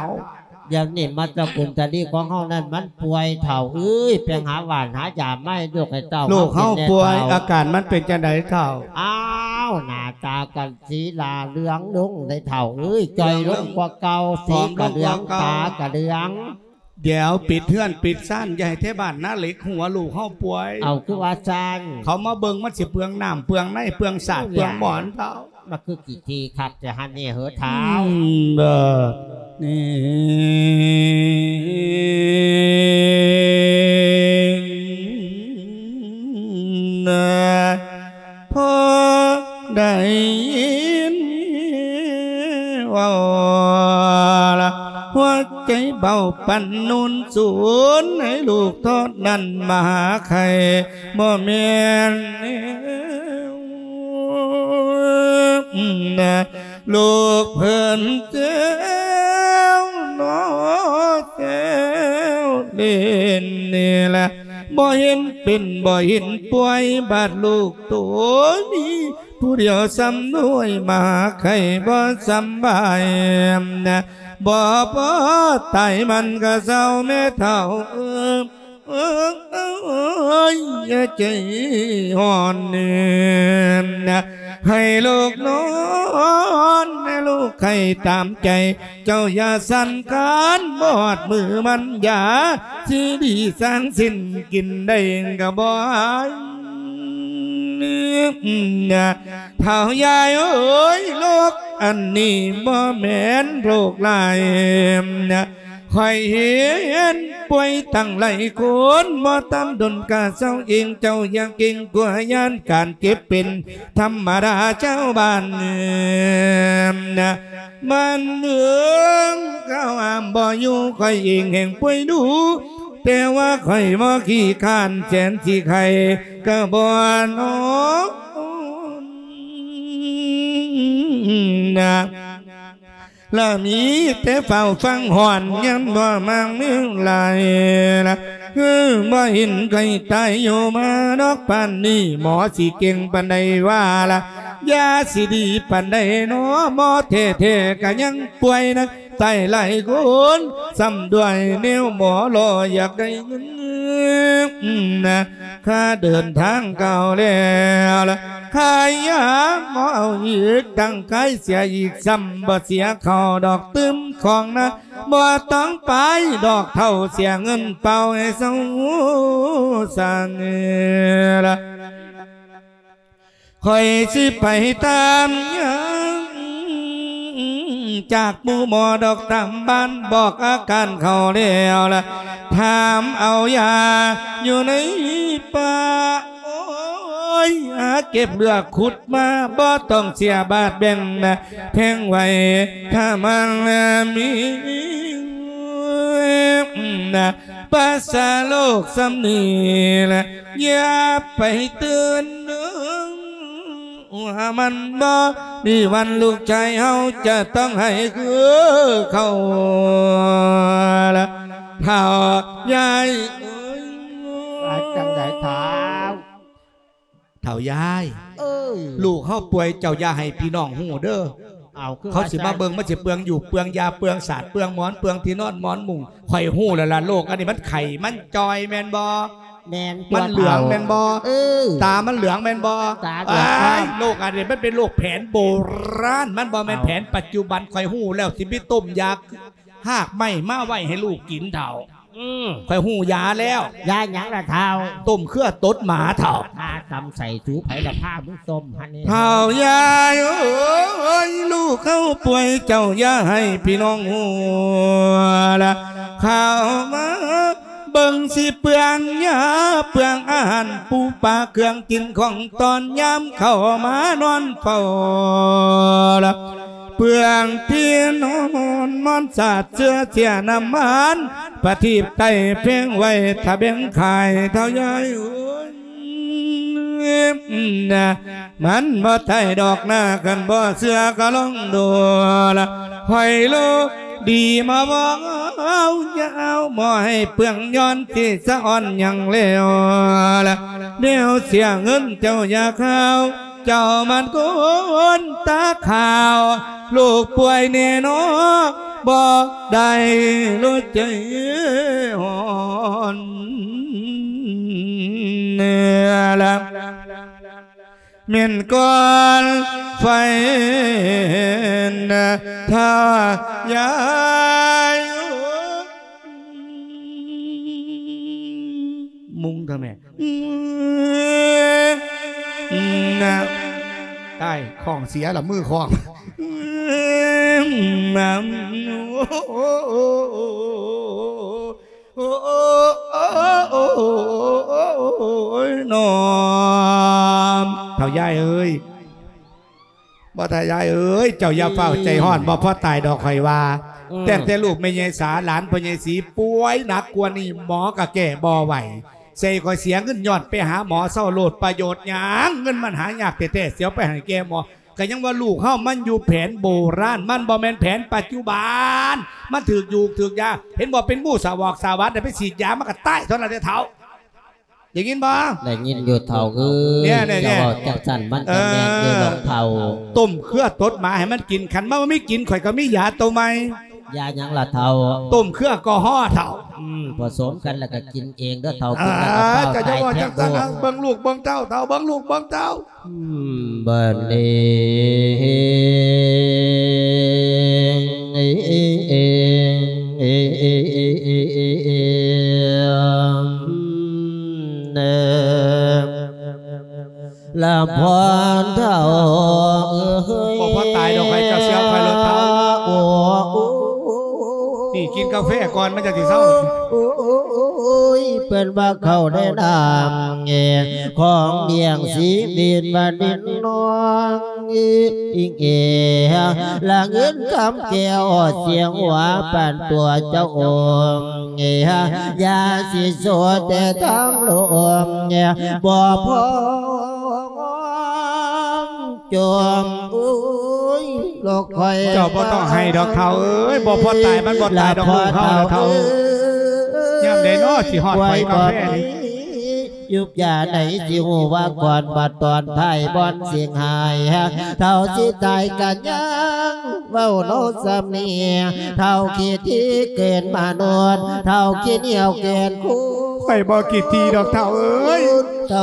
ດຽວນີ້ມາດຕະກຸນທະລີຂອງເຮົານັ້ນມັນປ່ວຍເຖົ້າເອີຍ ໄປຫາຫວ່ານຫາຢາມາໃຫ້ລູກໃຫ້ເຕົ້າ ລູກເຮົາປ່ວຍ ເຮົາກິນແດ່ເຖົ້າ. ອາການມັນເປັນຈັ່ງໃດເຖົ້າ? ອ້າວ ໜ້າຕາກັນສີຫຼ້າເຫຼືອງລົງໃດເຖົ້າເອີຍ ຈ່ອຍລົງກວ່າເກົ່າ ສີກະເຫຼືອງ ຕາກະເຫຼືອງ. ດຽວປິດເຮືອນປິດຊານ ຢ່າໃຫ້ແຖວບ້ານນາເຫຼັກຮູ້ວ່າລູກເຮົາປ່ວຍ. ເອົາ ຄືວ່າຊັ້ນ? ເຂົາມາເບິ່ງມັນຊິເປືອງນ້ຳເປືອງໃນ ເປືອງສາດເປືອງໝອນເຂົາ. ມັນຄືຂີ້ຖີ່ຄັກແຕ່ຫັ້ນນີ້ເຫີທ້າວ. ອືມ ເອີ ນີ້ ນະ ພໍໄດ້ຍິນເວົ້າລະ ຫົວໃຈເບົາປັນນູນສູນ ໃຫ້ລູກເທົ່ານັ້ນມາຫາໄຂ່ ບໍ່ແມ່ນແນວ ລູກເພິ່ນແຊວເນາະແຊວຫຼິ້ນນີ້ລະ ບໍ່ເຫັນເປັນບໍ່ເຫັນປ່ວຍ ບາດລູກໂຕມີຜູ້ດຽວສ່ຳນ້ອຍ ມາໄຂ່ບໍ່ສຳບາຍ ບໍ່ພໍຕາຍມັນກໍເຊົາແມ່ເຖົ້າເອີຍ. ເອີຍ ຢ່າໃຈຮ້ອນເນີນ ໃຫ້ລູກນອນ ໃຫ້ລູກໄຂ້ຕາມໃຈ ເຈົ້າຢ່າສັ່ນຄານ ບໍ່ຮອດມື້ມັນຢາ ຊິດີສາງສິ້ນ ກິນໄດ້ກໍບໍ່ໃຫ້ ເຖົ້າຍາຍເອີຍ ໂລກອັນນີ້ບໍ່ແມ່ນໂລກຮ້າຍ ຂ້ອຍເຫັນປ່ວຍຕັ້ງຫຼາຍຄົນ ບໍ່ຕາມດົນກະເຊົາເອງ ເຈົ້າຢ່າເກງກົວຢ້ານ ການເຈັບເປັນທຳມະດາຊາວບ້ານ ມັນເອີງເຂົາຫ້າມບໍ່ຢູ່ ຂ້ອຍເອງແຮ່ງປ່ວຍດຸ ແຕ່ວ່າຂ້ອຍບໍ່ຂີ້ຄ້ານ ແສນຊິໄຂ້ກະບໍ່ນອນ ລະມີແຕ່ເຝົ້າຟັງຮ້ອນ ຍາມບໍ່ມັກມີຫຼາຍລະ ຄືບໍ່ເຫັນໃຜຕາຍຢູ່ມາດອກປານນີ້ ໝໍຊິເກັ່ງປານໃດວ່າລະ ຢາຊິດີປານໃດນໍ ໝໍແທ້ໆກະຍັງປ່ວຍນະ ຕາຍຫຼາຍຄົນ ຊ້ຳດ້ວຍແນວໝໍລໍ ຢາກໄດ້ເງິນນະ ຄ່າເດີນທາງເກົ່າແລ້ວລະ ຄ່າຢາໝໍເອົາອີກ ຕັ້ງຂາຍເສຍອີກ ຊ້ຳບໍ່ເສຍເຂົ້າດອກ ຕື່ມຂອງນະ ບໍ່ຕ້ອງໄປດອກ ເຖົ້າເສຍເງິນເປົ່າ ໃຫ້ເຊົາຊັ້ນລະ. ຂ້ອຍຊິໄປຕາມຫຍັງ ຈາກໝູ່ໝໍດອກຕາມບ້ານ ບອກອາການເຂົາແລ້ວລະ ຖາມເອົາຢາຢູ່ໃນປ່າ ໂອ້ຍ ຫາເກັບເລືອກຂຸດມາ ບໍ່ຕ້ອງເສຍບາດແບ່ງນະ ແພງໄວ້ຖ້າມັນມີນະ ປາສາໂລກສ່ຳນີ້ແຫຼະ ຢ່າໄປຕື່ນເດີ ວ່າມັນບໍ່ມີວັນລູກຊາຍເຮົາຈະຕ້ອງໃຫ້ຄືເຂົາລະ ເຖົ້າຍາຍເອີຍ. ວ່າຈັ່ງໃດທ້າວ? ເຖົ້າຍາຍ ເອີ ລູກເຮົາປ່ວຍ ເຈົ້າຢ່າໃຫ້ພີ່ນ້ອງຮູ້ເດີ. ເອົາ ຄື ເຂົາຊິມາເບິ່ງ ມັນຊິເປືອງຢູບເປືອງຢາ ເປືອງສາດເປືອງໝອນ ເປືອງທີ່ນອນໝອນມຸ້ງ. ຂ້ອຍຮູ້ແລ້ວລະ ໂລກອັນນີ້ມັນໄຂ້ ມັນຈ່ອຍແມ່ນບໍ່? ແມ່ນ ມັນເຫຼືອງແມ່ນບໍ່? ເອີ ຕາມັນເຫຼືອງແມ່ນບໍ່? ຕາເຫຼືອງ ໂລກອັນນີ້ມັນເປັນໂລກແຜນໂບລານ ມັນບໍ່ແມ່ນແຜນປັດຈຸບັນ. ຂ້ອຍຮູ້ແລ້ວ ຊິໄປຕົ້ມຢາຮາກໄມ້ມາໄວ້ໃຫ້ລູກກິນເຖົ້າ. ອືມ ຂ້ອຍຮູ້ຢາແລ້ວ. ຢາຫຍັງລະທ້າວ? ຕົ້ມເຄືອຕົດໝາເຖົ້າ. ຂ້າຕຳໃສ່ສູ ໃຜລະພາມຶງຕົ້ມຫັ້ນນີ້? ເຖົ້າຍາຍເອີຍ ລູກເຮົາປ່ວຍ ເຈົ້າຢ່າໃຫ້ພີ່ນ້ອງຮູ້ລະ ເຂົ້າມາເບິ່ງຊິເປືອງຢາ ເປືອງອາຫານ ປູປາເຄື່ອງກິນຂອງຕອນ ຍາມເຂົ້າມານອນເຝົ້າລະ ເປືອງທີ່ນອນໝອນສາດ ເຊື້ອເສຍນ້ຳມັນ ປະທີບໄຕ້ແພງໄວ້ ຖ້າແບ່ງຂາຍເຖົ້າຍາຍເອີຍ ນະ ມັນບໍ່ໄດ້ດອກນາ ຄັນບໍ່ເຊື່ອກໍລອງດູລະ ຂ້ອຍໂລກດີມາເວົ້າຍາວ ບໍ່ໃຫ້ເປືອງຍ້ອນທີ່ສະອ່ອນຫຍັງແລ້ວລະ ແນວເສຍເງິນເຈົ້າຢ່າຄາວ ເຈົ້າມັນຄົນຕາຂາວ ໂລກປ່ວຍແນ່ນອ ບໍ່ໄດ້ໂລດໃຈຮ້ອນລະ ແມ່ນກ່ອນໄຟນະ ຖ້າຢາຍ ແມ່ ຕາຍ ຂ້ອງເສຍລະ ມືຂ້ອງ ໂອ້ຍ ນ້ອມ ເຖົ້າຍາຍເອີຍ ບໍ່ ເຖົ້າຍາຍເອີຍ ເຈົ້າຢ່າຟ້າວໃຈຮ້ອນ ອືມ ບໍ່ພໍຕາຍດອກ ຂ້ອຍວ່າ ອືມ ຕັ້ງແຕ່ລູກແມ່ໃຫຍ່ສາ ຫຼານພໍ່ໃຫຍ່ສີປ່ວຍໜັກກວ່ານີ້ ໝໍກໍແກ້ບໍ່ໄຫວ ໃສ່ຂ້ອຍເສຍເງິນຍ້ອນໄປຫາໝໍ ເຊົາໂລດ ປະໂຫຍດຫຍັງ ເງິນມັນຫາຍາກແທ້ໆ ຊິເອົາໄປໃຫ້ແກ່ໝໍ ກໍຍັງວ່າລູກເຮົາມັນຢູ່ແຜນໂບລານ ມັນບໍ່ແມ່ນແຜນປັດຈຸບັນ ມັນຖືກຢູກຖືກຢາ ເຫັນບໍ່ ເປັນງູສະຫວອກສະຫວັດ ໄດ້ໄປສີດຢາ ມັນກໍຕາຍເທົ່ານັ້ນແຫຼະເຖົ້າ ໄດ້ຍິນບໍ່? ໄດ້ຍິນຢູ່ເຖົ້າເອີຍ ເຈົ້າເວົ້າຈັກຊັ້ນມັນກໍແມ່ນຢູ່ດອກເຖົ້າ ຕົ້ມເຄືອຕົດໝາໃຫ້ມັນກິນ ຄັນມັນບໍ່ມີກິນ ຂ້ອຍກໍມີຢາໂຕໃໝ່ ຢາຫຍັງລະເຖົ້າ? ຕົ້ມເຄືອກໍຮໍເຖົ້າ ອືມ ປະສົມກັນແລ້ວກໍກິນເອງເດີເຖົ້າ ກິນແລ້ວກໍເຝົ້າຕາຍແທ້ໂລດ ເບິ່ງລູກເບິ່ງເຕົ້າເຖົ້າ ເບິ່ງລູກເບິ່ງເຕົ້າ ອືມ ບັດນີ້ ລະພອນເຖົ້າເອີຍ ບໍ່ພໍຕາຍດອກ ໃຫ້ເຈົ້າເຊື່ອຂ້ອຍໂລດເຖົ້າ ໂອ້ ນີ້ກິນກາແຟກ່ອນ ມັນຈັ່ງຊິເຊົາ ໂອ້ຍ ເພິ່ນວ່າເຂົ້າໃນນ້ຳ ຂອງລ້ຽງຊີວິດວ່າດິນນ້ອງ ອີງເອ ລະເງິນຄຳແກ້ວ ສຽງຫົວປັນຕົວເຈົ້າອົງ ຢ່າຊິໂສແຕ່ທາງລົມ ບໍ່ພໍຈົມ ໂອ້ຍ ລອກຂ້ອຍ ເຈົ້າບໍ່ຕ້ອງໄຫ້ດອກເຖົ້າເອີຍ ບໍ່ພໍຕາຍ ມັນບໍ່ຕາຍດອກລູກເຮົາລະເຖົ້າ ຍາມໃດເນາະຊິຮອດໄຟກາແຟນີ້ ຢຸບຢາໃດຊິຮູ້ວ່າກ່ອນ ບັດຕອນທ້າຍບ່ອນຊິຫາຍ ເຖົ້າຊິຕາຍກະຍັງເວົ້າເນາະສ່ຳນີ້ ເຖົ້າຂີ້ຖີ່ເກີນມະນຸດ ເຖົ້າຂີ້ໜຽວເກີນຄູນ ຂ້ອຍບໍ່ຂີ້ຖີ່ດອກເຖົ້າເອີຍ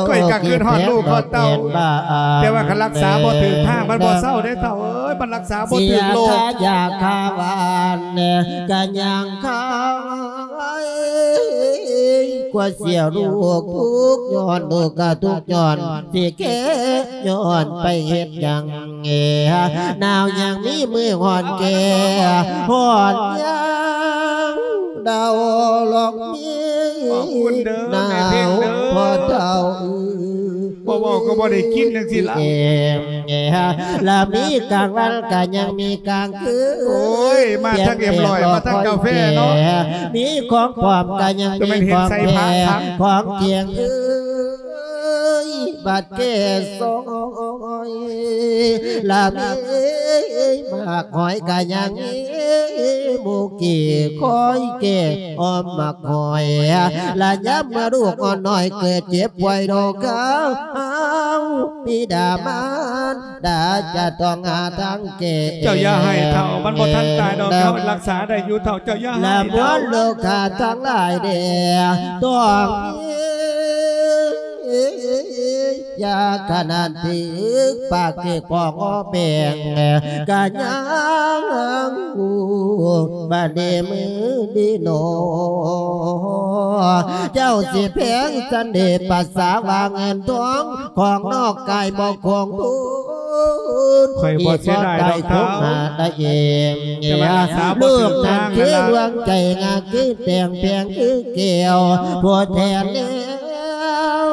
ຂ້ອຍກໍຄິດຮອດລູກຮອດເຕົ້າ ແຕ່ວ່າຄັນລັກສາບໍ່ຖືກທາງ ມັນບໍ່ເຊົາເດ້ເຖົ້າເອີຍ ມັນລັກສາບໍ່ຖືກໂລກ ຢາຄາຫວານ ກະຍັງຄາຍ ກວ່າເສຍລູກທຸກຍ້ອນ ລູກກະທຸກຍ້ອນ ຊິແກ່ຍ້ອນໄປເຮັດຫຍັງ ໜາວຍັງມີມື້ຮ້ອນແກ່ ຮ້ອນຍັງດາວລອກມີ ຂອບຄຸນເດີແມ່ເພັງເດີ ໜາວພໍເຖົ້າ ບໍ່ເວົ້າກໍບໍ່ໄດ້ກິນຈັ່ງຊີ້ລະ ເອ ລະມີກາງວັນກະຍັງມີກາງຄືນ ໂອ້ຍ ມາທັງເອັມຮ້ອຍ ມາທັງກາແຟເນາະ ມີຂອງປອມກະຍັງມີຂອງແທ້ ຂອງຈຽງເອີຍ ບາດແກ່ຊອຍ ລະມີໝາກຫອຍກະຍັງມີ ໝູ່ກີ້ຄອຍແກ່ອ້ອມໝາກຫອຍ ລະຍາມເມື່ອລູກອ່ອນນ້ອຍເກີດເຈັບປ່ວຍໂລກາ ເຮົາບິດາມານດາຈະຕ້ອງຫາທາງແກ້ ເຈົ້າຢ່າໄຫ້ເຖົ້າ ມັນບໍ່ທັນຕາຍດອກເຖົ້າ ລັກສາໄດ້ຢູ່ເຖົ້າ ເຈົ້າຢ່າໄຫ້ເຖົ້າ ລະມວນໂລກາທັງຫຼາຍແດ່ ຕ້ອງມີ ຢ່າຂະໜາດຖືກປາກຖືກປອງອ້ອແປງ ກະຍັງຮູ້ບັດນີ້ມື້ດີໜໍ ເຈົ້າຊິແພງສັນເດ ປາສາວ່າເງິນທອງ ຂອງນອກກາຍບໍ່ຄົງບຸນ ຂ້ອຍບໍ່ເສຍດາຍດອກເຖົ້າ ແຕ່ວ່າລັກສາບໍ່ຖືກທາງ ລູກນັ້ນຄືດວງໃຈ ງາມຄືແຕ່ງແພງຄືແກ້ວ ຜູ້ແທນແລ້ ວ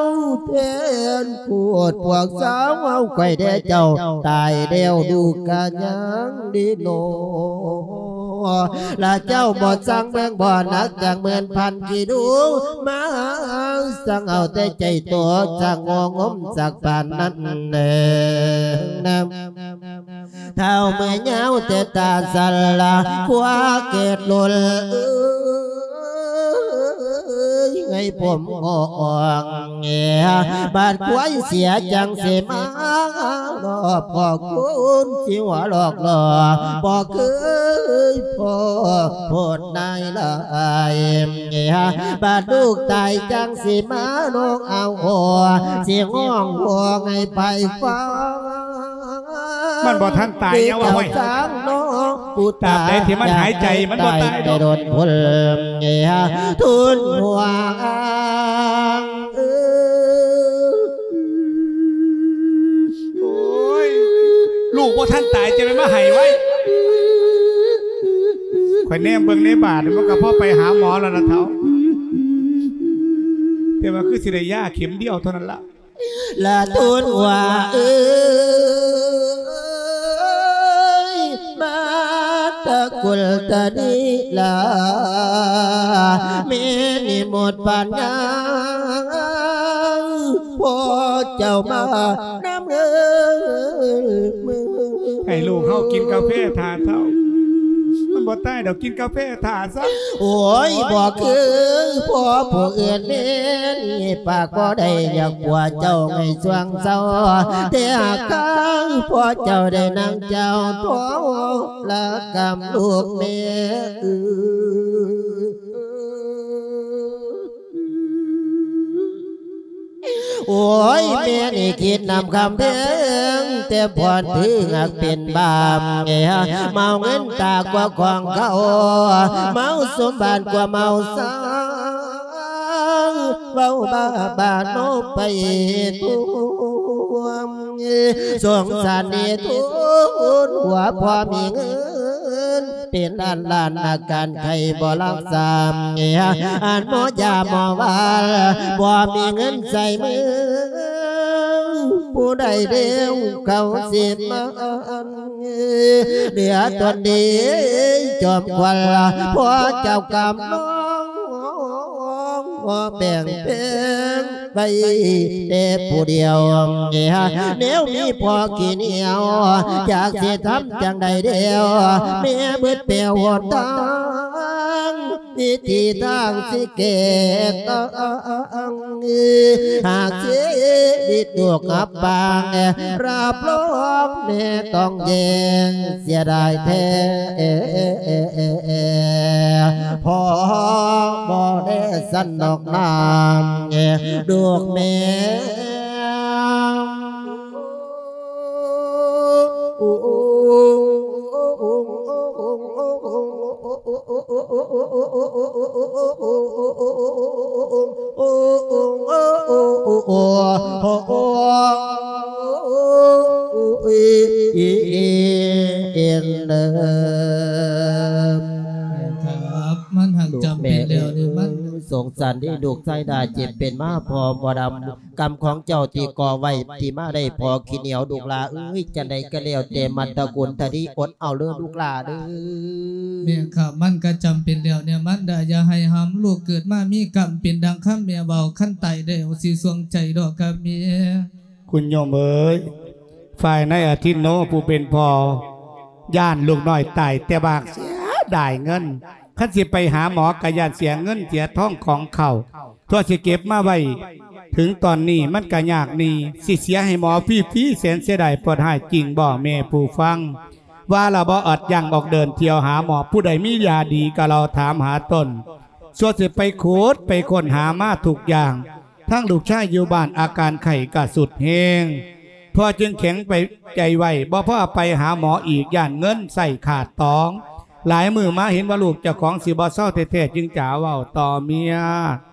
ແທນໂຄດພວກສາວເຮົາ ຂ້ອຍແດ່ເຈົ້າຕາຍແລ້ວ ລູກກະຍັງດີໜໍ ລະເຈົ້າບໍ່ສັ່ງເບິ່ງບໍ່ໜັກຈັກໝື່ນພັນກິໂລ ມາສັ່ງເອົາແຕ່ໃຈໂຕ ສັ່ງງໍງົມສັກປານນັ້ນແລະ ເຖົ້າເມື່ອຍາວແຕ່ຕາສັນລະ ຄວາເກີດລຸນເອີຍ ໃຫ້ຜົມງອກ ບາດຄວາຍເສຍຈັ່ງຊິມາລອບ ພໍ່ຄູນຊິຫົວຫຼອກຫຼໍ່ ບໍ່ເຄີຍພໍ້ໂພດນາຍຫຼາຍ ບາດລູກຕາຍຈັ່ງຊິມາຮ້ອງອ້າວໂອ ຊິຮ້ອງຮ້ອງໃຫ້ໃຜຟັງ ມັນບໍ່ທັນຕາຍ ຢ່າວ່າໄວ້ ຕາບໃດທີ່ມັນຫາຍໃຈ ມັນບໍ່ຕາຍດອກ ທຸນຫົວ ບໍ່ທັນຕາຍ ຈະໄປມາໃຫ້ໄວ. ຂ້ອຍແນມເບິ່ງໃນບາດ ມັນກໍພໍໄປຫາໝໍແລ້ວລະເຖົ້າ ແຕ່ວ່າຄືຊິໄດ້ຢາເຂັມດຽວເທົ່ານັ້ນລະ. ລະທູນວ່າເອີຍ ມາຕະກຸນຕະນີລາ ມີນິມິດປັນຍາ ພໍ່ເຈົ້າມານຳເອີຍເມືອ. ໃຫ້ລູກເຮົາກິນກາແຟຖ້າເຖົ້າ ມັນບໍ່ຕາຍດອກ ກິນກາແຟຖ້າຊະ. ໂອ້ຍ ບໍ່ຄືພໍ່ຜູ້ອື່ນແມ່ນ ປາກບໍ່ໄດ້ຢາກຜົວເຈົ້າໃຫ້ຊ່ວງເຊົາ ແຕ່ຫາກຂ້າງພໍ່ເຈົ້າໄດ້ນາງເຈົ້າ ໂທລະກຳລູກແມ່ເອີຍ. ໂອ້ຍ ແມ່ນີ້ຄິດນຳຄຳເພັງ ແຕ່ພອນຖືຫາກເປັນບາບ ເມາເງິນຕາກວ່າຂອງເຂົາ ເມົາສົມບັດກວ່າເມົາຊາ ເວົ້າບ້າບາໂນໄປທົ່ວ ສົງສານເດທຸນ ວ່າພໍມີເງິນ ເປັນລ້ານລ້ານ ອາການໄຂ້ບໍ່ຮັກສາ ອັນໝໍຢາໝໍຫວານ ບໍ່ມີເງິນໃສ່ມື ຜູ້ໃດເດວເຂົາຊິມາ ເຫຼືອຕົນດີຈອມຄວັນ ພໍ່ເຈົ້າກຳນອງ ແບ່ງແພງໄວ້ແຕ່ຜູ້ດຽວ ແນວມີພໍ່ຂີ້ໜຽວ ຈັກຊິທຳຈັ່ງໃດແລ້ວ ແມ່ເບິດແປວຫົນທາງ ວິທີທາງຊິແກ້ຕ່າງ ຫາກຊີວິດລູກອັບປາງ ຮັບຮອງແມ່ຕ້ອງແຍງ ເສຍດາຍແທ້ ພໍ່ບໍ່ແລສັນດອກນາງ ລູກແມ່. ຄັບ ມັນຫາກຈຳເປັນແລ້ວນີ້ ມັນສົງສານເດ ລູກຊາຍດາເຈັບເປັນມາ ພໍ່ບໍ່ດຳ ກຳຂອງເຈົ້າທີ່ກໍ່ໄວ້ ທີ່ມາໄດ້ພໍ່ຂີ້ໜຽວ ລູກຫຼ້າເອີຍ ຈັ່ງໃດກໍແລ້ວແຕ່ ມັດຕະກຸນທະດີ ອົດເອົາເດີລູກຫຼ້າເດີ. ແມ່ນຄັບ ມັນກໍຈຳເປັນແລ້ວແນວມັນດາ ຢ່າໃຫ້ຫຳ ລູກເກີດມາມີກຳເປັນດັ່ງຄຳແມ່ເວົ້າ ຄັນຕາຍແລ້ວຊິສວງໃຈດອກຄັບແມ່. ຄຸນໂຍມເອີຍ ຝ່າຍນາຍອາທິນໂນຜູ້ເປັນພໍ່ ຢ້ານລູກນ້ອຍຕາຍແຕ່ບາກ ເສຍດາຍເງິນ ຄັນຊິໄປຫາໝໍກໍຢ້ານເສຍເງິນເສຍທອງຂອງເຂົາ ທົ່ວຊິເກັບມາໄວ້ ເຖິງຕອນນີ້ມັນກະຍາກໜີ້ ຊິເສຍໃຫ້ໝໍຟຣີໆ ແສນເສຍດາຍ ປວດຮ້າຍຈິງບໍ່ແມ່ຜູ້ຟັງ? ວ່າລະບໍ່ອອດຢ່າງອອກເດີນທ່ຽວຫາໝໍ ຜູ້ໃດມີຢາດີກໍເລົ່າຖາມຫາຕົນ ສ່ວນຊິໄປຂຸດໄປຄົ້ນຫາມາທຸກຢ່າງ ທັງລູກຊາຍຢູ່ບ້ານອາການໄຂ້ກະສຸດແຮງ ພໍ່ຈຶ່ງແຂງໄປໃຈໄວ້ ບໍ່ພໍໄປຫາໝໍອີກ ຢ້ານເງິນໃຊ້ຂາດຕອງ ຫຼາຍມື້ມາເຫັນວ່າລູກເຈົ້າຂອງຊິບໍ່ເຊົາແທ້ໆ ຈຶ່ງຈະເວົ້າຕໍ່ເມຍ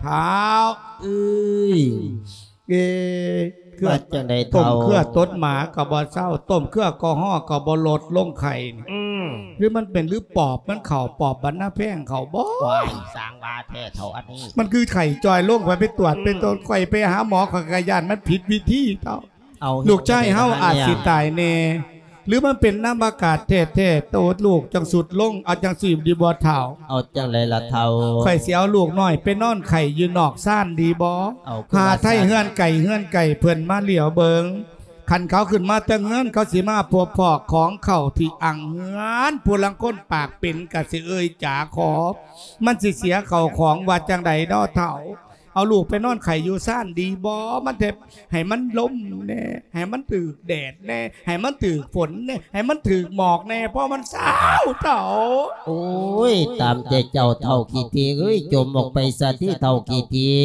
ທ້າວເອີຍ ເອີ ເຄືອ ວ່າຈັ່ງໃດ ຕົ້ມເຖົ້າ ເຄືອຕົດໝາກໍບໍ່ເຊົາ ຕົ້ມເຄືອແອລກໍຮໍກໍບໍ່ລົດລົງໄຂ້ນີ້ ອືມ ຫຼືມັນເປັນ ຫຼືປອບມັນເຂົ້າ ປອບບັນນາແພງເຂົ້າບໍ່? ວ້າຍ ສ້າງວ່າແທ້ເຖົ້າ ອັນນີ້ ມັນຄືໄຂ້ຈ່ອຍລົງ ຂ້ອຍໄປຕວດ ອືມ ໄປຕົວດ ຂ້ອຍໄປຫາໝໍ ຂ້ອຍກໍຢ້ານມັນຜິດວິທີເຖົ້າ. ເອົາ ລູກຊາຍເຮົາອາດຊິຕາຍແນ່ ຫຼືມັນເປັນນຳອາກາດແທ້ໆ ໂຕລູກຈັ່ງສຸດລົງ ເອົາຈັ່ງຊີ້ດີບໍ່ເຖົ້າ? ເອົາຈັ່ງໃດລະເຖົ້າ? ຂ້ອຍຊິເອົາລູກນ້ອຍໄປນອນໄຂ້ຢູ່ນອກຊານດີບໍ່? ເອົາ ຫາໄທເຮືອນໄກເຮືອນໄກເພິ່ນມາຫຼຽວເບິ່ງ ຄັນເຂົາຂຶ້ນມາແຕ່ເຮືອນ ເຂົາຊິມາພົບພໍ້ຂອງເຂົາທີ່ອັ່ງເຮືອນ ຜູ້ລາງຄົນປາກເປັນກະຊິເອີ່ຍຈາຂໍ ມັນຊິເສຍເຂົ້າຂອງ ວ່າຈັ່ງໃດເນາະເຖົ້າ? ເອົາລູກໄປນອນໄຂ້ຢູ່ຊານດີບໍ່? ມັນແທບ ໃຫ້ມັນລົມແດ່ ໃຫ້ມັນຖືກແດດແດ່ ໃຫ້ມັນຖືກຝົນແດ່ ໃຫ້ມັນຖືກໝອກແດ່ ພໍມັນຊາວເຖົ້າ. ໂອ້ຍ ຕາມແຕ່ເຈົ້າເຖົ້າຂີ້ຖີ່ເອີຍ ຈົ່ມອອກໄປຊະຕິເຖົ້າຂີ້ຖີ່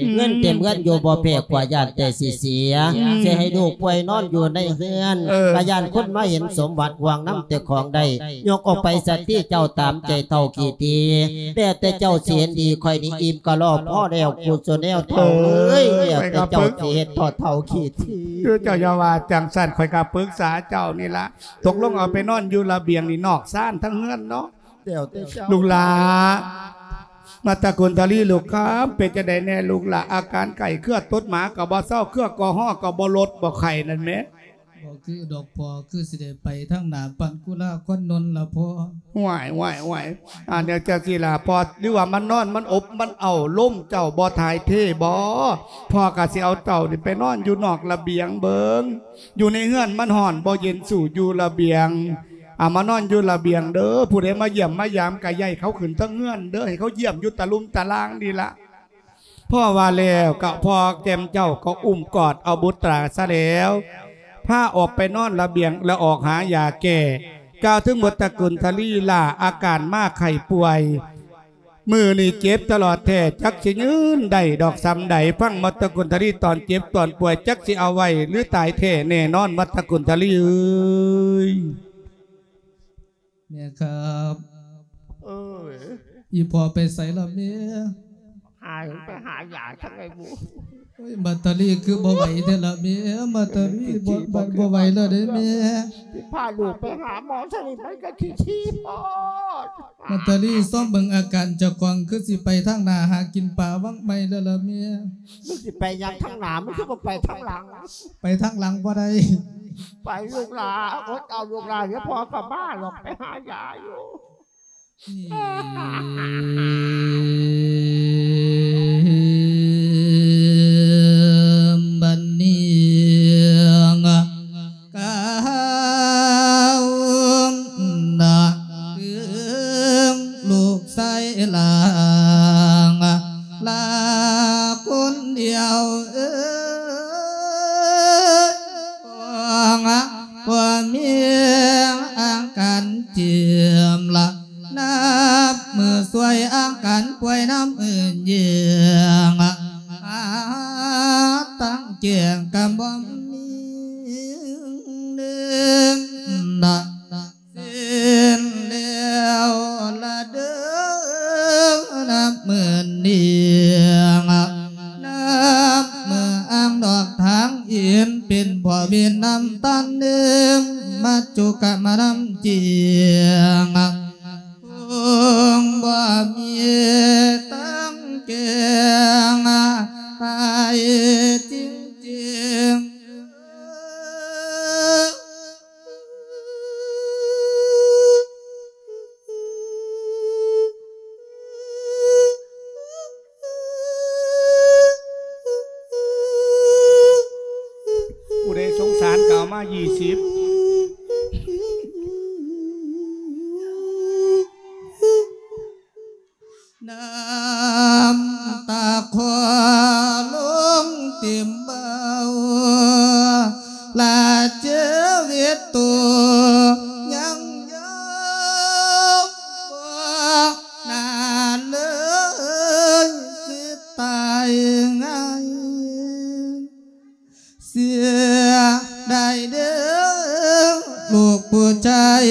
ອືມ ເງິນເຕັມເຮືອນຢູ່ ບໍ່ແພ້ກວ່າຢ້ານແຕ່ຊິເສຍ ອືມ ຊິໃຫ້ລູກປ່ວຍນອນຢູ່ໃນເຮືອນ ເອີ ກະຢ້ານຄົນມາເຫັນສົມບັດ ຫວງນຳແຕ່ຂອງໄດ້ ຍົກອອກໄປຊະຕິເຈົ້າ ຕາມໃຈເຖົ້າຂີ້ຖີ່ ແລ້ວແຕ່ເຈົ້າຊິເຫັນດີ ຂ້ອຍນີ້ອີ່ມກະລອກພໍແລ້ວ. ເຈົ້າແນວເຖົ້າເອີຍ ແລ້ວແຕ່ເຈົ້າຊິເຮັດເຖົ້າໆຂີ້ຖີ່. ຄືເຈົ້າຢ່າວ່າຈັ່ງຊັ້ນ ຂ້ອຍກໍປຶກສາເຈົ້ານີ້ລະ ຕົກລົງເອົາໄປນອນຢູ່ລະບຽງນີ້ ນອກຊານທັງເຮືອນເນາະ. ແລ້ວແຕ່ເຈົ້າ ລູກຫຼ້າ ມາດຕະກຸນທະລີລູກຄຳ ເປັນຈັ່ງໃດແດ່ລູກຫຼ້າ? ອາການໄຂ້ເຄືອຕົດໝາກໍບໍ່ເຊົາ ເຄືອກໍຮໍກໍບໍ່ລົດ ບໍ່ໄຂ້ນັ້ນແໝ. ບໍ່ຄືດອກພໍ່ ຄືຊິໄດ້ໄປທາງໜ້າປານກຸລາຄອນນົນລະພໍ່. ຫ້ວຍ ຫ້ວຍ ຫ້ວຍ ອາ ແນວຈັ່ງຊີ້ລະພໍ່ ຫຼືວ່າມັນນອນ ມັນອົບ ມັນເອົາ ລົມເຈົ້າບໍ່ຖ່າຍເທບໍ? ພໍ່ກໍຊິເອົາເຈົ້ານີ້ໄປນອນຢູ່ນອກລະບຽງເບິ່ງ ຢູ່ໃນເຮືອນມັນຮ້ອນບໍ່ເຢັນ ສູ້ຢູ່ລະບຽງ. ອາ ມານອນຢູ່ລະບຽງເດີ້ ຜູ້ໃດມາຢ້ຽມມາຢາມກໍຢ່າໃຫ້ເຂົາຂຶ້ນເທິງເຮືອນເດີ້ ໃຫ້ເຂົາຢ້ຽມຢູ່ຕະລຸ່ມຕະລ່າງນີ້ລະ. ພໍວ່າແລ້ວກໍພໍ່ແຈ່ມເຈົ້າກໍອຸ້ມກອດເອົາບຸດຕາຊະແລ້ວ ພາອອກໄປນອນລະບຽງ ແລະ ອອກຫາຢາແກ້. ກ່າວເຖິງໝົດຕະກຸນທະລີ ຫຼ້າອາການມາໄຂ້ປ່ວຍ ມື້ນີ້ເຈັບຕະຫຼອດແທ້ ຈັກຊິຢືນໄດ້ດອກສ່ຳໃດ. ຟັງໝົດຕະກຸນທະລີຕອນເຈັບຕອນປ່ວຍ ຈັກຊິເອົາໄວ້ ຫຼືຕາຍແທ້ແນ່ນອນ ໝົດຕະກຸນທະລີເອີຍ. ແມ່ຄັບ ເອີຍ ອີ່ພໍ່ໄປໃສລະແມ່? ຫາ ໄປຫາຢາທາງໃດບຸ? ໂອ້ຍ ມາດຕາລີຄືບໍ່ໄຫວແທ້ລະແມ່? ມາດຕາລີບໍ່ ບໍ່ ບໍ່ໄຫວແລ້ວເດ້ແມ່. ຊິພາລູກໄປຫາໝໍຊະນີ້ ມັນກໍຂີ້ຖີ່ໂພດ. ມາດຕາລີຊອມເບິ່ງອາການເຈົ້າຂອງ ຄືຊິໄປທາງໜ້າຫາກິນປາວັງໃໝ່ແລ້ວລະແມ່. ມຶງຊິໄປຫຍັງທາງໜ້າ ມຶງຄືບໍ່ໄປທາງຫຼັງ? ໄປທາງຫຼັງບໍ່ໄດ້. ໄປລູກຫຼ້າ ອົດເອົາລູກຫຼ້າ ດຽວພໍ່ກໍມາດອກ ໄປຫາຢາຢູ່. ບັດນີ້ ກ່າວນະ ເຖິງລູກຊາຍຫຼາງ ຫຼ້າຄົນດຽວເອີຍ ຂອງ ບໍ່ມີອາການເຈັບລະ ນັບມື້ຊ່ວຍອາການປ່ວຍນຳອື່ນແຍງ ຫາທາງແກ້ກໍບໍ່ມີເດີນະ. ສິ້ນແລ້ວລະເດີ ນັບມື້ນີ້ ນັບມື້ອ່າງດອກທາງເອັນ ເປັນພໍ່ເວນນຳຕານເດີ ມາຈຸກະມານຳຈິງ ຄົງບໍ່ມີທາງແກ້ໄຂຈິງໆ. ຜູ້ໃດສົງສານກໍເອົາມາ ຊາວ. ນ້ຳຕາຂໍລົງເຕັມເບົາ ລະເຈີເວດໂຕຍັງເຍົາ ບໍ່ນານເລີຍຊິຕາຍງ່າຍ. ເສຍດາຍເດີລູກຜູ້ຊາຍ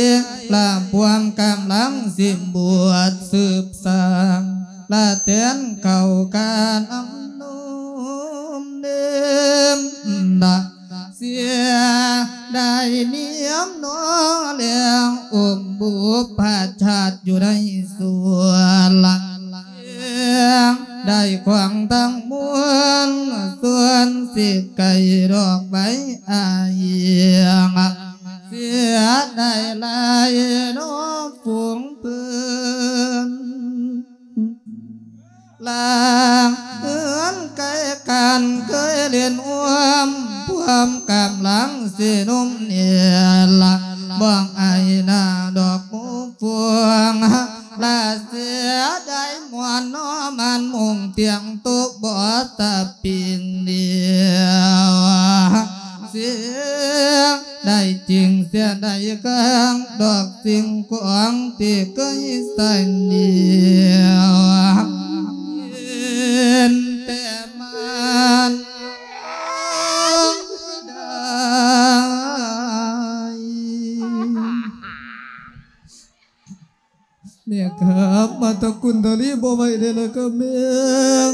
ລະພວມກຳລັງຊິບວດສືບສ້າງ ລະແທນເຂົ້າການອຳນົມເດີມ ລະເສຍດາຍນຽມນໍແລງ ອົມບຸບພະຊາດຢູ່ໃນສວນລະ ໄດ້ຂວາງທັງມວນ ສ່ວນສິໄກດອກໃບອາຍຽງ ເສຍດາຍຫຼາຍນໍຝູງເພິ່ນ ລາງເຮືອນໄກກັນເຄີຍຫຼິ້ນຮ່ວມ ພວມກຳລັງຊິໜຸ່ມເນລະ ບອກອາຍໜ້າດອກໝູ່ຟວງ ລະເສຍດາຍມ່ວນນໍ ອັນມຸງຕຽງໂຕະບໍ່ສະປິງດຽວ ເສຍດາຍຈິງ ເສຍດາຍເຄື່ອງດອກສິ່ງຂອງທີ່ເຄີຍສະໜຽວ ເຫັນແຕ່ມານດາ ແມ່ຄັບ ມາຕະກຸນທະລີບໍ່ໄຫວແລ້ວລະຄັບແມ່.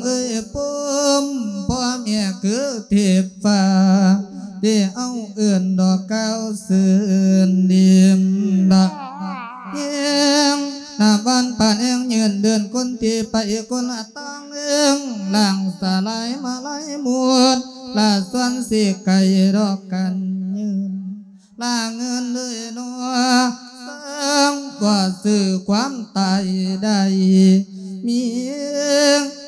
ເອີຍ ພູມພໍ່ແມ່ຄືເທບຟ້າ ທີ່ເອົາເອີ້ນດອກກ່າວຊື່ນດີນດາ ແຮງນາວັນປານແຮງຍືນເດີນຄົນທີ່ໄປຄົນລະຕ່າງເອີງ ລ່າງສະຫຼາຍມາໄລໝົດ ລະສ່ວນຊິໄກດອກກັນຍືນ ລາເງິນເລີຍເນາະ ເຊິ່ງບໍ່ຊື້ຄວາມຕາຍໄດ້ ມີ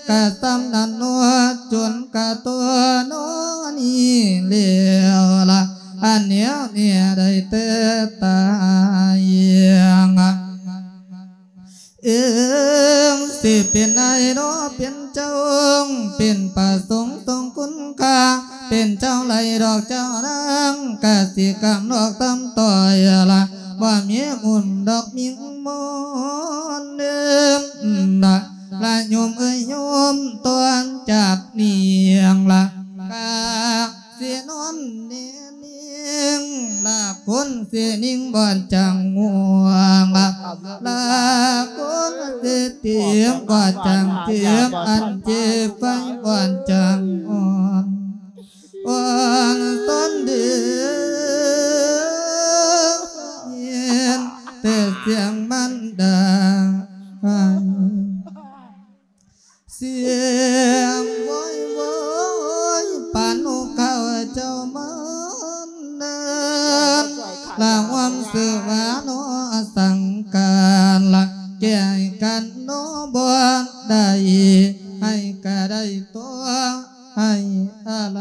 ກະສ່ຳນັ້ນເນາະ ຈົນກະຕົວເນາະນີ້ແລ້ວລະ ອັນແນວນີ້ໄດ້ແຕ່ຕາຍ ເອີງ ຊິເປັນນາຍເນາະ ເປັນເຈົ້າ ເປັນພະສົງຊົງຄຸນຄ່າ ເປັນເຈົ້າໄລ່ດອກເຈົ້ານາງ ກະສິກຳນອກຕຳຕ້ອຍລະ ບໍ່ມີມູນດອກມິງມອນເດີມລະ ລະໂຍມເອີຍໂຍມ ຕອນຈາກນີ້ລະ ກະ ຊິນອນແນ່ນິ່ງລະ ຄົນຊິນິ່ງບໍ່ຈັກງ່ວງລະ ລະຄົນຊິເຈັບບໍ່ຈັກເຈັບ ອັນເຈັບໄປບໍ່ຈັກອ່ອນ ອ່ອນຕົນເດີ ຍິນແຕ່ສຽງມັນດາ ສຽງໂວຍໂວຍ ປານນົກເຂົາເຈົ້າມັນເດີນ ລະຫວມຊື່ວ່າເນາະ ສັງການລະ ແກ້ກັນເນາະບໍ່ໄດ້ ໃຫ້ກະໄດ້ຕົວ ໃຫ້ອາໄລ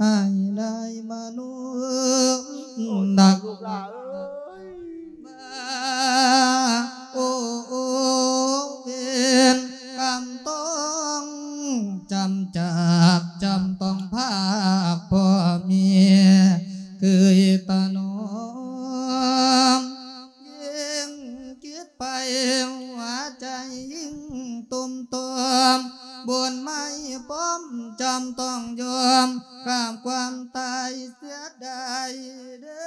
ໃຫ້ໄດ້ມະນຸດ ໂອ້ ໂອ້ ໂອ້ ເວນກຳຕ້ອງຈຳຈາກ ຈຳຕ້ອງພາກພໍ່ແມ່ ເຄີຍຕະໜອມ ຍິ່ງຄິດໄປຫົວໃຈຍິ່ງຕຸ່ມໂຕມ ບຸນໄມ້ປ້ອມຈຳຕ້ອງຍອມ ຂ້າມຄວາມຕາຍເສຍດາຍເດີ.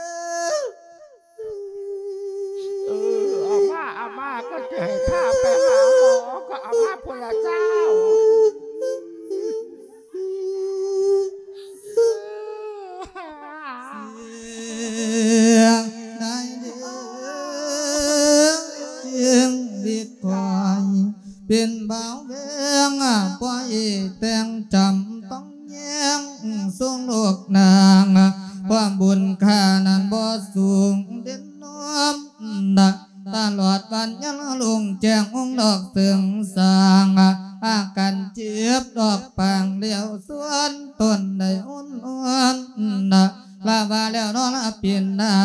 ເອີ ເອົາມາ ເອົາມາ ກໍຈະໃຫ້ພາໄປຫາໝໍ ກໍເອົາມາພຸ້ນລະເຈົ້າ. ເສຍດາຍເດີ ຊີວິດຂ້ອຍ ເປັນບ່າວແວງ ປ່ອຍແຕ່ງຈຳຕ້ອງແຍງ ຊົງໂລກນາງ ຄວາມບຸນຄ່ານັ້ນບໍ່ສູງເດັ່ນນອມ ຕະຫຼອດວັນຍັງລຸງແຈ້ງ ອົງດອກເສີງສາງ ອາການເຈັບດອກປາງຫຼຽວສວນ ຕົນໄດ້ອົນອອນ ລະວ່າແລ້ວເນາະລະປິ່ນໜ້າ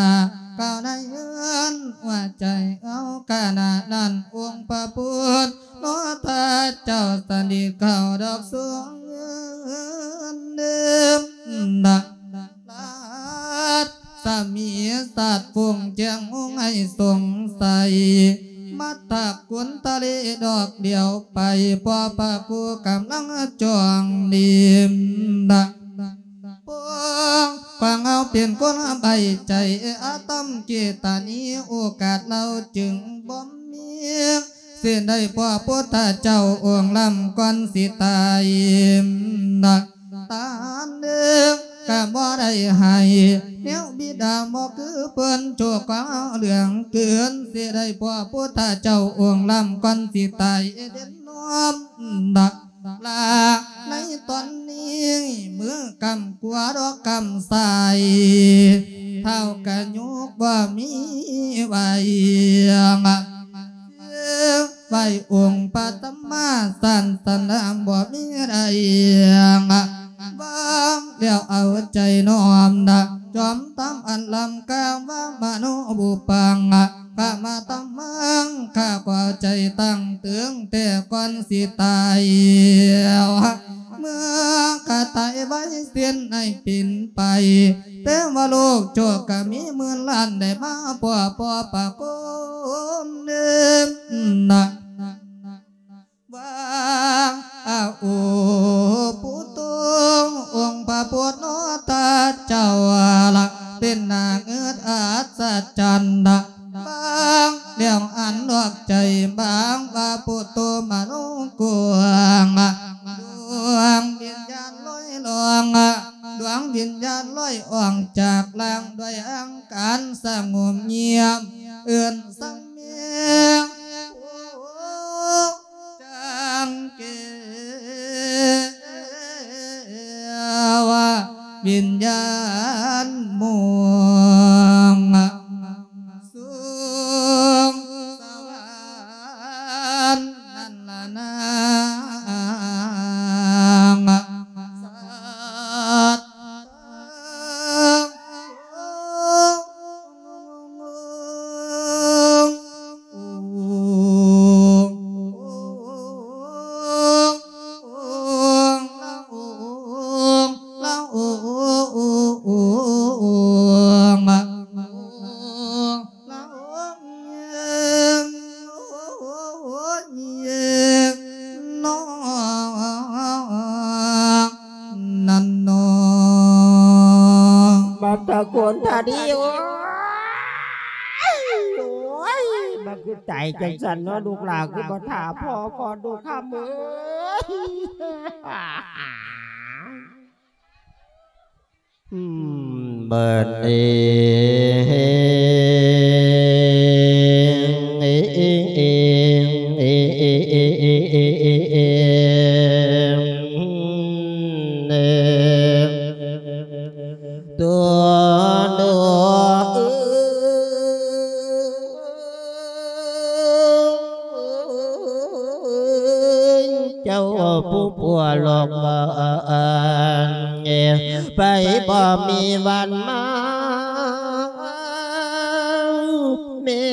ກ່າວໃນເຮືອນວ່າໃຈເອົາຂະນະນັ້ນ ອົງພະພຸດທະເຈົ້າສັນດິດເຂົ້າດອກສວງເງິນເດີມນະ ລາດສະໝີສັດຝູງແຈ້ງຫົງໃຫ້ສົງໄສ ມັດຕະກຸນທະເລດອກດຽວໄປ ເພາະພະຄູກຳລັງຈອງດີມນະ ພວກຂວາງເຮົາເປັນຄົນໃບໃຈອາຕຳເກຕານີ ໂອກາດເຮົາຈຶ່ງບໍ່ມີ ຊິໄດ້ພໍ້ພຸດທະເຈົ້າອົງລ້ຳກ່ອນຊິຕາຍນະ ຕານເດີກະບໍ່ໄດ້ໃຫ້ ແນວບິດາບໍ່ຄືເພິ່ນ ໂຊກຂອງເຮົາເຫຼືອງເກີນ ຊິໄດ້ພໍ້ພຸດທະເຈົ້າອົງລ້ຳກ່ອນຊິຕາຍເດັ່ນນອມນະ ລະໃນຕອນນີ້ ມື້ກຳຂວາດອກກຳຊ້າຍ ທ້າວກະຍົກບໍ່ມີໄຫວ ໄຫວ້ອົງພະສຳມາສຳພຸດທະສະ ບໍ່ມີໃດ ວາງແລ້ວເອົາໃຈນ້ອມນະ ຈອມທຳອັນລ້ຳຄ່າ ວາມະໂນບູປັງ ຂະມະທຳມັງ ຂ້າຂໍໃຈຕັ້ງເຖິງແຕ່ກ່ອນຊິຕາຍ ເມື່ອຂ້າຕາຍໄວສິ້ນໃຫ້ປິ່ນໄປ ເທວະໂລກໂຈກະມີໝື່ນລ້ານ ໄດ້ມາພໍ້ພໍ່ປະໂຄມເນີມນະ ວ່າ ອາ ໂອ ປຸໂຕ ອົງພະພຸດທະເຈົ້າລະ ເປັນໜ້າເງືອດອັດສະຈັນນະ ບາງແລ້ວອັນນອກໃຈ ບາງວ່າພຸດໂທມະໂນກົງ ດວງວິນຍານລອຍລ່ອງ ດວງວິນຍານລອຍອ່ອງຈາກຮ່າງ ດ້ວຍອັງການສະຫງົບງຽບ ເອີ້ນສັງເມ ໂອ ຈັງເກວະ ວິນຍານມົງ ສຸງສະຫວັນນັ້ນລະນາງ ສາທຸ ນັ້ນເນາະ ບັດຕະໂກນທາດີ ໂອ້ຍ ໂອ້ຍ ມັນຄືຕາຍຈັ່ງຊັ້ນເນາະ ລູກຫຼານຄືບໍ່ຖ້າພໍ່ກ່ອນ ລູກຄຳເອີຍ. ອືມ ບັດນີ້ ຕົວໂຕເອີຍ ເຈົ້າຜູ້ປົວຫຼອກວ່າ ໄປບໍ່ມີວັນມາ ແມ່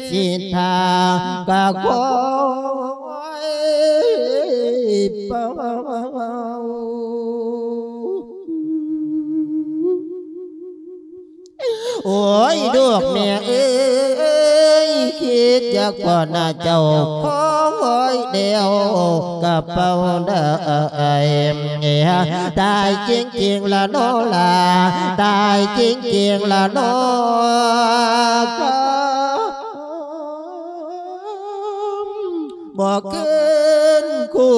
ສິນທາກະຂໍເປົ່າ. ໂອ້ຍ ລູກແມ່ເອີຍ ຄິດຢາກປ້ອນນະເຈົ້າ ຂໍໄວ້ແລ້ວກະເປົ່າໄດ້ ຕາຍຈິງໆລະເນາະຫຼາ ຕາຍຈິງໆລະເນາະ ບໍ່ຄືນຄູ່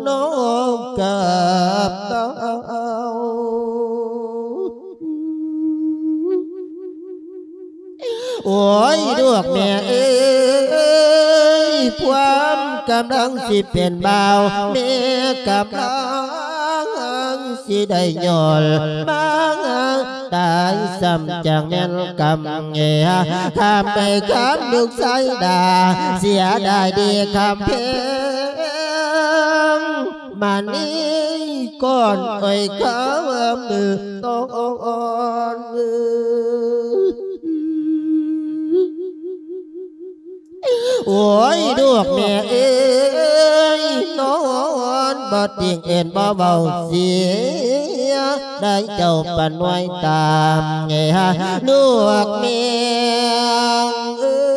ນ້ອງກັບເຕົ້າ. ໂອ້ຍ ລູກແມ່ເອີຍ ພວມກຳລັງຊິເປັນບ່າວ ແມ່ກຳລັງຊິໄດ້ຍ້ອນມາ ຕາຍຊ້ຳຈັ່ງແມ່ນກຳ ຂ້າມໄປຄຳລູກຊາຍດ່າ ເສຍດາຍເດຄຳແພງ ມານີ້ກ່ອນອ້ອຍຄຳເອີ ຕ້ອງອ່ອນເອີ. ໂອ້ຍ ລູກແມ່ເອີຍ ນອນບໍ່ຕິງເອີ້ນບໍ່ເວົ້າ ເສຍດາຍເຈົ້າປານນ້ອຍຕາມ ລູກແມ່ເອີຍ.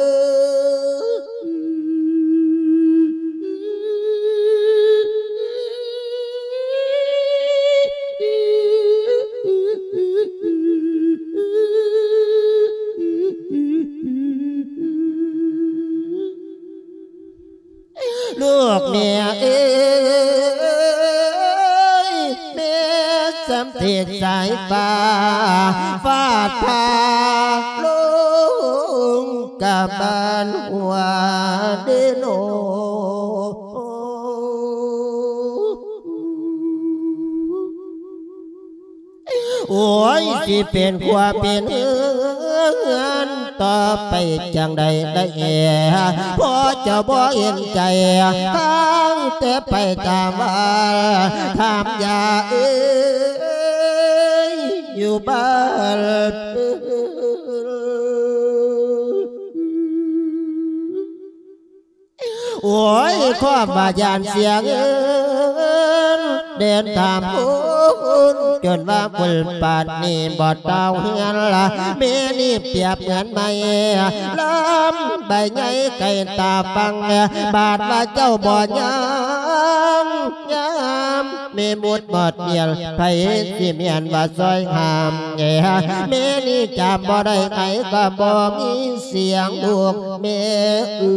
ລູກແມ່ເອີຍ ແມ່ສຳເພັດສາຍຟ້າ ຟ້າຜ່າລົງກະບານຫົວເດໂນ. ໂອ້ຍ ຊິເປັນຄົວເປັນເຮືອນຕໍ່ໄປຈັ່ງໃດໄດ້ແອ ພໍ່ເຈົ້າບໍ່ເຫັນໃຈ ທາງແຕ່ໄປຕາມວ່າ ຖາມຢາເອີ. ຢູ່ບ້ານ. ໂອ້ຍ ຄວາມວ່າຢ້ານເສຍເງິນ ເດີນຕາມຄົນ ຈົນວ່າບຸນປານນີ້ບໍ່ເຕົາເຮືອນລະ ແມ່ນີ້ປຽບເໝືອນໄມ້ລຳໃບໃຫຍ່ໄກຕາຟັງ ບາດວ່າເຈົ້າບໍ່ຍັງຍາມ ແມ່ໝົດໝອດມຽນ ໃຜຊິແມ່ນວ່າຊ່ອຍຫ້າມແດ່ ແມ່ນີ້ຈຳບໍ່ໄດ້ໃຜກໍບໍ່ມີສຽງລູກແມ່ເອີ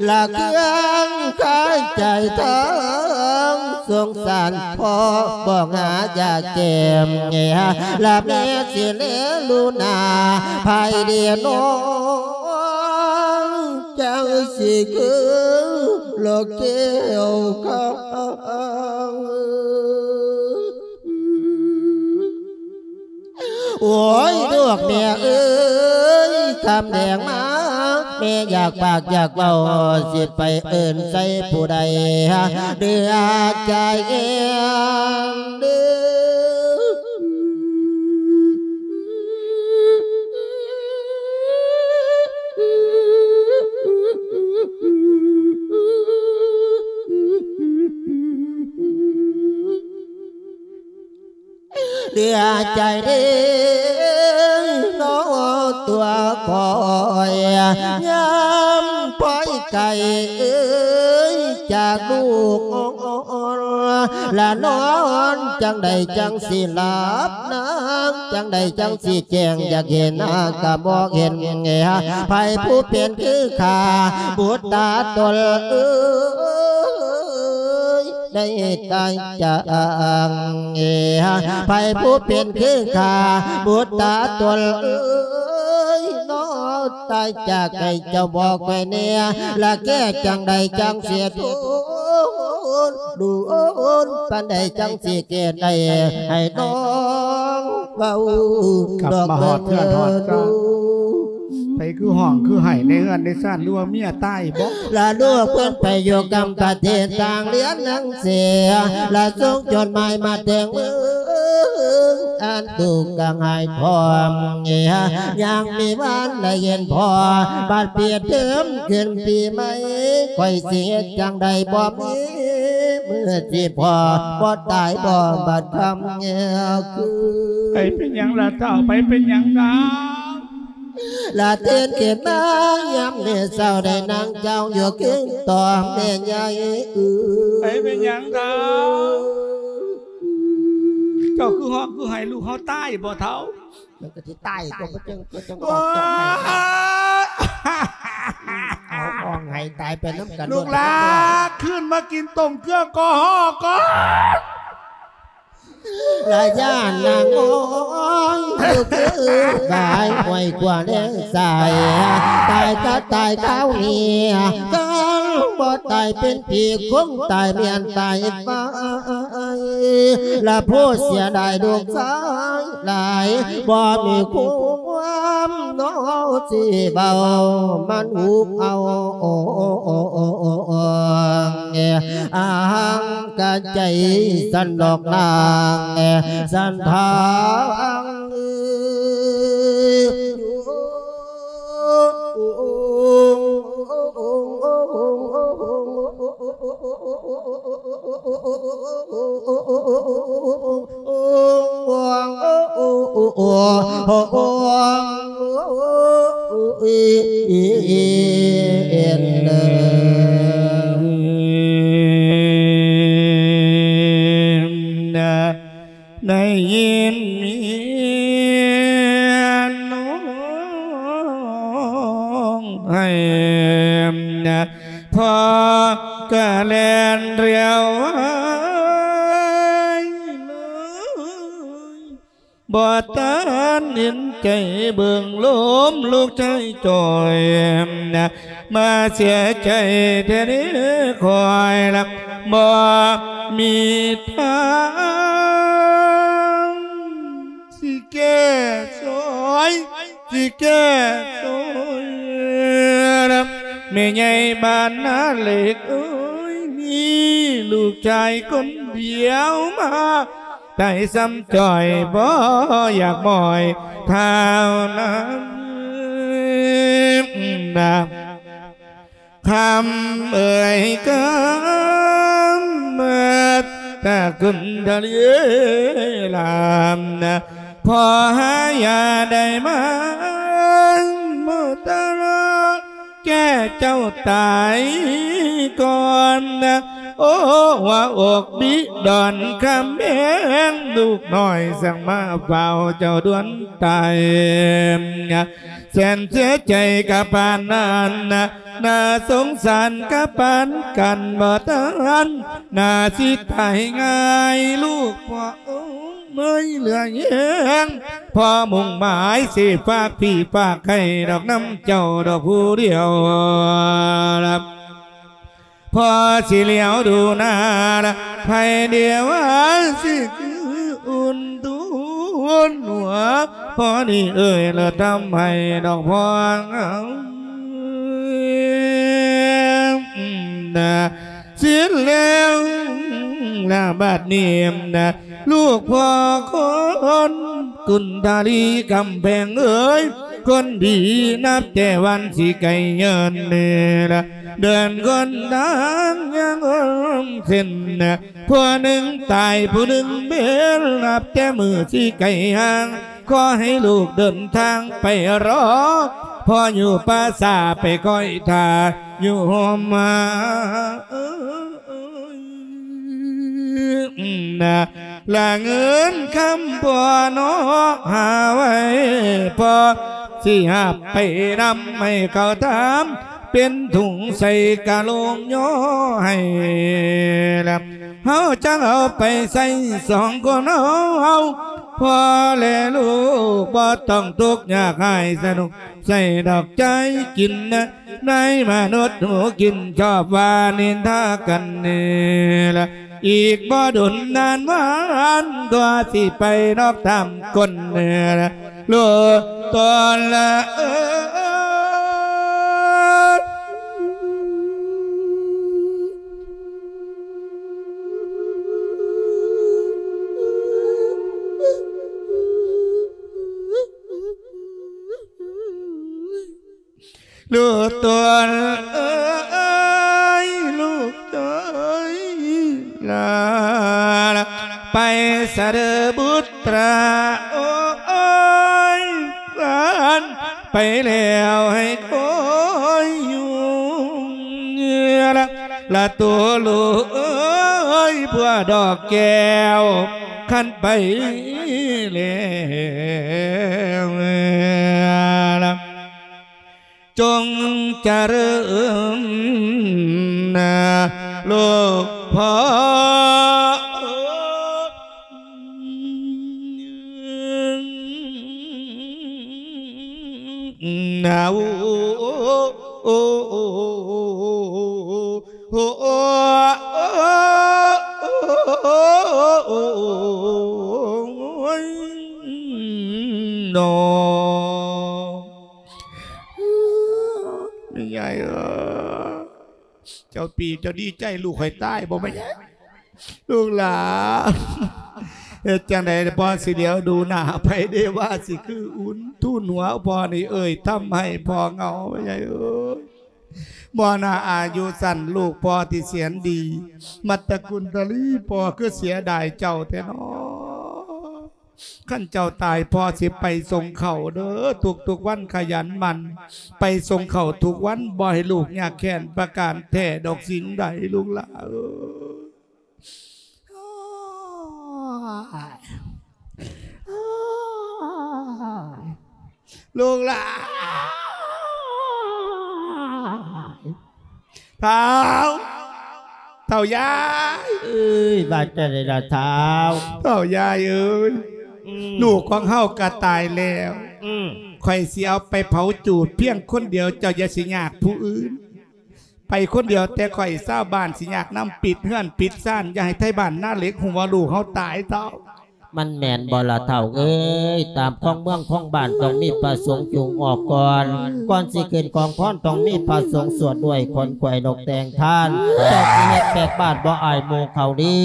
ຍ. ລະເຄື່ອງຄາຍໃຈທັງສົງສານ ພໍ່ບໍ່ຫາຢາແກ້ມ ລະແມ່ຊິແລລູໜ້າ ໃຜເດນ້ອງ ຈັ່ງຊິຄືລອກແກ້ວຄາງ. ໂອ້ຍ ລູກແມ່ເອີຍ ຄຳແດງມາ ແມ່ຢາກປາກຢາກເວົ້າ ຊິໄປເອີ້ນໃສ່ຜູ້ໃດ ເດືອໃຈເອງເດີ. ເຫຼືອໃຈເດ້ ເນາະ ຕົວຂ້ອຍ ຍາມພອຍໄກເອີຍ ຈາກລູກ ລະນອນຈັ່ງໃດຈັ່ງຊິຫຼັບນາງ ຈັ່ງໃດຈັ່ງຊິແຈ້ງ ຢາກເຫັນໜ້າກໍບໍ່ເຫັນ ໃຜຜູ້ເປັນຄືຂ້າບຸດຕາຕົນເອີຍ ໄດ້ຕາຍຈາກ ໃຜຜູ້ເປັນຄືຂ້າບຸດຕາຕົນເອີຍ ເນາະ ຕາຍຈາກໃຫ້ເຈົ້າບອກຂ້ອຍແດ່ ລະແກ້ຈັ່ງໃດຈັ່ງຊິທົນ ໂດນປານໃດຈັ່ງຊິແກ້ໄດ້ ໃຫ້ນ້ອງເວົ້າ ກັບມາຮອດເຮືອນຮອດຊານ ດອກເດີ ໃຜຄືຮ້ອງຄືໄຫ້ໃນເຮືອນໃນຊານ ຫຼືວ່າເມຍຕາຍບໍ? ລະລູກເພິ່ນໄປຢູ່ກຳປະເທດຕ່າງລຽນໜັງສື ລະສົ່ງຈົດໝາຍມາແຕ່ງເມືອງ ອັນ ທຸກກະຫາຍພ້ອມ ຍັງມີວານໄດ້ເຫັນພໍ່ ບັດປິດເທີມຂຶ້ນປີໃໝ່ ຂ້ອຍຊິເຮັດຈັ່ງໃດບໍ່ມີມື້ຊິພໍ ບໍ່ຕາຍບໍ່ບັດຄຳແງຄື. ໃຜເປັນຫຍັງລະເຖົ້າ? ໃຜເປັນຫຍັງນາ? ລະຕື່ນຂຶ້ນມາຍາມມື້ເຊົ້າ ໄດ້ນັ່ງເຈົ້າຢູ່ຄືຕໍ່ແມ່ໃຫຍ່ເອີຍ. ໃຜເປັນຫຍັງເຖົ້າ? ເຈົ້າຄືຮ້ອງຄືໄຫ້ ລູກເຮົາຕາຍບໍ່ເຖົ້າ? ມັນກໍຊິຕາຍຕົວະ ເພິ່ນຈຶ່ງ ເພິ່ນຈຶ່ງອອກຈາກໄຮ່ ເອົາ ຮ້ອງໄຫ້ຕາຍໄປນຳກັນ ລູກຫຼານ ຄືນມາກິນຕົ້ມເກືອກໍຮອກກ່ອນ. ລະຢ້ານນາງນ້ອຍ ຄືບາຍຫ້ວຍຂວາແລງຊ້າຍ ຕາຍກໍຕາຍຄາວນີ້ ຄັນບໍ່ຕາຍເປັນຜີ ຄົງຕາຍແມ່ນຕາຍໄຟ ລະຜູ້ເສຍດາຍລູກຊາຍຫຼາຍ ບໍ່ມີຄວາມເນາະຊິເວົ້າ ມັນຫູກເອົາ ອາງກະໃຈສັນດອກນາງ ສັນທາງ ໄດ້ຍິນເມຍນ້ອງໄຫ້ ພໍ່ກະແລ່ນລຽວໄວເລີຍ ບໍ່ທັນເຫັນໃຈເບິ່ງລົມ ລູກຊາຍຈ່ອຍ ມາເສຍໃຈແທ້ເດ້ຂ້ອຍລະ ບໍ່ມີທາງ ຊິແກ້ຊ່ອຍ ຊິແກ້ຊ່ອຍ ແມ່ໃຫຍ່ບ້ານນາເຫຼັກເອີຍ ລູກຊາຍຄົນດຽວມາ ຕາຍຊ້ຳຈ້ອຍບໍ່ຢາກໝ້ອຍເທົ່ານັ້ນນະ. ຄຳເອີຍຄຳ ແມ່ນຕາກຸນທະລີລາມນະ ພໍ່ຫາຢາໄດ້ມາ ໝໍຕະລາແກ່ເຈົ້າຕາຍກ່ອນນະ. ໂອ້ ຫົວອົກບິດອນຄຳແພງ ລູກນ້ອຍສັ່ງມາເຝົ້າເຈົ້າດ່ວນຕາຍນະ. ແສນເສຍໃຈກະປານນັ້ນນະ ໜ້າສົງສານກະປານກັນບໍ່ທັນ ໜ້າຊິຕາຍງ່າຍລູກພໍ່ເອີຍເຫຼືອແຮງ ພໍ່ມຸ່ງໝາຍຊິຝາກພີ່ຝາກໄຂ່ດອກນຳເຈົ້າດອກຜູ້ດຽວລະ. ພໍ່ຊິຫຼຽວດູໜ້າລະ ໃຜເດວ່າຊິຄືອຸ່ນຕູນຫົວ ພໍ່ນີ້ເອີຍລະທຳໃຫ້ດອກພໍ່ເຮົານະ. ສິ້ນແລ້ວລະບາດນີ້ນະ ລູກພໍ່ຄົນກຸນທາລີກຳແພງເອີຍ ຄົນດີນັບແຕ່ວັນຊິໄກເງິນນີ້ລະ ເດີນຄົນທາງຍັງເສັ້ນນະ ຜູ້ໜຶ່ງຕາຍຜູ້ໜຶ່ງເປັນ ນັບແຕ່ມື້ຊິໄກຫ່າງ ຂໍໃຫ້ລູກເດີນທາງໄປລໍ ພໍ່ຢູ່ປ່າຊ້າໄປຄອຍຖ້າຢູ່ໂຮມມາ. ນະ ລະເງິນຄຳພໍ່ເນາະ ຫາໄວ້ພໍ່ຊິຮັບໄປນຳ ໃຫ້ເຂົາຖາມເປັນຖົງໃສ່ກະໂລງຍໍໃຫ້ລະ ເຮົາຈັ່ງເອົາໄປໃຊ້ສອງຄົນເຮົາ ພໍ່ແລະລູກບໍ່ຕ້ອງທຸກຍາກຮ້າຍ ສະໜຸກໃສ່ດອກໃຈກິນນະ ໃນມະນຸດຫູກິນຊອບວ່ານິນທາກັນນີ້ລະ ອີກບໍ່ດົນນານວານຕົວະຊິໄປນອກຕາມກົ້ນນີ້ລະ ໂລດຕອນລະເອີຍ ລູກຕົວເອີຍ ລູກເອີຍ ລາ ລາ ໄປສະເດີບຸດຕາ ໂອ້ຍ ເພິ່ນໄປແລ້ວໃຫ້ຄອຍຢູ່ ລາ ລາ ໂຕລູກເອີຍ ບົວດອກແກ້ວ ຄັນໄປແລ້ວ ລາ ຈົ່ງຈະເລີນນາ ລູກພໍ່ ນາ ໂອ້ ໂອ້ ໂອ້ ຍ ເນາະ ແມ່ໃຫຍ່ເອີຍ ເຈົ້າປີເຈົ້າດີໃຈລູກຂ້ອຍຕາຍບໍ່ແມ່ໃຫຍ່? ລູກຫຼານ ເຮັດຈັ່ງໃດພໍ່ຊິຫຼຽວດູໜ້າໃຜເດ ວ່າຊິຄືອຸ່ນທູນຫົວພໍ່ນີ້ເອີຍ ທຳໃຫ້ພໍ່ເຫງົາ ແມ່ໃຫຍ່ເອີຍ. ບໍ່ໜ້າອາຍຸສັ້ນ ລູກພໍ່ທີ່ແສນດີ ມັດຕະກຸນທະລີ ພໍ່ຄືເສຍດາຍເຈົ້າແທ້ເນາະ. ຄັນເຈົ້າຕາຍ ພໍ່ຊິໄປສົ່ງເຂົ້າເດີ ທຸກໆວັນຂະຫຍັນໝັ່ນ ໄປສົ່ງເຂົ້າທຸກວັນ ບໍ່ໃຫ້ລູກຍາກແຄ້ນປະການແທ້ດອກສິ່ງໃດ ລູກຫຼາເອີຍ. ລູກຫຼາ ທ້າວ ເຖົ້າຍາຍ ເອີຍ ວ່າຈັ່ງໃດລະທ້າວ? ເຖົ້າຍາຍເອີຍ ອືມ ລູກຂອງເຮົາກະຕາຍແລ້ວ ອືມ ຂ້ອຍຊິເອົາໄປເຜົາຈູດພຽງຄົນດຽວ ເຈົ້າຢ່າຊິຍາກຜູ້ອື່ນ ໄປຄົນດຽວແຕ່ຂ້ອຍ ຊາວບ້ານຊິຍາກນຳ ປິດເຮືອນປິດຊານ ຢ່າໃຫ້ໄທບ້ານນາເຫຼັກຮູ້ວ່າລູກເຮົາຕາຍເຖົ້າ. ມັນແມ່ນບໍ່ລະເຖົ້າເອີຍ? ຕາມຂອງເມືອງຂອງບ້ານຕ້ອງມີພະສົງຈູງອອກກ່ອນ, ກ່ອນຊິຂຶ້ນກອງພອນຕ້ອງມີພະສົງສວດດ້ວຍ ຂົນຂວາຍນົກແຕ່ງທ່ານ. ເຈົ້າຊິເຮັດແບບບາດບໍ່ອາຍໝູ່ເຂົາດີ,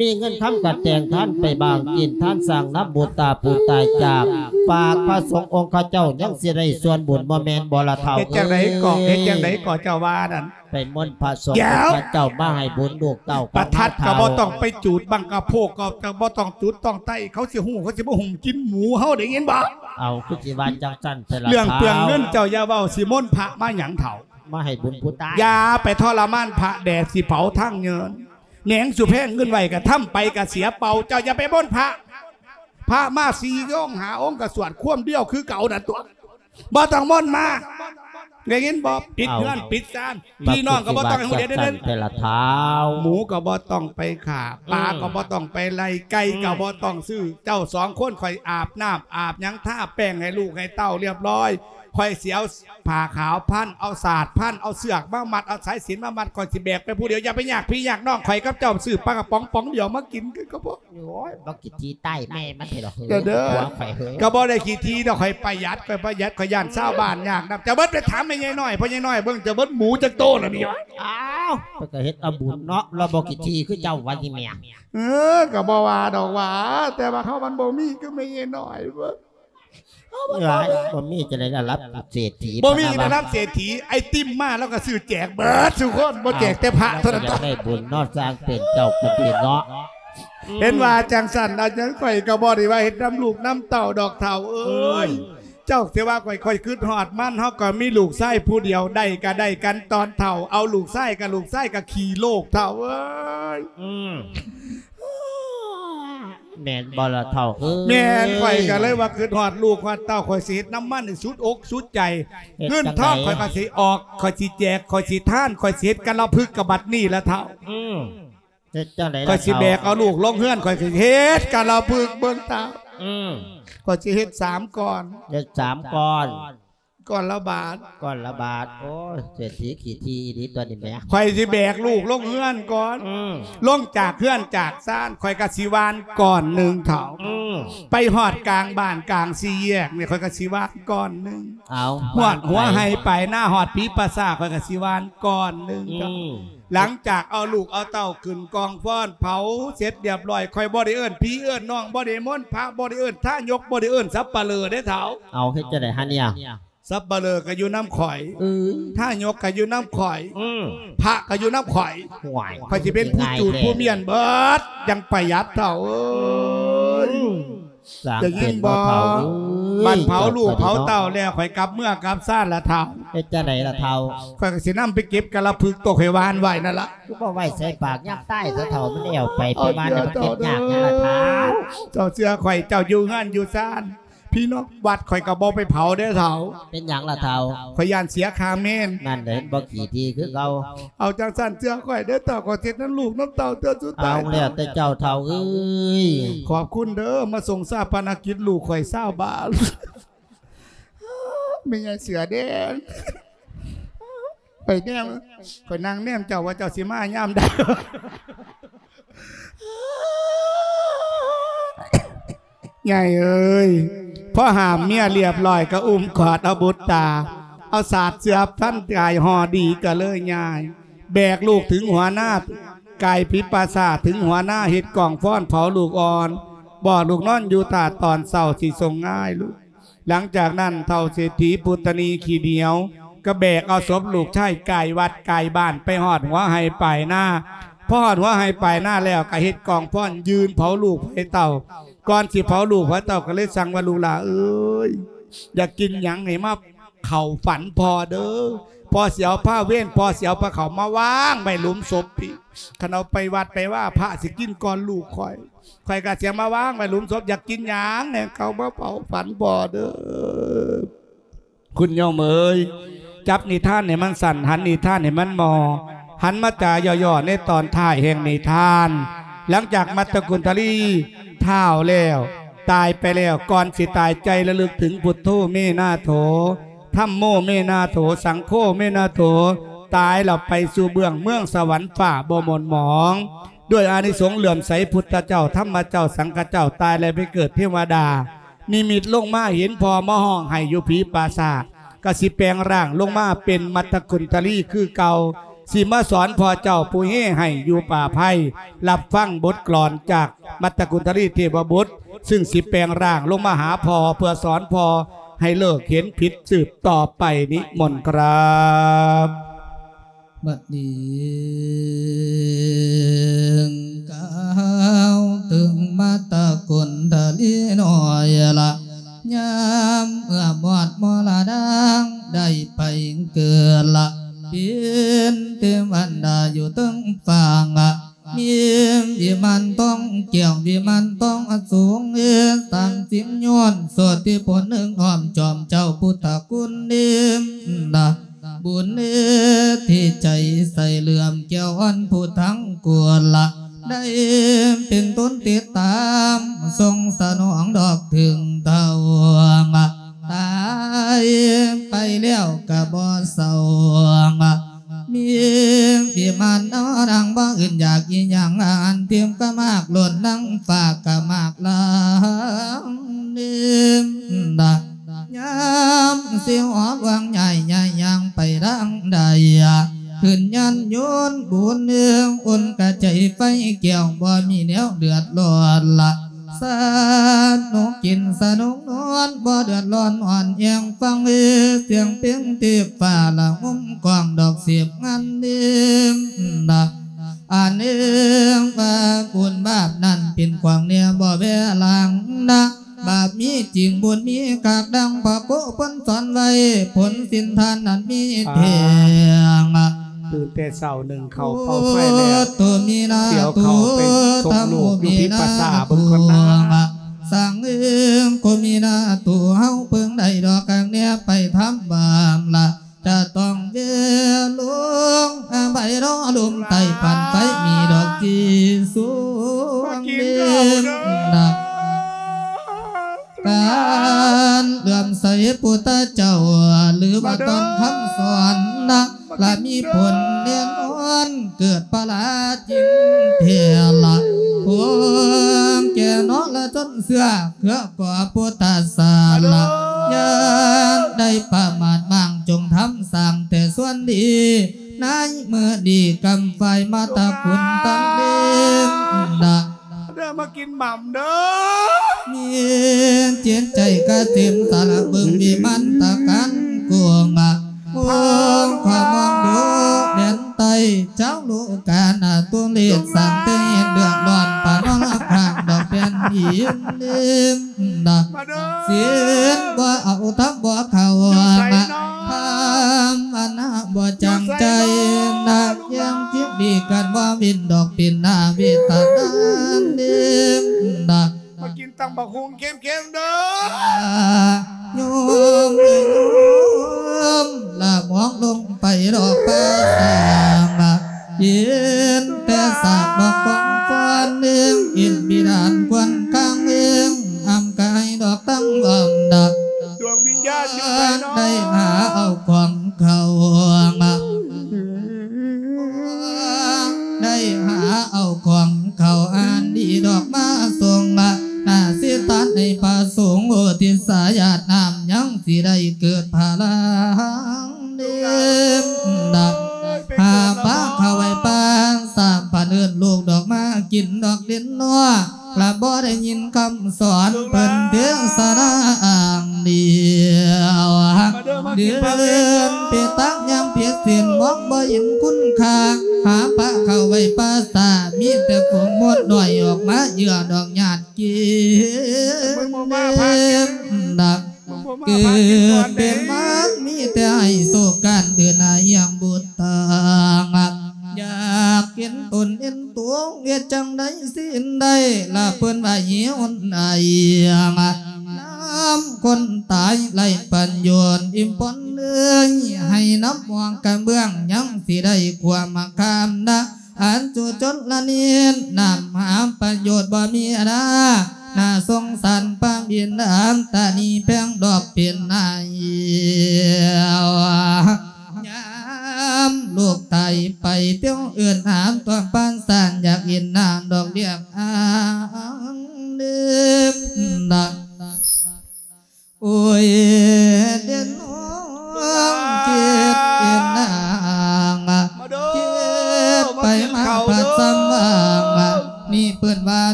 ມີເງິນຄຳກະແຕ່ງທ່ານໄປບາງກິນທ່ານສ້າງນຳບຸດຕາຜູ້ຕາຍຈາກ, ຝາກພະສົງອົງຂະເຈົ້າຍັງຊິໄດ້ສ່ວນບຸນ ບໍ່ແມ່ນບໍ່ລະເຖົ້າເອີຍ? ເຮັດຈັ່ງໃດກໍ ເຮັດຈັ່ງໃດກໍເຈົ້າວ່ານັ້ນ? ໄປມົນພະສົງ ດຽວ ພະເຈົ້າມາໃຫ້ບຸນລູກເຕົ້າ ປະທັດກໍບໍ່ຕ້ອງໄປຈູດ ບັ້ງກະໂພກກໍບໍ່ຕ້ອງຈູດຕ້ອງໄຕ້ ເຂົາຊິຮູ້ ເຂົາຊິມາຫຸ້ມກິນໝູເຮົາ ໄດ້ຍິນບໍ່? ເອົາ ຄືຊິວ່າຈັ່ງຊັ້ນແທ້ລະ ເລື່ອງເປືອງເງິນເຈົ້າຢ່າເວົ້າ ຊິມົນພະມາຫຍັງເຖົ້າ? ມາໃຫ້ບຸນຜູ້ຕາຍ ຢ່າໄປທໍລະມານພະ ແດດຊິເຜົາທາງເງິນ ແໜງສຸແພງເງິນໄວ້ກະທຳໄປກະເສຍເປົ່າ ເຈົ້າຢ່າໄປມົນພະ ພະມາສີ່ອົງຫ້າອົງກະສວດຄວາມດຽວຄືເກົ່ານັ້ນຕົວະ. ບໍ່ຕ້ອງມົນມາ ໄດ້ຍິນບໍ່? ປິດເຮືອນ ເອົ້າ ປິດຊານ ພີ່ນ້ອງກໍບໍ່ຕ້ອງໃຫ້ຮູ້ເດດເດີ ແຕ່ລະທ້າວ ໝູກໍບໍ່ຕ້ອງໄປຂ້າ ປາ ອືມ ກໍບໍ່ຕ້ອງໄປໄລ່ ໄກ່ ອືມ ກໍບໍ່ຕ້ອງຊື້ ເຈົ້າສອງຄົນຂ້ອຍອາບນ້ຳອາບຫຍັງ ທາແປ້ງໃຫ້ລູກໃຫ້ເຕົ້າຮຽບຮ້ອຍ ຂ້ອຍຊິເອົາຜ້າຂາວພັນ ເອົາສາດພັນ ເອົາເຊືອກມາມັດ ເອົາສາຍສິນມາມັດ ຂ້ອຍຊິແບກໄປຜູ້ດຽວ ຢ່າໄປຍາກພີ່ຍາກນ້ອງ ຂ້ອຍກັບເຈົ້າຊື້ປາກະປ໋ອງປ໋ອງດຽວມາກິນຄືກັບພວກ ໂອ້ຍ ບັກຂີ້ຖີ່ຕາຍແມ່ມັນເຖາະ ເດີ ເດີ ຜົວຂ້ອຍເຮີ້ຍ ກໍບໍ່ໄດ້ຂີ້ຖີ່ດອກ ຂ້ອຍປະຢັດ ຂ້ອຍປະຢັດ ຂ້ອຍຢ້ານຊາວບ້ານຍາກນຳ. ເຈົ້າເບິດໄປຖາມແມ່ໃຫຍ່ນ້ອຍ ພໍ່ໃຫຍ່ນ້ອຍເບິ່ງ ເຈົ້າເບິດໝູຈັກໂຕລະນີ້ວະ? ອ້າວ ເພິ່ນກໍເຮັດເອົາບຸນເນາະ ລາວບໍ່ຂີ້ຖີ່ຄືເຈົ້າວ່າຕິແມ່. ເອີ ກໍບໍ່ວ່າດອກຫວາ ແຕ່ວ່າເຮົາມັນບໍ່ມີຄືແມ່ໃຫຍ່ນ້ອຍເບິ່ງ. ເອີ ບໍ່ມີຈັ່ງໃດລະ ລະດັບເສດຖີ ບໍ່ມີລະດັບເສດຖີ ໄອຕິມມາລາວກໍຊື້ແຈກເບິດສູ່ຄົນ ບໍ່ແຈກແຕ່ພະເທົ່ານັ້ນ. ຢາກໄດ້ບຸນເນາະ ສ້າງເປັນເຈົ້າເປັນເນາະ. ເຫັນວ່າຈັ່ງຊັ້ນ ອັນຫຍັງຂ້ອຍກໍບໍ່ໄດ້ວ່າເຮັດນຳລູກນຳເຕົ້າດອກເຖົ້າເອີຍ. ເຈົ້າຊິວ່າຂ້ອຍ ຂ້ອຍຄຶດຮອດມັນ ເຮົາກໍມີລູກຊາຍຜູ້ດຽວ ໄດ້ກໍໄດ້ກັນຕອນເຖົ້າ ເອົາລູກຊາຍກໍລູກຊາຍກໍຂີ້ໂລກເຖົ້າເອີຍ. ອືມ ແມ່ນບໍ່ລະເຖົ້າເອີຍ? ແມ່ນ ຂ້ອຍກໍເລີຍວ່າຄຶດຮອດລູກຮອດເຕົ້າ ຂ້ອຍຊິເຮັດນຳມັນໃຫ້ສຸດອົກສຸດໃຈ. ເງິນທອງຂ້ອຍກໍຊິອອກ ຂ້ອຍຊິແຈກ ຂ້ອຍຊິທານ ຂ້ອຍຊິເຮັດກາລະພຶກກະບັດນີ້ລະເຖົ້າ. ອືມ ເຮັດຈັ່ງໃດລະເຖົ້າ? ຂ້ອຍຊິແບກເອົາລູກລົງເຮືອນ ຂ້ອຍຊິເຮັດກາລະພຶກເບິ່ງຕາ. ອືມ ຂ້ອຍຊິເຮັດສາມກ້ອນ ເຮັດສາມກ້ອນ ກ້ອນລະບາດ ກ້ອນລະບາດ. ໂອ້ຍ ເສດຖີຂີ້ຖີ່ອີ່ຫຼີຕົວນີ້ແໝ. ຂ້ອຍຊິແບກລູກລົງເຮືອນກ່ອນ ອືມ ລົງຈາກເຮືອນຈາກຊານ ຂ້ອຍກໍຊິຫວ່ານກ້ອນໜຶ່ງເຖົ້າ. ອືມ ໄປຮອດກາງບ້ານກາງສີ່ແຍກນີ້ ຂ້ອຍກໍຊິຫວ່ານກ້ອນໜຶ່ງ. ເອົາ ຮອດຫົວໄຮ່ປາຍນາ ຮອດຜີປາສາດ ຂ້ອຍກໍຊິຫວ່ານກ້ອນໜຶ່ງເຖົ້າ. ອືມ ຫຼັງຈາກເອົາລູກເອົາເຕົ້າຂຶ້ນກອງຟອນ ເຜົາເສັດຮຽບຮ້ອຍ ຂ້ອຍບໍ່ໄດ້ເອີ້ນພີ່ເອີ້ນນ້ອງ ບໍ່ໄດ້ມົນພະ ບໍ່ໄດ້ເອີ້ນທາຍົກ ບໍ່ໄດ້ເອີ້ນສັບປະເລີເດ້ເຖົ້າ. ເອົາ ເຮັດຈັ່ງໃດຫະເນຍ? ສັບປະເລີກໍຢູ່ນຳຂ້ອຍ ເອີຍ ທາຍົກກໍຢູ່ນຳຂ້ອຍ ອືມ ພະກໍຢູ່ນຳຂ້ອຍ. ຫ້ວຍ ຂ້ອຍຊິເປັນຜູ້ຈູດຜູ້ມ້ຽນເບິດ ຈັ່ງປະຢັດເຖົ້າເອີຍ. ອືມ ໄດ້ຍິນບໍ່? ບັດເຜົາລູກເຜົາເຕົ້າແລ້ວ ຂ້ອຍກັບເມືອກັບຊານລະເຖົ້າ. ເຮັດຈັ່ງໃດລະເຖົ້າ? ຂ້ອຍກໍຊິນຳໄປເກັບກາລະພຶກຕົວຂ້ອຍຫວ່ານໄວ້ນັ້ນລະ. ຄືບໍ່ໄວ້ໃສ່ປາກຍາມຕາຍຊະເຖົ້າ ມັນແອວໄປ ໄປຫວ່ານໃຫ້ມັນເກັບຍາກຫຍັງລະເຖົ້າ? ເຈົ້າເຊື່ອຂ້ອຍ ເຈົ້າຢູ່ເຮືອນຢູ່ຊານ ພີ່ນ້ອງວັດຂ້ອຍກໍບໍ່ໄປເຜົາເດ້ເຖົ້າ. ເປັນຫຍັງລະເຖົ້າ? ຂ້ອຍຢ້ານເສຍຄ່າເມນ. ນັ້ນແຫຼະ ເຫັນບໍ່ ຂີ້ຖີ່ຄືເກົ່າ. ເອົາຈັ່ງຊັ້ນເຊື່ອຂ້ອຍເດີເຖົ້າ ຂ້ອຍເຮັດນຳລູກນຳເຕົ້າເທື່ອສຸດທ້າຍ. ເອົາແລ້ວແຕ່ເຈົ້າເຖົ້າເອີຍ. ຂອບຄຸນເດີ ມາສົ່ງຊາປະນະກິດລູກຂ້ອຍຊາວບາດ. ແມ່ໃຫຍ່ເສືອແດງ ຂ້ອຍແນມ ຂ້ອຍນັ່ງແນມເຈົ້າວ່າເຈົ້າຊິມາຍາມໃດ. ໃຫຍ່ເອີຍ ພໍຫ້າມເມຍຮຽບຮ້ອຍກໍອຸ້ມກອດເອົາບຸດຕາ ເອົາສາດເສື້ອພັນກາຍຫໍ່ດີກໍເລີຍຍ້າຍ ແບກລູກເຖິງຫົວນາ ກາຍພິບປາສາດເຖິງຫົວນາ ເຮັດກອງຟອນເຜົາລູກອ່ອນ ບອກລູກນອນຢູ່ຖ້າຕອນເຊົ້າຊິສົ່ງງາຍລູກ. ຫຼັງຈາກນັ້ນ ເຖົ້າເສດຖີ ປຸດຕະນີຂີ້ໜຽວ ກໍແບກເອົາສົບລູກຊາຍກາຍວັດກາຍບ້ານ ໄປຮອດຫົວໄຮ່ປາຍນາ. ພໍຮອດຫົວໄຮ່ປາຍນາແລ້ວ ກໍເຮັດກອງຟອນຢືນເຜົາລູກໃຫ້ເຕົ້າ. ກ່ອນຊິເຜົາລູກໃຫ້ເຕົ້າ ກໍເລີຍສັ່ງວ່າ ລູກຫຼ້າເອີຍ ຢາກກິນຫຍັງໃຫ້ມາເຂົ້າຝັນພໍ່ເດີ ພໍ່ຊິເອົາພາເວນ ພໍ່ຊິເອົາພາເຂົ້າມາວາງໄວ້ຫຼຸມສົບພີ້. ຄັນເອົາໄປວັດໄປວາ ພະຊິກິນກ່ອນລູກຂ້ອຍ ຂ້ອຍກໍຊິມາວາງໄວ້ຫຼຸມສົບ ຢາກກິນຫຍັງແດ່ ເຂົ້າມາເຝົ້າຝັນພໍ່ເດີ. ຄຸນໂຍມເອີຍ ຈັບນິທານໃຫ້ມັນສັ້ນ ຫັນນິທານໃຫ້ມັນໝໍ່ ຫັນມາຈາຫຍໍ້ໆໃນຕອນທ້າຍແຫ່ງນິທານ. ຫຼັງຈາກມັດຕະກຸນທະລີທ້າວແລ້ວ ຕາຍໄປແລ້ວ ກ່ອນຊິຕາຍໃຈລະລຶກເຖິງ ພຸດໂທເມນາໂຖ ທຳໂມເມນາໂຖ ສັງໂຄເມນາໂຖ ຕາຍແລ້ວໄປສູ່ເບື້ອງເມືອງສະຫວັນຟ້າບໍ່ໝົດໝອງ. ດ້ວຍອານິສົງເຫຼື້ອມໃສພຸດທະເຈົ້າ ທຳມະເຈົ້າ ສັງຄະເຈົ້າ ຕາຍແລ້ວໄປເກີດເທວະດາ ນິມິດລົງມາເຫັນພໍ່ມາຮ້ອງໄຫ້ຢູ່ຜີປາສາດ ກໍຊິແປງຮ່າງລົງມາເປັນມັດຕະກຸນທະລີຄືເກົ່າ ຊິມາສອນພໍ່ເຈົ້າຜູ້ເຮໄຫ້ຢູ່ປ່າໄພ ຮັບຟັງບົດກລອນຈາກມັດຕະກຸນທະລີເທວະບຸດ ຊຶ່ງຊິແປງຮ່າງລົງມາຫາພໍ່ເພື່ອສອນພໍ່ໃຫ້ເລີກເຫັນຜິດສືບຕໍ່ໄປ. ນິມົນຄຣັບ. ບັດນີ້ກ່າວເຖິງມັດຕະກຸນທະລີນ້ອຍລະ ຍາມເມື່ອມອດມໍລະນາງ ໄດ້ໄປເກີດລະ ເປັນເທວະດາຢູ່ເທິງຟ້າ ມີວິມານທອງແກ້ວ ວິມານທອງອະສູງ ສາມສິບໂຍດ ໂສດທິພົນໜຶ່ງອ້ອມຈອມເຈົ້າພຸດທະຄຸນ ນະ ບຸນທີ່ໃຈໃສເຫຼື້ອມແກ້ວອ່ອນຜູ້ທັງກວນລະ ໄດ້ເປັນຕົນຕິດຕາມ ຊົງສະໜອງດອກເຖິງເທົ່າ ຕາຍໄປແລ້ວກະບໍ່ເສົ້າ ມີວິມານນາງບໍ່ອື່ນຢາກອີຫຍັງ ອາຫານທິບກະໝາກລົ້ນ ນາງຟ້າກະໝາກລາວເນ ຍາມຊິຮອດວັງໃຫຍ່ ຍ້າຍຍ່າງໄປທາງໃດ ຂຶ້ນຍານຍົນບຸນເອີງ ອຸ່ນກະໃຈໄຟແກ້ວ ບໍ່ມີແນວເດືອດຮ້ອນລະ ສະໜຸກກິນສະໜຸກນອນ ບໍ່ເດືອດຮ້ອນອ່ອນແອງ ຟັງເອີ ສຽງເພງເທບຟ້າລະຫົມກ້ອງ ດອກເສບງານເນມນະ ອັນເອງວ່າບຸນບາບນັ້ນເປັນຂວາງແນວບໍ່ແວລາງນະ ບາບມີຈິງບຸນມີຄັກ ດັ່ງພະຄູເພິ່ນສອນໄວ້ ຜົນສິນທານນັ້ນມີແທ້ ຕື່ນແຕ່ເຊົ້າໜຶ່ງເຂົ້າເປົ່າໄຟແລ້ວ ໂຕມີນາ ສຽວເຂົ້າໄປສົ່ງລູກຢູ່ພິປະສາເບິ່ງກ່ອນນາ ສັງເອີງໂກມີນາ ໂຕເຮົາເພິ່ງໄດ້ດອກກາງແນວໄປທຳບາງລະ ຈະຕ້ອງເວລົງ ໃບລໍລົມໃຕ້ປານໄຟ ມີດອກທີ່ສູງເດັ່ນນະ ການເຫຼື້ອມໃສພຸດທະເຈົ້າ ຫຼືວ່າຕ້ອງຄຳສອນນະ ລະມີຜົນແນ່ນອນ ເກີດພະລາຈິງເທລະ ພວມແກ່ນອລະຊົນເຊື້ອ ເຄືອກໍພຸດທະສາລະ ຢ່າໄດ້ປະໝາດມ້າງ ຈົ່ງທຳສ້າງແຕ່ສ່ວນດີ ໃນມື້ດີກຳໄຟມາຕະກຸນຕັນເລມນະ ເດີມາກິນໝ່ຳເດີ ມີຈິດໃຈກະເຕັມສາລະ ເບິ່ງວິມານຕະການກວງ ມອງຂວາມອງດູແດນໃຕ້ ເຈົ້າລູກການາຕຸເລດ ສ້າງແຕ່ເຫດເດືອດຮ້ອນ ປານອລະຂ້າງດອກແຜ່ນດິນເນມນະ ມາເດີ ສິນບໍ່ເອົາ ທຳບໍ່ເຂົ້າ ຢູ່ໃສເນາະ ພາມະນາບໍ່ຈາງໃຈນະ ຢູ່ໃສເນາະ ແຍງຈິດດີກັນບໍ່ເວັ້ນດອກ ເປັນໜ້າເວທະນາເນມນະ ມາກິນຕຳບັກຫຸ່ງເຄັມໆເດີ ໂຍມເອີຍໂຍມ ລະມອງລົງໄປດອກປາສາງ ເຫັນແຕ່ຊາກດອກກອງຟອນເອງ ເຫັນບິດານຄວນຄາງເອງ ອຳກາຍດອກຕັ້ງບອມດາ ດວງວິນຍານຢູ່ໃສເນາະ ໄດ້ຫາເອົາຂອງເຂົາ ໄດ້ຫາເອົາຂອງເຂົາອັນດີດອກມາສົ່ງ ນາສິຕານໃນພະສົງໂອທິດສາຍາດນ້ຳ ຍັງຊິໄດ້ເກີດພະລາງເນມນະ ຫາປາເຂົ້າໄວ້ປານສາມພັນເອີ້ນລູກດອກມາກິນດອກເດັ່ນນົວ ລະບໍ່ໄດ້ຍິນຄຳສອນເພິ່ນເທສະນາອ່າງດຽວ ເດີນໄປຕາກຍ່າງຜິດສິນ ມອງບໍ່ເຫັນຄຸນຄ່າ ຫາປາເຂົ້າໄວ້ປາສາດ ມີແຕ່ຝູງມົດນ້ອຍອອກມາເຫຍື່ອດອກຍາດກິນ ເກີດເປັນມາ ມີແຕ່ໃຫ້ໂຊກການເດີນໜ້າຢ່າງບຸດທາງ ຢາກເຫັນຕົນເຫັນຕົວ ເຮັດຈັ່ງໃດຊິໄດ້ລະເພິ່ນວ່າຫິວໄອ ນຳຄົນຕາຍໄຮ້ປະໂຫຍດ ອີ່ມປ່ອນເອີຍ ໃຫ້ນຳໝວກກະເບື້ອງ ຍັງຊິໄດ້ຄວາມຄາມນະ ອັນຈຸຊົນລະນີນ ນຳຫາປະໂຫຍດບໍ່ມີອານາ ໜ້າສົງສານພະບິດາ ຕານີແພງດອກເປັນນາຍ ຍາມລູກຕາຍໄປ ເປີ້ວເອີ້ນຫາຕົວປານສານ ຢາກເຫັນໜ້າ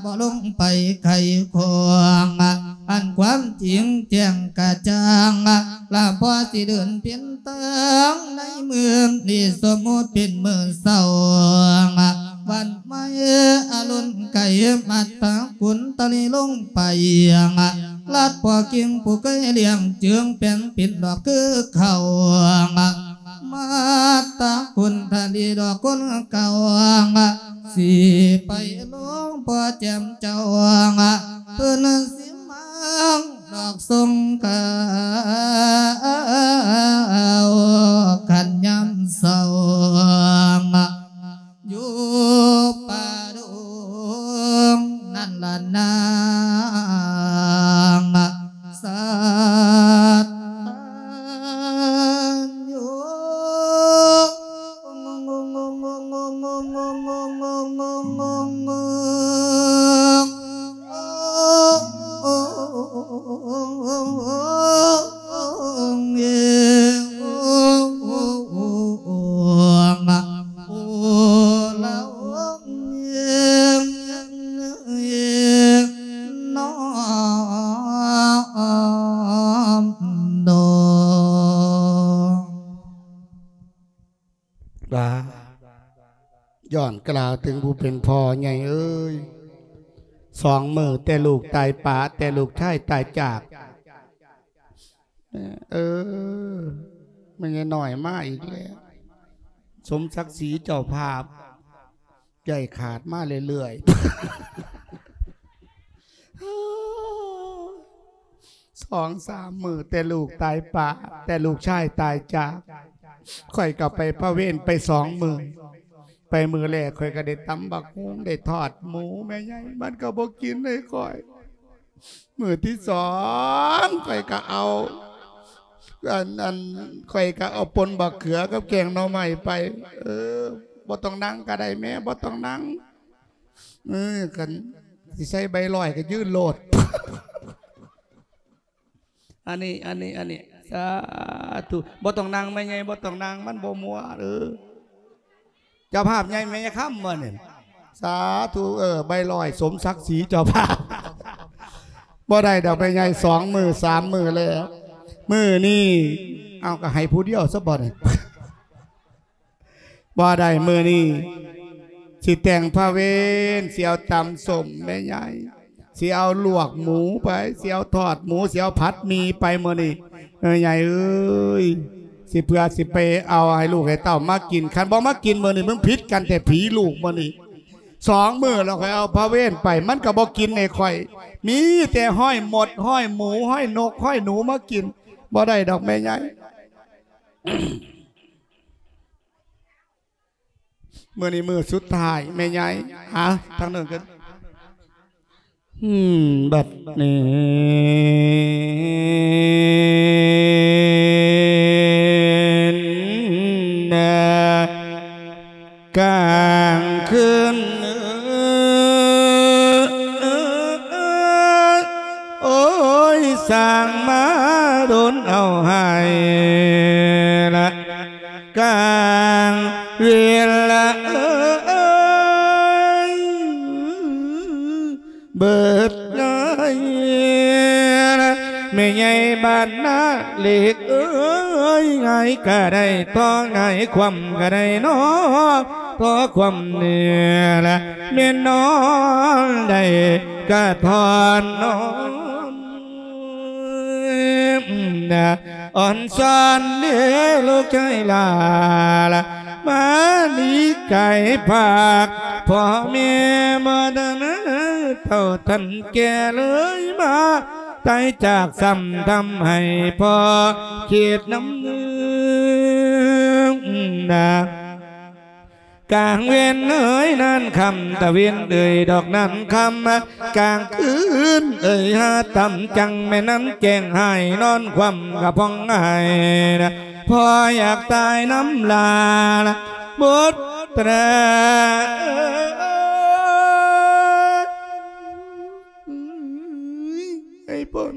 ບໍ່ລົງໄປໄຂຂອງ ອັນຄວາມຈິງແຈ້ງກະຈ່າງ ລະພໍຊິເດີນເປັນທາງໃນເມືອງນີ້ ສົມມຸດເປັນມື້ເຊົ້າ ວັນໃໝ່ອະລຸນໄກ ມັດຕະກຸນຕະລິລົງໄປ ລັດພໍ່ກິ່ງຜູ້ເຄີຍລ້ຽງເຈີງແປງເປັນດອກຄືເຂົາ ມາຕະກຸນທະລີດອກຄົນເກົ່າ ຊິໄປຫຼວງພໍ່ແຈ່ມເຈົ້າ ເພິ່ນຊິມາດອກຊົງຂ່າວ ຄັນຍາມເຊົ້າ ຢູ່ປ່າດົງນັ້ນລະນາງ ສັດຕານຍູ. ວ່າ ຍ້ອນກ່າວເຖິງຜູ້ເປັນພໍ່ໃຫຍ່ເອີຍ, ສອງມື້ແຕ່ລູກຕາຍປະ, ແຕ່ລູກຊາຍຕາຍຈາກ. ເອີ ແມ່ໃຫຍ່ນ້ອຍມາອີກແລ້ວ, ສົມສັກສີເຈົ້າພາບ ໃຫຍ່ຂາດມາເລື້ອຍໆ. ສອງສາມມື້ແຕ່ລູກຕາຍປະ, ແຕ່ລູກຊາຍຕາຍຈາກ, ຂ້ອຍກໍໄປພະເວນໄປສອງມື້. ໄປມື້ແລກຂ້ອຍກໍໄດ້ຕຳບັກຫຸ່ງ ໄດ້ທອດໝູແມ່ໃຫຍ່, ມັນກໍບໍ່ກິນໃຫ້ຂ້ອຍ. ມື້ທີສອງຂ້ອຍກໍເອົາ ອັນ ອັນ ຂ້ອຍກໍເອົາປົ່ນບັກເຂືອກັບແກງໜໍ່ໄມ້ໄປ. ເອີ ບໍ່ຕ້ອງນັ່ງກໍໄດ້ແມ່, ບໍ່ຕ້ອງນັ່ງ. ເອີ ຄັນຊິໃສ່ໃບລອຍກໍຢືນໂລດ. ອັນນີ້ ອັນນີ້ ອັນນີ້ ສາທຸ. ບໍ່ຕ້ອງນັ່ງແມ່ໃຫຍ່, ບໍ່ຕ້ອງນັ່ງ, ມັນບໍ່ມ່ວນ. ເອີ ເຈົ້າພາບໃຫຍ່ແມ່ຍາຄຳບໍ່ນີ້? ສາທຸ. ເອີ ໃບລອຍສົມສັກສີເຈົ້າພາບ. ບໍ່ໄດ້ດອກແມ່ໃຫຍ່, ສອງມື້ສາມມື້ແລ້ວ. ມື້ນີ້ ເອົາ ກໍໃຫ້ຜູ້ດຽວຊະບໍ່ນີ້? ບໍ່ໄດ້, ມື້ນີ້ຊິແຕ່ງພະເວນ, ຊິເອົາຕຳສົ້ມແມ່ໃຫຍ່, ຊິເອົາລວກໝູໄປ, ຊິເອົາທອດໝູ, ຊິເອົາຜັດໝີ່ໄປມື້ນີ້. ເອີ ໃຫຍ່ເອີຍ, ຊິເພື່ອຊິໄປເອົາໃຫ້ລູກໃຫ້ເຕົ້າມາກິນ. ຄັນບໍ່ມາກິນມື້ນີ້ ມຶງຜິດກັນແຕ່ຜີລູກມື້ນີ້. ສອງມື້ແລ້ວຂ້ອຍເອົາພະເວນໄປ, ມັນກໍບໍ່ກິນໃຫ້ຂ້ອຍ, ມີແຕ່ຮ້ອຍມົດ, ຮ້ອຍໝູ, ຮ້ອຍນົກ, ຮ້ອຍໜູມາກິນ. ບໍ່ໄດ້ດອກແມ່ໃຫຍ່. ມື້ນີ້ມື້ສຸດທ້າຍແມ່ໃຫຍ່. ຫາທາງເນີນກັນ. ອືມ ບັດນີ້ນະ ກາງຄືນ ໂອ້ຍ ສ້າງມາດົນເອົາໃຫ້ລະ ກາງເວນລະເອີຍ ເບີດເອີຍ ແມ່ໃຫຍ່ບ້ານນາເຫຼັກເອີຍ ຫງາຍກະໄດ້ ຕໍ່ຫງາຍຄວ່ຳກະໄດ້ນໍ ຕໍ່ຄວ່ຳນີ້ລະ ແມ່ນນອນໄດ້ກະຖອນນອນນະ. ອ່ອນຊອນເດ້ລູກຊາຍຫຼ້າລະ ມາໜີໄກພາກພໍ່ແມ່ບໍ່ທັນເຖົ້າທັນແກ່ເລີຍ ມາຕາຍຈາກຊ້ຳທຳໃຫ້ພໍ່ຄິດນຳນາ. ກາງເວັນເອີຍນານຄ່ຳ ຕາເວັນເອີຍດອກນານຄ່ຳ ກາງຄືນເອີຍຫາຕ່ຳຈັງ ແມ່ນານແຈ້ງຫາຍນອນຄວ່ຳກະຜ່ອງໄຫ້ນະ ພໍ່ຢາກຕາຍນຳຫຼ້ານະ ບຸດຕາເອີຍ ໃຫ້ພົ້ນ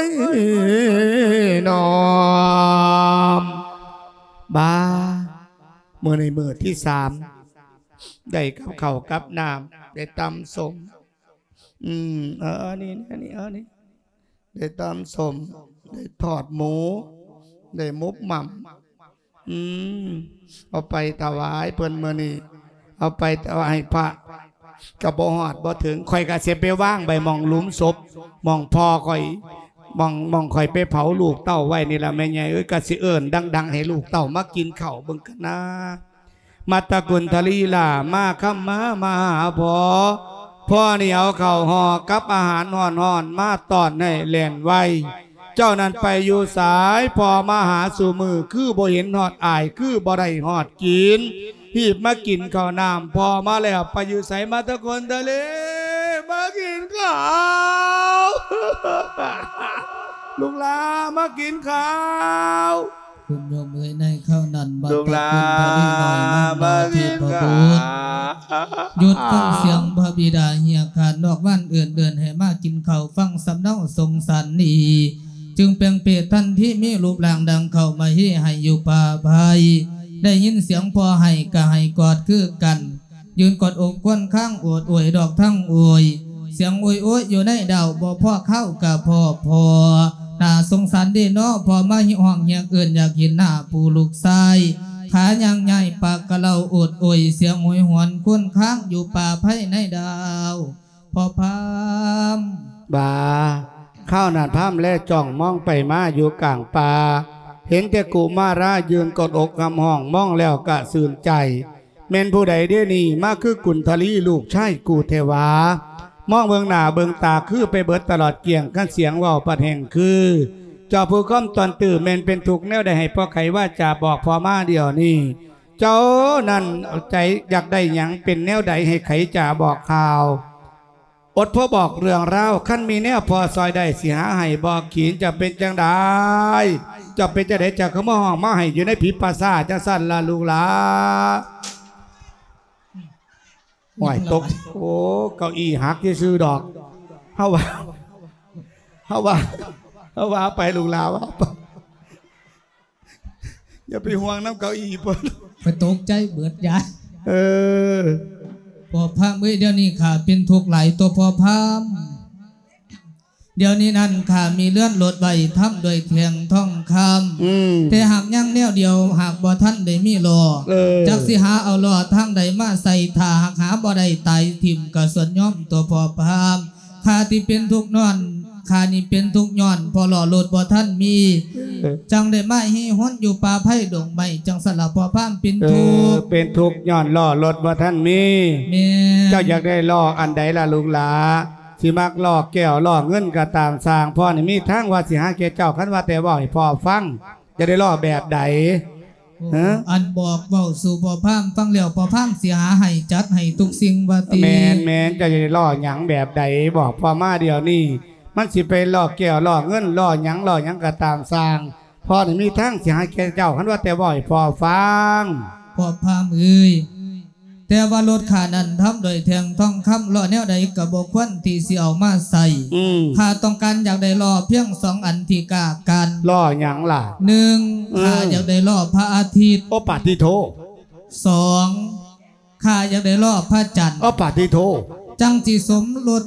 ຍ ນ້ອມ ບາ ມື້ນີ້ມື້ທີສາມ ໄດ້ກັບເຂົ້າກັບນ້ຳ ໄດ້ຕຳສົ້ມ ອືມ ເອີ ນີ້ ນີ້ ເອີ ນີ້ ໄດ້ຕຳສົ້ມ ໄດ້ທອດໝູ ໄດ້ໝົກໝ່ຳ ອືມ ເອົາໄປຖວາຍເພິ່ນມື້ນີ້ ເອົາໄປຖວາຍໃຫ້ພະ ກໍບໍ່ຮອດບໍ່ເຖິງ ຂ້ອຍກໍຊິໄປວາງໄວ້ໝ່ອງຫຼຸມສົບ ໝ່ອງພໍ່ຂ້ອຍ ໝ່ອງ ໝ່ອງຂ້ອຍໄປເຜົາລູກເຕົ້າໄວ້ນີ້ລະ ແມ່ໃຫຍ່ເອີຍ ກໍຊິເອີ້ນດັງໆ ໃຫ້ລູກເຕົ້າມາກິນເຂົ້າເບິ່ງກັນນາ. ມັດຕະກຸນທະລີລາ ມາຄຳມາ ມາຫາພໍ່ ພໍ່ນີ້ເອົາເຂົ້າຫໍ່ກັບອາຫານຮ້ອນໆ ມາຕ້ອນໃຫ້ແລ່ນໄວ ເຈົ້ານັ້ນໄປຢູ່ໃສ ພໍ່ມາຫາສູ່ມື້ ຄືບໍ່ເຫັນຮອດອ້າຍ ຄືບໍ່ໄດ້ຮອດກິນ ຮີບມາກິນເຂົ້ານ້ຳ ພໍ່ມາແລ້ວ ໄປຢູ່ໃສ ມັດຕະກຸນທະລີ ມາກິນເຂົ້າ. ລູກຫຼານມາກິນເຂົ້າ. ຄຸນໂຍມເອີຍ ໃນຄາວນັ້ນ ບັດຕະກຸນທະລີນ້ອຍນາງມາເທບະບຸດ ຢຸດຟັງສຽງພະບິດາເຮຍການນອກວານເອີ້ນເດີ່ນໃຫ້ມາກິນເຂົ້າ ຟັງສຳເນົາສົງສານດີ ຈຶ່ງແປງເປດທັນທີ ມີຮູບຮ່າງດັ່ງເຂົ້າມາເຮໄຫ້ຢູ່ປ່າໄຜ່ ໄດ້ຍິນສຽງພໍ່ໄຫ້ກະໄຫ້ກອດຄືກັນ ຢືນກອດອົກຄວນຄາງໂອດໂອຍດອກທັງໂອຍ ສຽງໂອຍໂອຍຢູ່ໃນດາວ ບໍ່ພໍຄາວກະພໍພໍ ໜ້າສົງສານເດເນາະ ພໍ່ມາຮ້ອງຮຽກເອີ້ນ ຢາກເຫັນໜ້າຜູ້ລູກຊາຍ ຂາຍ່າງຍ້າຍປາກກະເລົາໂອດໂອຍ ສຽງໂຫຍຫວນຄວນຄາງຢູ່ປ່າໄຜ່ໃນດາວ ພໍ່ພາມ. ບາ ຄາວນັ້ນພາມແລຈ້ອງມອງໄປມາຢູ່ກາງປ່າ ເຫັນແຕ່ກຸມາລາຢືນກອດອົກຮ່ຳຮ້ອງ ມອງແລ້ວກະຊື່ນໃຈ. ແມ່ນຜູ້ໃດເດນີ້ ມາຄືກຸນທະລີລູກຊາຍກູແທ້ຫວາ? ມອງເບິ່ງໜ້າເບິ່ງຕາຄືໄປເບິດຕະຫຼອດກ້ຽງ ຄັນສຽງເວົ້າປາດແຮງຄື ເຈົ້າຜູ້ຄອມຕອນຕື້ ແມ່ນເປັນທຸກແນວໃດ ໃຫ້ພໍ່ໄຂວາຈາບອກພໍ່ມາດຽວນີ້. ເຈົ້ານັ້ນໃຈຢາກໄດ້ຫຍັງ ເປັນແນວໃດ ໃຫ້ໄຂຈາບອກຂ່າວ. ອົດພໍບອກເລື່ອງລາວ ຄັນມີແນວພໍຊ່ອຍໄດ້ ຊິຫາໃຫ້ບໍ່ຂີນ. ເຈົ້າເປັນຈັ່ງໃດ ເຈົ້າເປັນຈັ່ງໃດ ເຈົ້າຄືມາຮ້ອງມາໄຫ້ຢູ່ໃນຜີປ່າຊ້າຈັ່ງຊັ້ນລະລູກຫຼາ? ໂອ້ຍ ຕົກ ໂອ້ ເກົ້າอี้ຫັກຊື່ໆດອກ. ເຮົາວ່າ ເຮົາວ່າ ເຮົາວ່າໄປລູກຫຼາ ວ່າໄປ. ຢ່າໄປຫ່ວງນຳເກົ້າອີ່ເພິ່ນ ຂ້ອຍຕົກໃຈເບິດຍາຍ. ເອີ ພໍ່ພາມເອີຍ ດຽວນີ້ຂ້າເປັນທຸກຫຼາຍຕົວພໍ່ພາມ. ດຽວນີ້ນັ້ນຂ້າມີເຮືອນລົດໄວ້ທຳດ້ວຍແທ່ງທອງຄຳ ອືມ ແຕ່ຫາກຍັງແນວດຽວ ຫາກບໍ່ທັນໄດ້ມີລໍ້ ເອີ ຈັກຊິຫາເອົາລໍ້ທາງໃດມາໃສ່ ຖ້າຫາກຫາບໍ່ໄດ້ຕາຍຖິ້ມກະສ່ວນຍອມຕົວພໍ່ພາມ. ຂ້າທີ່ເປັນທຸກຍ້ອນ ຂ້ານີ້ເປັນທຸກຍ້ອນ ເພາະລໍ້ລົດບໍ່ທັນມີ ເອີ ຈັ່ງໄດ້ມາຮີຮົນຢູ່ປ່າໄຜ່ດົງໄມ້ ຈັ່ງຊັ້ນລະພໍ່ພາມເປັນ ເອີ ທຸກ ເປັນທຸກຍ້ອນລໍ້ລົດບໍ່ທັນມີ. ແມ່ນ ເຈົ້າຢາກໄດ້ລໍ້ອັນໃດລະລູກຫຼາ? ຊິມັກລໍ້ແກ້ວລໍ້ເງິນກະຕາມຊ່າງ ພໍ່ນີ້ມີທາງວ່າຊິຫາແກ່ເຈົ້າ ຄັນວ່າແຕ່ເວົ້າໃຫ້ພໍ່ຟັງ. ຢາກໄດ້ລໍ້ແບບໃດ? ໂອ້ ຮະ? ອັນບອກເວົ້າສູ່ພໍ່ພາມຟັງແລ້ວ ພໍ່ພາມຊິຫາໃຫ້ຈັດໃຫ້ທຸກສິ່ງວ່າຕິ. ແມ່ນໆ ເຈົ້າຢາກໄດ້ລໍ້ຫຍັງແບບໃດ ບອກພໍ່ມາດຽວນີ້ ມັນຊິເປັນລໍ້ແກ້ວລໍ້ເງິນ ລໍ້ຫຍັງ ລໍ້ຫຍັງກະຕາມຊ່າງ ພໍ່ນີ້ມີທາງຊິໃຫ້ແກ່ເຈົ້າ ຄັນວ່າແຕ່ເວົ້າໃຫ້ພໍ່ຟັງ. ພໍ່ພາມເອີຍ ແຕ່ວ່າລົດຂ້ານັ້ນທຳດ້ວຍແທ່ງທອງຄຳ ລໍ້ແນວໃດກະບໍ່ຄວນທີ່ຊິເອົາມາໃຊ້. ອືມ ຂ້າຕ້ອງການຢາກໄດ້ລໍ້ພຽງສອງອັນທີ່ກ້າກັນ. ລໍ້ຫຍັງລະ? ໜຶ່ງ ອືມ ຂ້າຢາກໄດ້ລໍ້ພະອາທິດ. ໂອ້ ປາຕິໂທ. ສອງ ຂ້າຢາກໄດ້ລໍ້ພະຈັນ. ໂອ້ ປາຕິໂທ. ຈັ່ງຊິສົມລົດ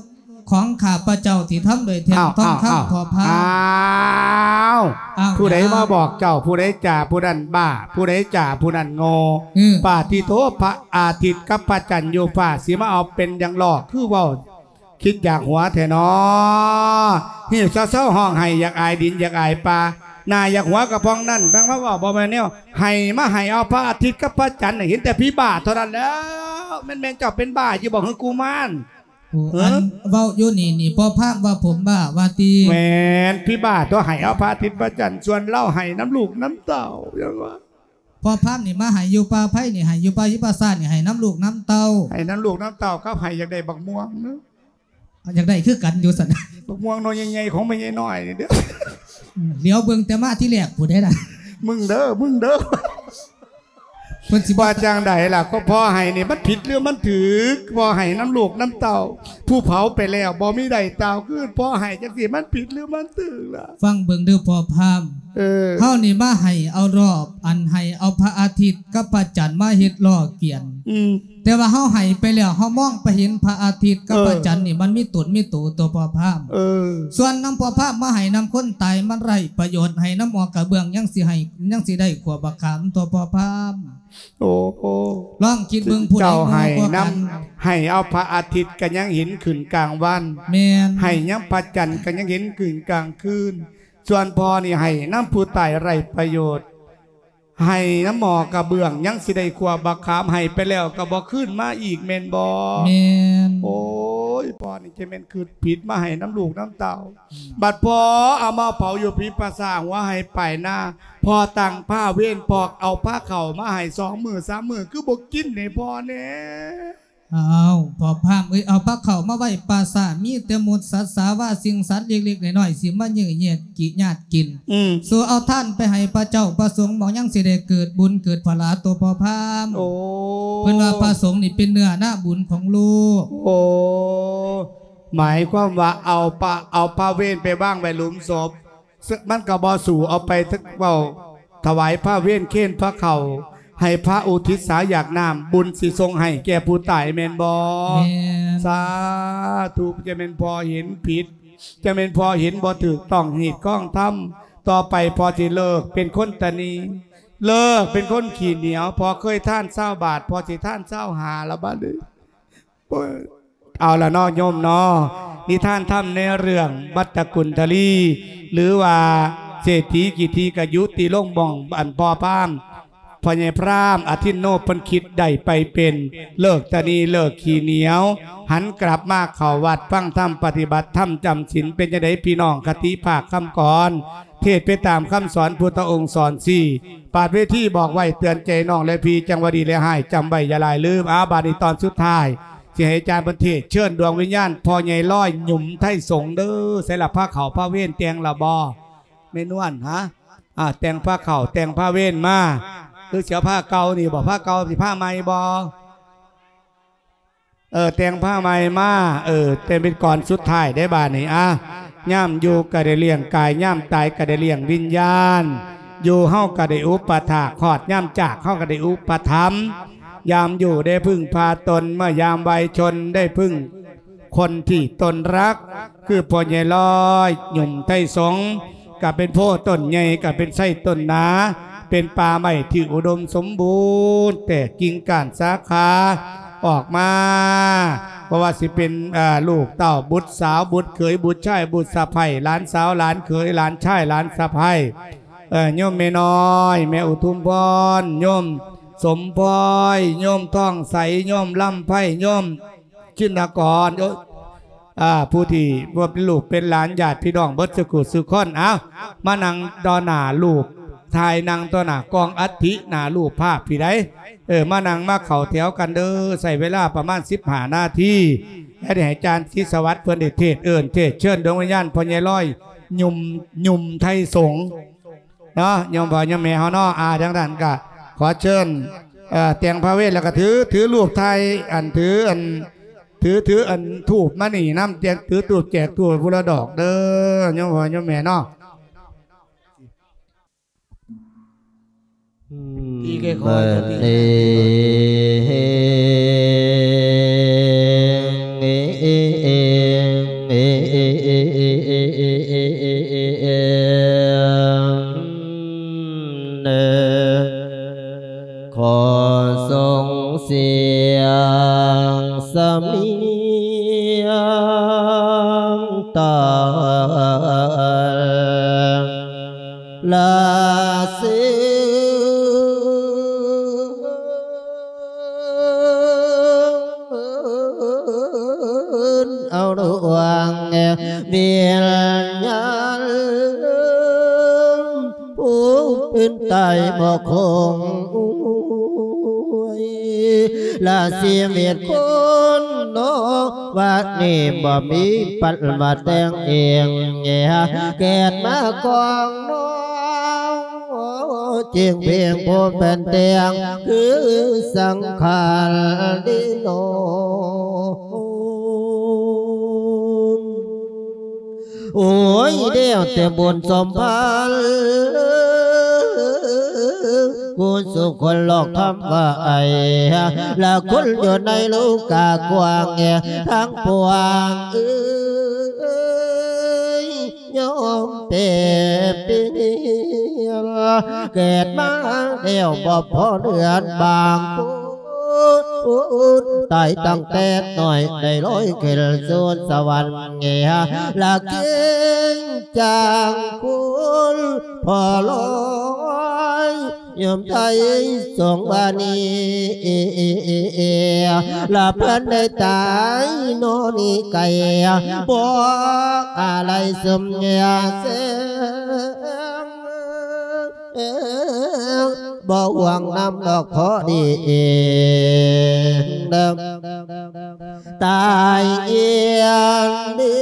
ຂອງຂ້າພະເຈົ້າທີ່ທຳດ້ວຍແທ່ງທອງຄຳ. ພໍ່ພາມ ອ້າວ ອ້າວ ຜູ້ໃດມາບອກເຈົ້າ? ຜູ້ໃດຈ່າຜູ້ນັ້ນບ້າ ຜູ້ໃດຈ່າຜູ້ນັ້ນໂງ່. ອືມ ປາຕິໂທ ພະອາທິດກັບພະຈັນຢູ່ຟ້າ ຊິມາເອົາເປັນຫຍັງລໍ້ ຄືເວົ້າຄິດຢາກຫົວແທ້ນໍ. ຮີບເຊົາໆ ຮ້ອງໄຫ້ ຢາກອາຍດິນ ຢາກອາຍປ່າ ໜ້າຢາກຫົວກະປ່ອງນັ້ນ ແມ່ນມາເວົ້າບໍ່ແມ່ນແນວ. ໃຫ້ມາໃຫ້ເອົາພະອາທິດກັບພະຈັນ ເຫັນແຕ່ຜີບ້າເທົ່ານັ້ນແລ້ວ. ແມ່ນ ແມ່ນເຈົ້າເປັນບ້າຢູ່ບໍ່ ຄືກຸມານ? ໂອ້ ເອີ ອັນເວົ້າຢູ່ນີ້ນີ້ ພໍ່ພາມວ່າຜົມບ້າວ່າຕິ? ແມ່ນ ຜີບ້າຕົວະ ໃຫ້ເອົາພະອາທິດພະຈັນ ສ່ວນລາວໃຫ້ນຳລູກນຳເຕົ້າ ຈັ່ງວ່າ. ພໍ່ພາມນີ້ມາໃຫ້ຢູ່ປ່າໄຜ່ນີ້ ໃຫ້ຢູ່ປ່າຫິປາສາດນີ້ ໃຫ້ນຳລູກນຳເຕົ້າ ໃຫ້ນຳລູກນຳເຕົ້າ ກັບໃຫ້ຢາກໄດ້ບັກມ່ວງເນາະ. ຢາກໄດ້ຄືກັນຢູ່ຊັ້ນ. ບັກມ່ວງໜ່ວຍໃຫຍ່ໆ ຂອງແມ່ໃຫຍ່ນ້ອຍນີ້ເດີ້. ອືມ ຫຼຽວເບິ່ງແຕ່ມາທີແລກພຸ້ນເດ້ນະ. ມຶງເດີ້ ມຶງເດີ້. ເພິ່ນຊິວ່າຈັ່ງໃດລະ? ກໍພໍ່ໃຫ້ນີ້ມັນຜິດຫຼືມັນຖືກ? ພໍ່ໃຫ້ນຳລູກນຳເຕົ້າ ຜູ້ເຜົາໄປແລ້ວບໍ່ມີໄດ້ເຕົ້າຄືນ ພໍ່ໃຫ້ຈັ່ງຊີ້ມັນຜິດຫຼືມັນຖືກລະ? ຟັງເບິ່ງເດີ້ພໍ່ພາມ. ເອີ ເຮົານີ້ມາໃຫ້ເອົາລອບ ອັນໃຫ້ເອົາພະອາທິດກັບພະຈັນມາເຮັດລໍ້ກຽນ. ອືມ ແຕ່ວ່າເຮົາໃຫ້ໄປແລ້ວ ເຮົາມອງໄປເຫັນພະອາທິດກັບ ເອີ ພະຈັນນີ້ ມັນມີຕົນມີໂຕຕົວະພໍ່ພາມ. ເອີ ສ່ວນນຳພໍ່ພາມມາໃຫ້ນຳຄົນຕາຍມັນໄຮ້ປະໂຫຍດ ໃຫ້ນຳໝໍກະເບື້ອງຍັງຊິໃຫ້ ຍັງຊິໄດ້ຂວບບັກຂາມຕົວະພໍ່ພາມ. ໂອ້ ລອງຄິດເບິ່ງ ຜູ້ໃດໂງ່ກວ່າກັນ? ເຈົ້າໃຫ້ນຳ ໃຫ້ເອົາພະອາທິດກະຍັງເຫັນຂຶ້ນກາງວັນ. ແມ່ນ ໃຫ້ນຳພະຈັນກະຍັງເຫັນຂຶ້ນກາງຄືນ. ສ່ວນພໍ່ນີ້ໃຫ້ນຳຜູ້ຕາຍໄຮ້ປະໂຫຍດ. ໃຫ້ນຳໝໍກະເບື້ອງ ຍັງຊິໄດ້ຂວບບັກຂາມ ໃຫ້ໄປແລ້ວກະບໍ່ຄືນມາອີກແມ່ນບໍ່? ແມ່ນ. ໂອ້ຍ ພໍ່ນີ້ຈະແມ່ນຄິດຜິດ ມາໃຫ້ນຳລູກນຳເຕົ້າ. ອືມ ບັດພໍ່ເອົາມາເຜົາຢູ່ຜີປ່າຊ້າ ຫົວໄຮ່ປາຍນາ ພໍ່ຕັ້ງພາເວນ ປອກເອົາພາເຂົ້າມາໃຫ້ສອງມື້ສາມມື້ ຄືບໍ່ກິນໃຫ້ພໍ່ແດ່? ອ້າວ ພໍ່ພາມເອີຍ ເອົາພາເຂົ້າມາໄວ້ປ່າຊ້າ ມີແຕ່ມົດສັດສາວາ ສິ່ງສັດເລັກໆນ້ອຍໆ ຊິມາເຍີ້ຍແຍດກິ ຍາດກິນ. ອືມ ສູ່ເອົາທານໄປໃຫ້ພະເຈົ້າພະສົງ ໝໍຍັງຊິໄດ້ເກີດບຸນເກີດພະລາໂຕພໍ່ພາມ. ໂອ້ ເພິ່ນວ່າພະສົງນີ້ເປັນເນື້ອນາບຸນຂອງໂລກ. ໂອ້ ໝາຍຄວາມວ່າເອົາປະ ເອົາພະເວນໄປວາງໄວ້ຫຼຸມສົບ. ເຊິ່ງມັນກໍບໍ່ສູ້ເອົາໄປເວົ້າຖວາຍພະເວນເຄນພະເຂົ້າ ໃຫ້ພະອຸທິດສາຢາກນ້ຳ ບຸນຊິສົ່ງໃຫ້ແກ່ຜູ້ຕາຍແມ່ນບໍ່? ແມ່ນ. ສາທຸ ຈະແມ່ນພໍ່ເຫັນຜິດ ຈະແມ່ນພໍ່ເຫັນບໍ່ຖືກຕ້ອງຮີດຄອງທຳ. ຕໍ່ໄປພໍ່ຊິເລີກເປັນຄົນຕະໜີ ເລີກເປັນຄົນຂີ້ໜຽວ. ພໍ່ເຄີຍທານຊາວບາດ ພໍ່ຊິທານຊາວຫ້າລະບາດນີ້. ເອົາລະເນາະໂຍມເນາະ ນິທານທຳໃນເລື່ອງບັດຕະກຸນທະລີ ຫຼືວ່າເສດຖີກິດຖີກະຍຸຕິລົງໝ່ອງອັນພໍ່ພາມ ພໍ່ໃຫຍ່ພຣາມອະທິນໂນ ເພິ່ນຄິດໄດ້ໄປເປັນເລີກຕະໜີ ເລີກຂີ້ໜຽວ ຫັນກັບມາເຂົ້າວັດຟັງທຳປະຕິບັດທຳຈຳສິນ. ເປັນຈັ່ງໃດພີ່ນ້ອງ ຄະຕິພາກຄຳກອນ ເທດໄປຕາມຄຳສອນພຸດທະອົງສອນຊີ້. ປາດເວທີບອກໄວ້ເຕືອນໃຈນ້ອງແລະພີ່ ຈັ່ງວ່າດີແລະຮ້າຍ ຈຳໄວ້ຢ່າຫຼາຍລືມ. ອາ ບາດນີ້ຕອນສຸດທ້າຍ ຊິໃຫ້ອາຈານເພິ່ນເທດເຊີນດວງວິນຍານພໍ່ໃຫຍ່ລອຍ ຫຍຸມໄທສົງເດີ. ໃສລະ ພາເຂົ້າພາເວນແຕ່ງລະບໍ່ ແມ່ນວນ? ຫະ ອ່າ ແຕ່ງພາເຂົ້າແຕ່ງພາເວນມາ ຫຼືຊິເອົາພາເກົ່ານີ້ບໍ່? ພາເກົ່າຊິພາໃໝ່ບໍ່? ເອີ ແຕ່ງພາໃໝ່ມາ ເອີ ແຕ່ເປັນກ່ອນສຸດທ້າຍໄດ້ບາດນີ້. ອາ ຍາມຢູ່ກໍໄດ້ລ້ຽງກາຍ ຍາມຕາຍກໍໄດ້ລ້ຽງວິນຍານ ຢູ່ເຮົາກໍໄດ້ອຸປະຖາກ ຮອດຍາມຈາກເຮົາກໍໄດ້ອຸປະຖຳ. ຍາມຢູ່ໄດ້ເພິ່ງພາຕົນ ເມື່ອຍາມໄວຊົນໄດ້ເພິ່ງຄົນທີ່ຕົນຮັກ ຄືພໍ່ໃຫຍ່ລອຍ ຫຍຸມໄທສົງ ກໍເປັນໂພຕົ້ນໃຫຍ່ ກໍເປັນໄຊຕົ້ນໜາ ເປັນປ່າໄມ້ທີ່ອຸດົມສົມບູນ ແຕກກິ່ງກ້ານສາຂາອອກມາ. ບໍ່ວ່າຊິເປັນ ເອີ ລູກເຕົ້າ ບຸດສາວ ບຸດເຂີຍ ບຸດຊາຍ ບຸດສະໃພ້ ຫຼານສາວ ຫຼານເຂີຍ ຫຼານຊາຍ ຫຼານສະໃພ້ ເອີ ໂຍມແມ່ນ້ອຍ ແມ່ອຸທຸມພອນ ໂຍມສົມພອຍ ໂຍມທອງໃສ ໂຍມລຳໄພ ໂຍມ ຊິນນະກອນ ໂອ້ຍ ອ່າ ຜູ້ທີ່ວ່າເປັນລູກເປັນຫຼານ ຍາດພີ່ນ້ອງເບິດສູ່ຜູ້ສູ່ຄົນ. ເອົາ ມານັ່ງຕໍ່ໜ້າຮູບຖ່າຍ ນັ່ງຕໍ່ໜ້າກ້ອງອັດຖິ ໜ້າຮູບພາບພີ້ໃດ. ເອີ ມານັ່ງມາເຂົ້າແຖວກັນເດີ. ໃຊ້ເວລາປະມານສິບຫ້ານາທີ ແລ້ວໄດ້ໃຫ້ອາຈານສິດສະຫວັດເພິ່ນໄດ້ເທດເອີ້ນເທດເຊີນດວງວິນຍານພໍ່ໃຫຍ່ລອຍ ຫຍຸມ ຫຍຸມໄທສົງ ເນາະ ໂຍມພໍ່ໂຍມແມ່ເຮົາເນາະ. ອ່າ ດັ່ງນັ້ນກໍຂໍເຊີນ ເອີ ແຕ່ງພາເວດ ແລ້ວກໍຖື ຖືຮູບຖ່າຍ ອັນ ຖື ອັນ ຖື ຖື ອັນ ທູບມານີ້ນຳ ແຈກ ຖືທູບແຈກທູບຜູ້ລະດອກເດີ ໂຍມພໍ່ໂຍມແມ່ເນາະ. ຕີຄ່ອຍໆ ຕີ ຂໍສົ່ງສຽງສຳນຽງຕາລາເຊ ເອົາດວງວິນຍານ ຜູ້ເປັນຕາຍບໍ່ຄົງ ລະຊີວິດຄົນເນາະ ວັດນີ້ບໍ່ມີປັນມາແຕ່ງເອງ ເກີດມາກອງນ້ອງ ຈຶ່ງເພງຜູ້ເປັນແຕ່ງ ຄືສັງຂານດີໂນ. ໂອ້ຍ ແລ້ວແຕ່ບຸນສົມພັນ ກຸສົນຄົນລອກທຳວ່າໄອ ລະຄົນຢູ່ໃນໂລກາກວ້າງ ທັງປວງເອີຍ ຍອມເປັນເປັນ ເກີດມາແລ້ວບໍ່ພໍເດືອນບາງຄົນ ຕາຍຕັ້ງແຕ່ນ້ອຍໄດ້ລອຍຂຶ້ນສູ່ສະຫວັນ ລະເກງຈາງຄຸນພໍ່ລອຍ ຍາມໄທສົງວ່ານີ້ ລະເພິ່ນໄດ້ຕາຍນອນນີ້ໄກ ບໍ່ອາໄລສົມແສງ ບໍ່ຫວງນຳດອກພໍດີເອງເດີ ຕາຍເອງເດີ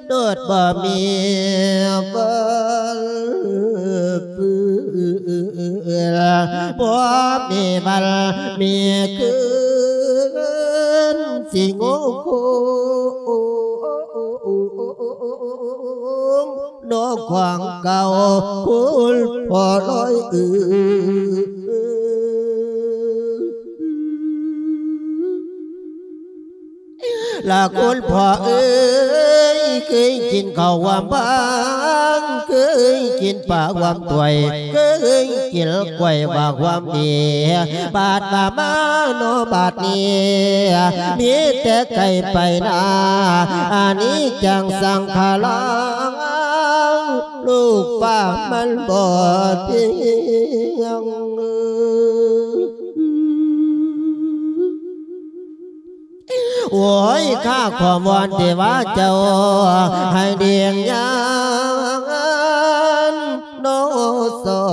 ໂດດບໍ່ມີວັນ ບໍ່ມີວັນມີຄືນ ຊິໂງໂຄ້ງ ນອກຂວາງເກົ່າ ຄຸນພໍ່ລອຍເອີຍ ລະຄຸນພໍ່ເອີຍ ເຄີຍກິນເຂົ້າຫວາມບາງ ເຄີຍກິນປາຫວາມຖ້ວຍ ເຄີຍກິນກ້ວຍວ່າຫວາມເອ ບາດວ່າມາເນາະບາດນີ້ ມີແຕ່ໄກ່ໄປນາ ອານິດຈັງສັງຂາລັງ ລູກຟ້າມັນບໍ່ທ່ຽງ. ໂອ້ຍ ຂ້າຂໍວອນເທວາເຈົ້າ ໃຫ້ດຽງຍານ ໂນສອ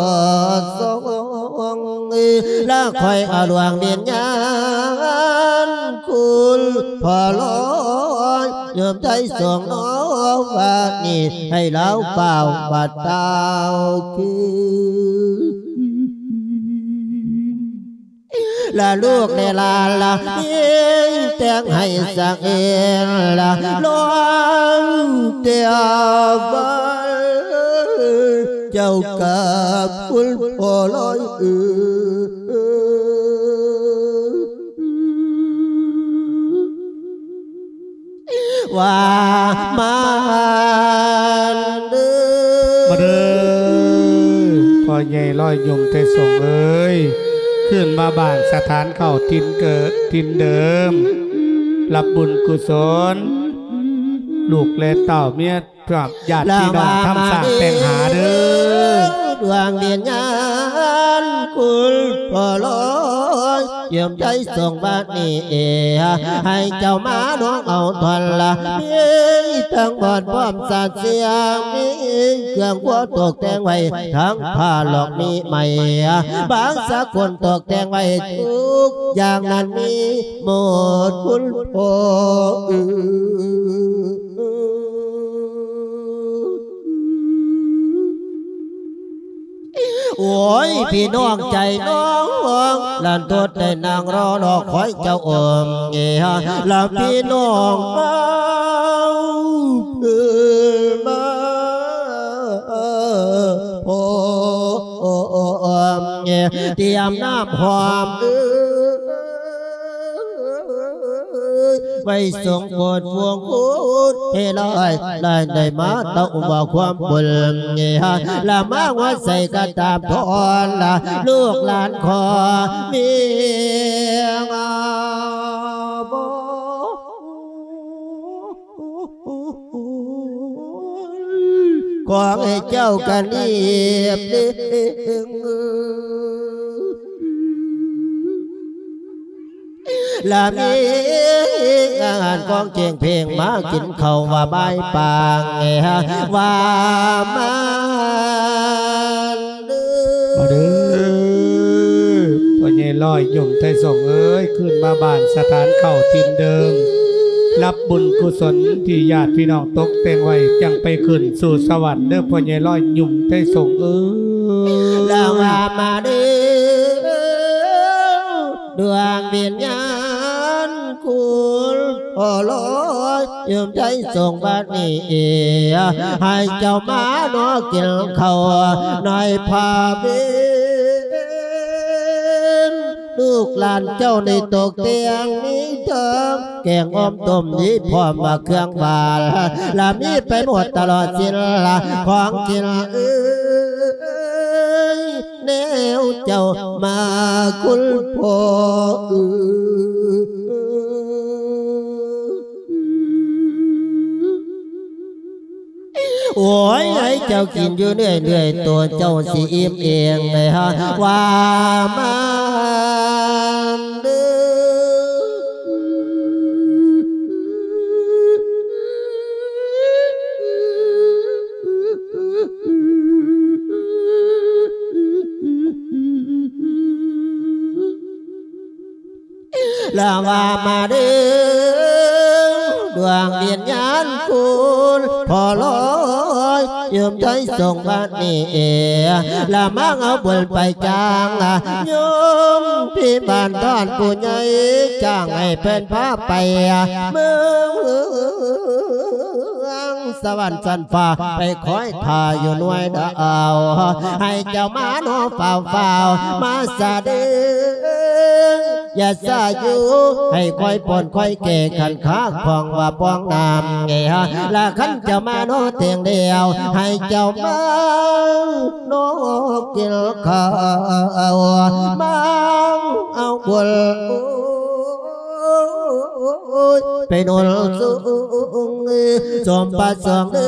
ດສອງ ລະຂ້ອຍເອົາດວງວິນຍານ ຄຸນພໍ່ລອຍ ໂຍມໄທສົງເນາະ ບາດນີ້ໃຫ້ລາວຟ້າວບາດຕາວຄືນ ລະລູກແລະຫຼານລະ ມີແຕ່ງໃຫ້ສັກເອງລະ ລອງແຕ່ວັນ ເຈົ້າກັບຄຸນພໍ່ລອຍເອີຍ ວ່າມາເດີ ມາເດີ ພໍ່ໃຫຍ່ລອຍຍົມໄທສົງເອີຍ ຄືນມາບ້ານສະຖານເກົ່າຖິ່ນເກີດຖິ່ນເດີມ ຮັບບຸນກຸສົນ ລູກແລະເຕົ້າເມຍ ກັບຍາດພີ່ນ້ອງທຳສ້າງແຕ່ງຫາເດີ ດວງວິນຍານຄຸນພໍ່ລອຍ ເຢ້ຽມໃຈສົງບາດນີ້ເອ ໃຫ້ເຈົ້າມານ້ອງເອົາທ່ອນລະ ມີທັງບອນພ້ອມສາດສຽງ ມີເຄື່ອງຄົວຕົກແຕ່ງໄວ້ ທັງຜ້າຫຼອກມີໄມ້ ບາງສາກົນຕົກແຕ່ງໄວ້ ທຸກຢ່າງນັ້ນມີໝົດຄຸນພໍ່ເອີຍ. ໂອ້ຍ ພີ່ນ້ອງໃຈນ້ອງ ລັນໂຕດໄດ້ນັ່ງລໍລໍຄອຍເຈົ້າອົມເອ ລະພີ່ນ້ອງມາເອີມາ ພ້ອມເອ ຕຽມນ້ຳຫອມເອີ ໄວ້ສົ່ງໂປດພວງຄູນເຮລອຍ ລາຍໄດ້ມາເຕົ້າວ່າຄວາມບຸນ ລະມາຫົວໃສ່ກະຕາມທອນ ລະລູກຫຼານຂໍມີງາບໍ ຂໍໃຫ້ເຈົ້າກະນຽບເດີ ລະມີອາຫານກອງເຈງເພງ ມາກິນເຂົ້າວ່າບາຍປາງແອ ວ່າມາເດີ ມາເດີ ພໍ່ໃຫຍ່ລອຍຍົມໄທສົງເອີຍ ຄືນມາບ້ານສະຖານເກົ່າຖິ່ນເດີມ ຮັບບຸນກຸສົນທີ່ຍາດພີ່ນ້ອງຕົກແຕ່ງໄວ້ ຈັ່ງໄປຂຶ້ນສູ່ສະຫວັນເດີ ພໍ່ໃຫຍ່ລອຍຍົມໄທສົງເອີຍ ລະວ່າມາເດີ ດວງວິນຍານຄຸນພໍ່ລອຍ ຍົມໄທສົງບາດນີ້ເອ ໃຫ້ເຈົ້າມານອກກິນເຂົ້າໃນພາເວນ ລູກຫຼານເຈົ້າໄດ້ຕົກແຕ່ງມີທັງແກງອອມຕົ້ມ ມີພ້ອມວ່າເຄື່ອງຫວານ ລະມີໄປໝົດຕະຫຼອດສິ້ນລະຂອງກິນເອີຍ ແນວເຈົ້າມາຄຸນພໍ່ເອີຍ ໂອ້ຍ ໃຫ້ເຈົ້າກິນຢູ່ເລື້ອຍໆ ໂຕເຈົ້າຊິອີ່ມເອງເລີຍ ວ່າມາເດີ. ລະວ່າມາເດີ ດວງວິນຍານຄຸນພໍ່ລອຍ ຍາມໃດສົ່ງມານີ້ ລະມາເອົາບຸນໄປຈ້າງ ໂຍມພິບານທ່ານຜູ້ໃຫຍ່ ຈ້າງໃຫ້ເພິ່ນພາໄປເມືອງ ສະຫວັນຊັ້ນຟ້າ ໄປຄອຍຖ້າຢູ່ໜ່ວຍດາວ ໃຫ້ເຈົ້າມານອເຝົ້າໆ ມາສະເດັດ ຢ່າຊ້າຢູ່ ໃຫ້ຄອຍປ່ອນຄອຍແກ່ ຄັນຄາຂອງວ່າປ່ອງນ້ຳ ລະຄັນເຈົ້າມານອແຕ່ງແລ້ວ ໃຫ້ເຈົ້າມານອກິນເຂົ້າ ມາເອົາບຸນ ໂອ້ຍ ໄປໜູນສູງ ສົມປະສົງເດີ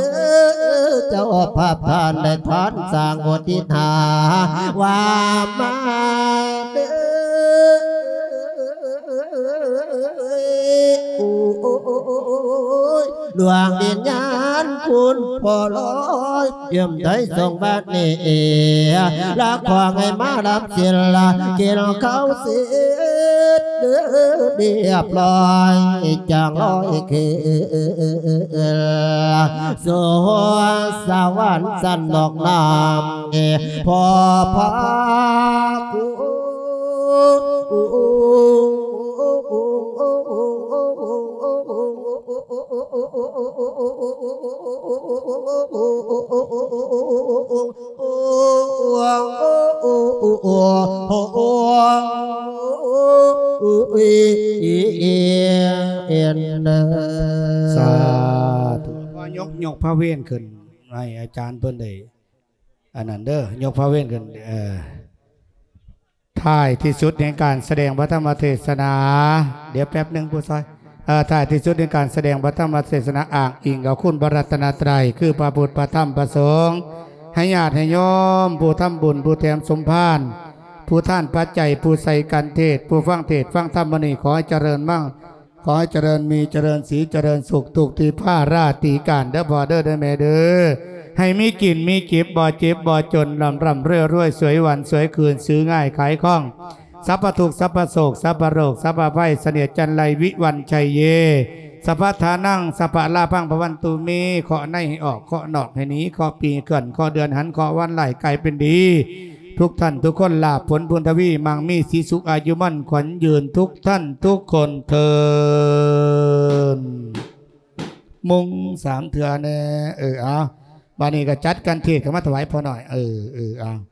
ເຈົ້າພາບທ່ານໄດ້ທານສ້າງອຸທິດຫາ ວ່າມາເດີ ໂອ້ຍ ດວງວິນຍານຄຸນພໍ່ລອຍ ຍາມໃດສົ່ງມານີ້ ລະຂໍໃຫ້ມາຮັບສິນ ລະກິນເຂົ້າເສັດ ລຽບຮ້ອຍ ຈັ່ງລອຍຄືນສູ່ສະຫວັນຊັ້ນນອກນ້ຳ ພໍ່ພາກຸ ສາທຸ ກໍຍົກ ຍົກພະເວນຂຶ້ນໃຫ້ອາຈານເພິ່ນໄດ້ ອັນນັ້ນເດີ ຍົກພະເວນຂຶ້ນ ເອີ ທ້າຍທີ່ສຸດແຫ່ງການສະແດງພະທຳມະເທດສະໜາ ດຽວແປັບໜຶ່ງຜູ້ຊ່ອຍ ເອີ ທ້າຍທີ່ສຸດແຫ່ງການສະແດງພະທຳມະເທດສະໜາ ອ້າງອີງເອົາຄຸນພະລັດຕະນະໄຕ ຄືພະພຸດ ພະທຳ ພະສົງ ໃຫ້ຍາດໃຫ້ໂຍມ ຜູ້ທຳບຸນ ຜູ້ແຖມສົມພານ ຜູ້ທານປັດໄຈ ຜູ້ໃສ່ກັນເທດ ຜູ້ຟັງເທດຟັງທຳມື້ນີ້ ຂໍໃຫ້ຈະເລີນມັງ ຂໍໃຫ້ຈະເລີນມີ ຈະເລີນສີ ຈະເລີນສຸກ ທຸກທີ່ພາລາທີ່ການເດີພໍ່ເດີ ເດີແມ່ເດີ ໃຫ້ມີກິນມີເກັບ ບໍ່ເຈັບບໍ່ຈົນ ລ່ຳໆລວຍໆ ສວຍວັນສວຍຄືນ ຊື້ງ່າຍຂາຍຄ່ອງ ສັບພະທຸກ ສັບພະໂສກ ສັບພະໂລກ ສັບພະໄພ ສະເໜດຈັນໄລ ວິວັນໄຊເຍ ສັບພະທານັງ ສັບພະລາພັງ ພະວັນຕຸເມ ເຄາະໃນໃຫ້ອອກ ເຄາະນອກໃຫ້ໜີ ເຄາະປີເຄື່ອນ ເຄາະເດືອນຫັນ ເຄາະວັນຮ້າຍກາຍເປັນດີ ທຸກທ່ານທຸກຄົນ ລາບຜົນບຸນທະວີ ມັງມີສີສຸກ ອາຍຸໝັ້ນຂວັນຍືນ ທຸກທ່ານທຸກຄົນເທີນ. ມຸງສາມເທື່ອແດ່. ເອີ ເອົາ ບາດນີ້ກໍຈັດການເທດເຂົ້າມາຖວາຍພໍ່ນ້ອຍ. ເອີ ເອີ ເອົາ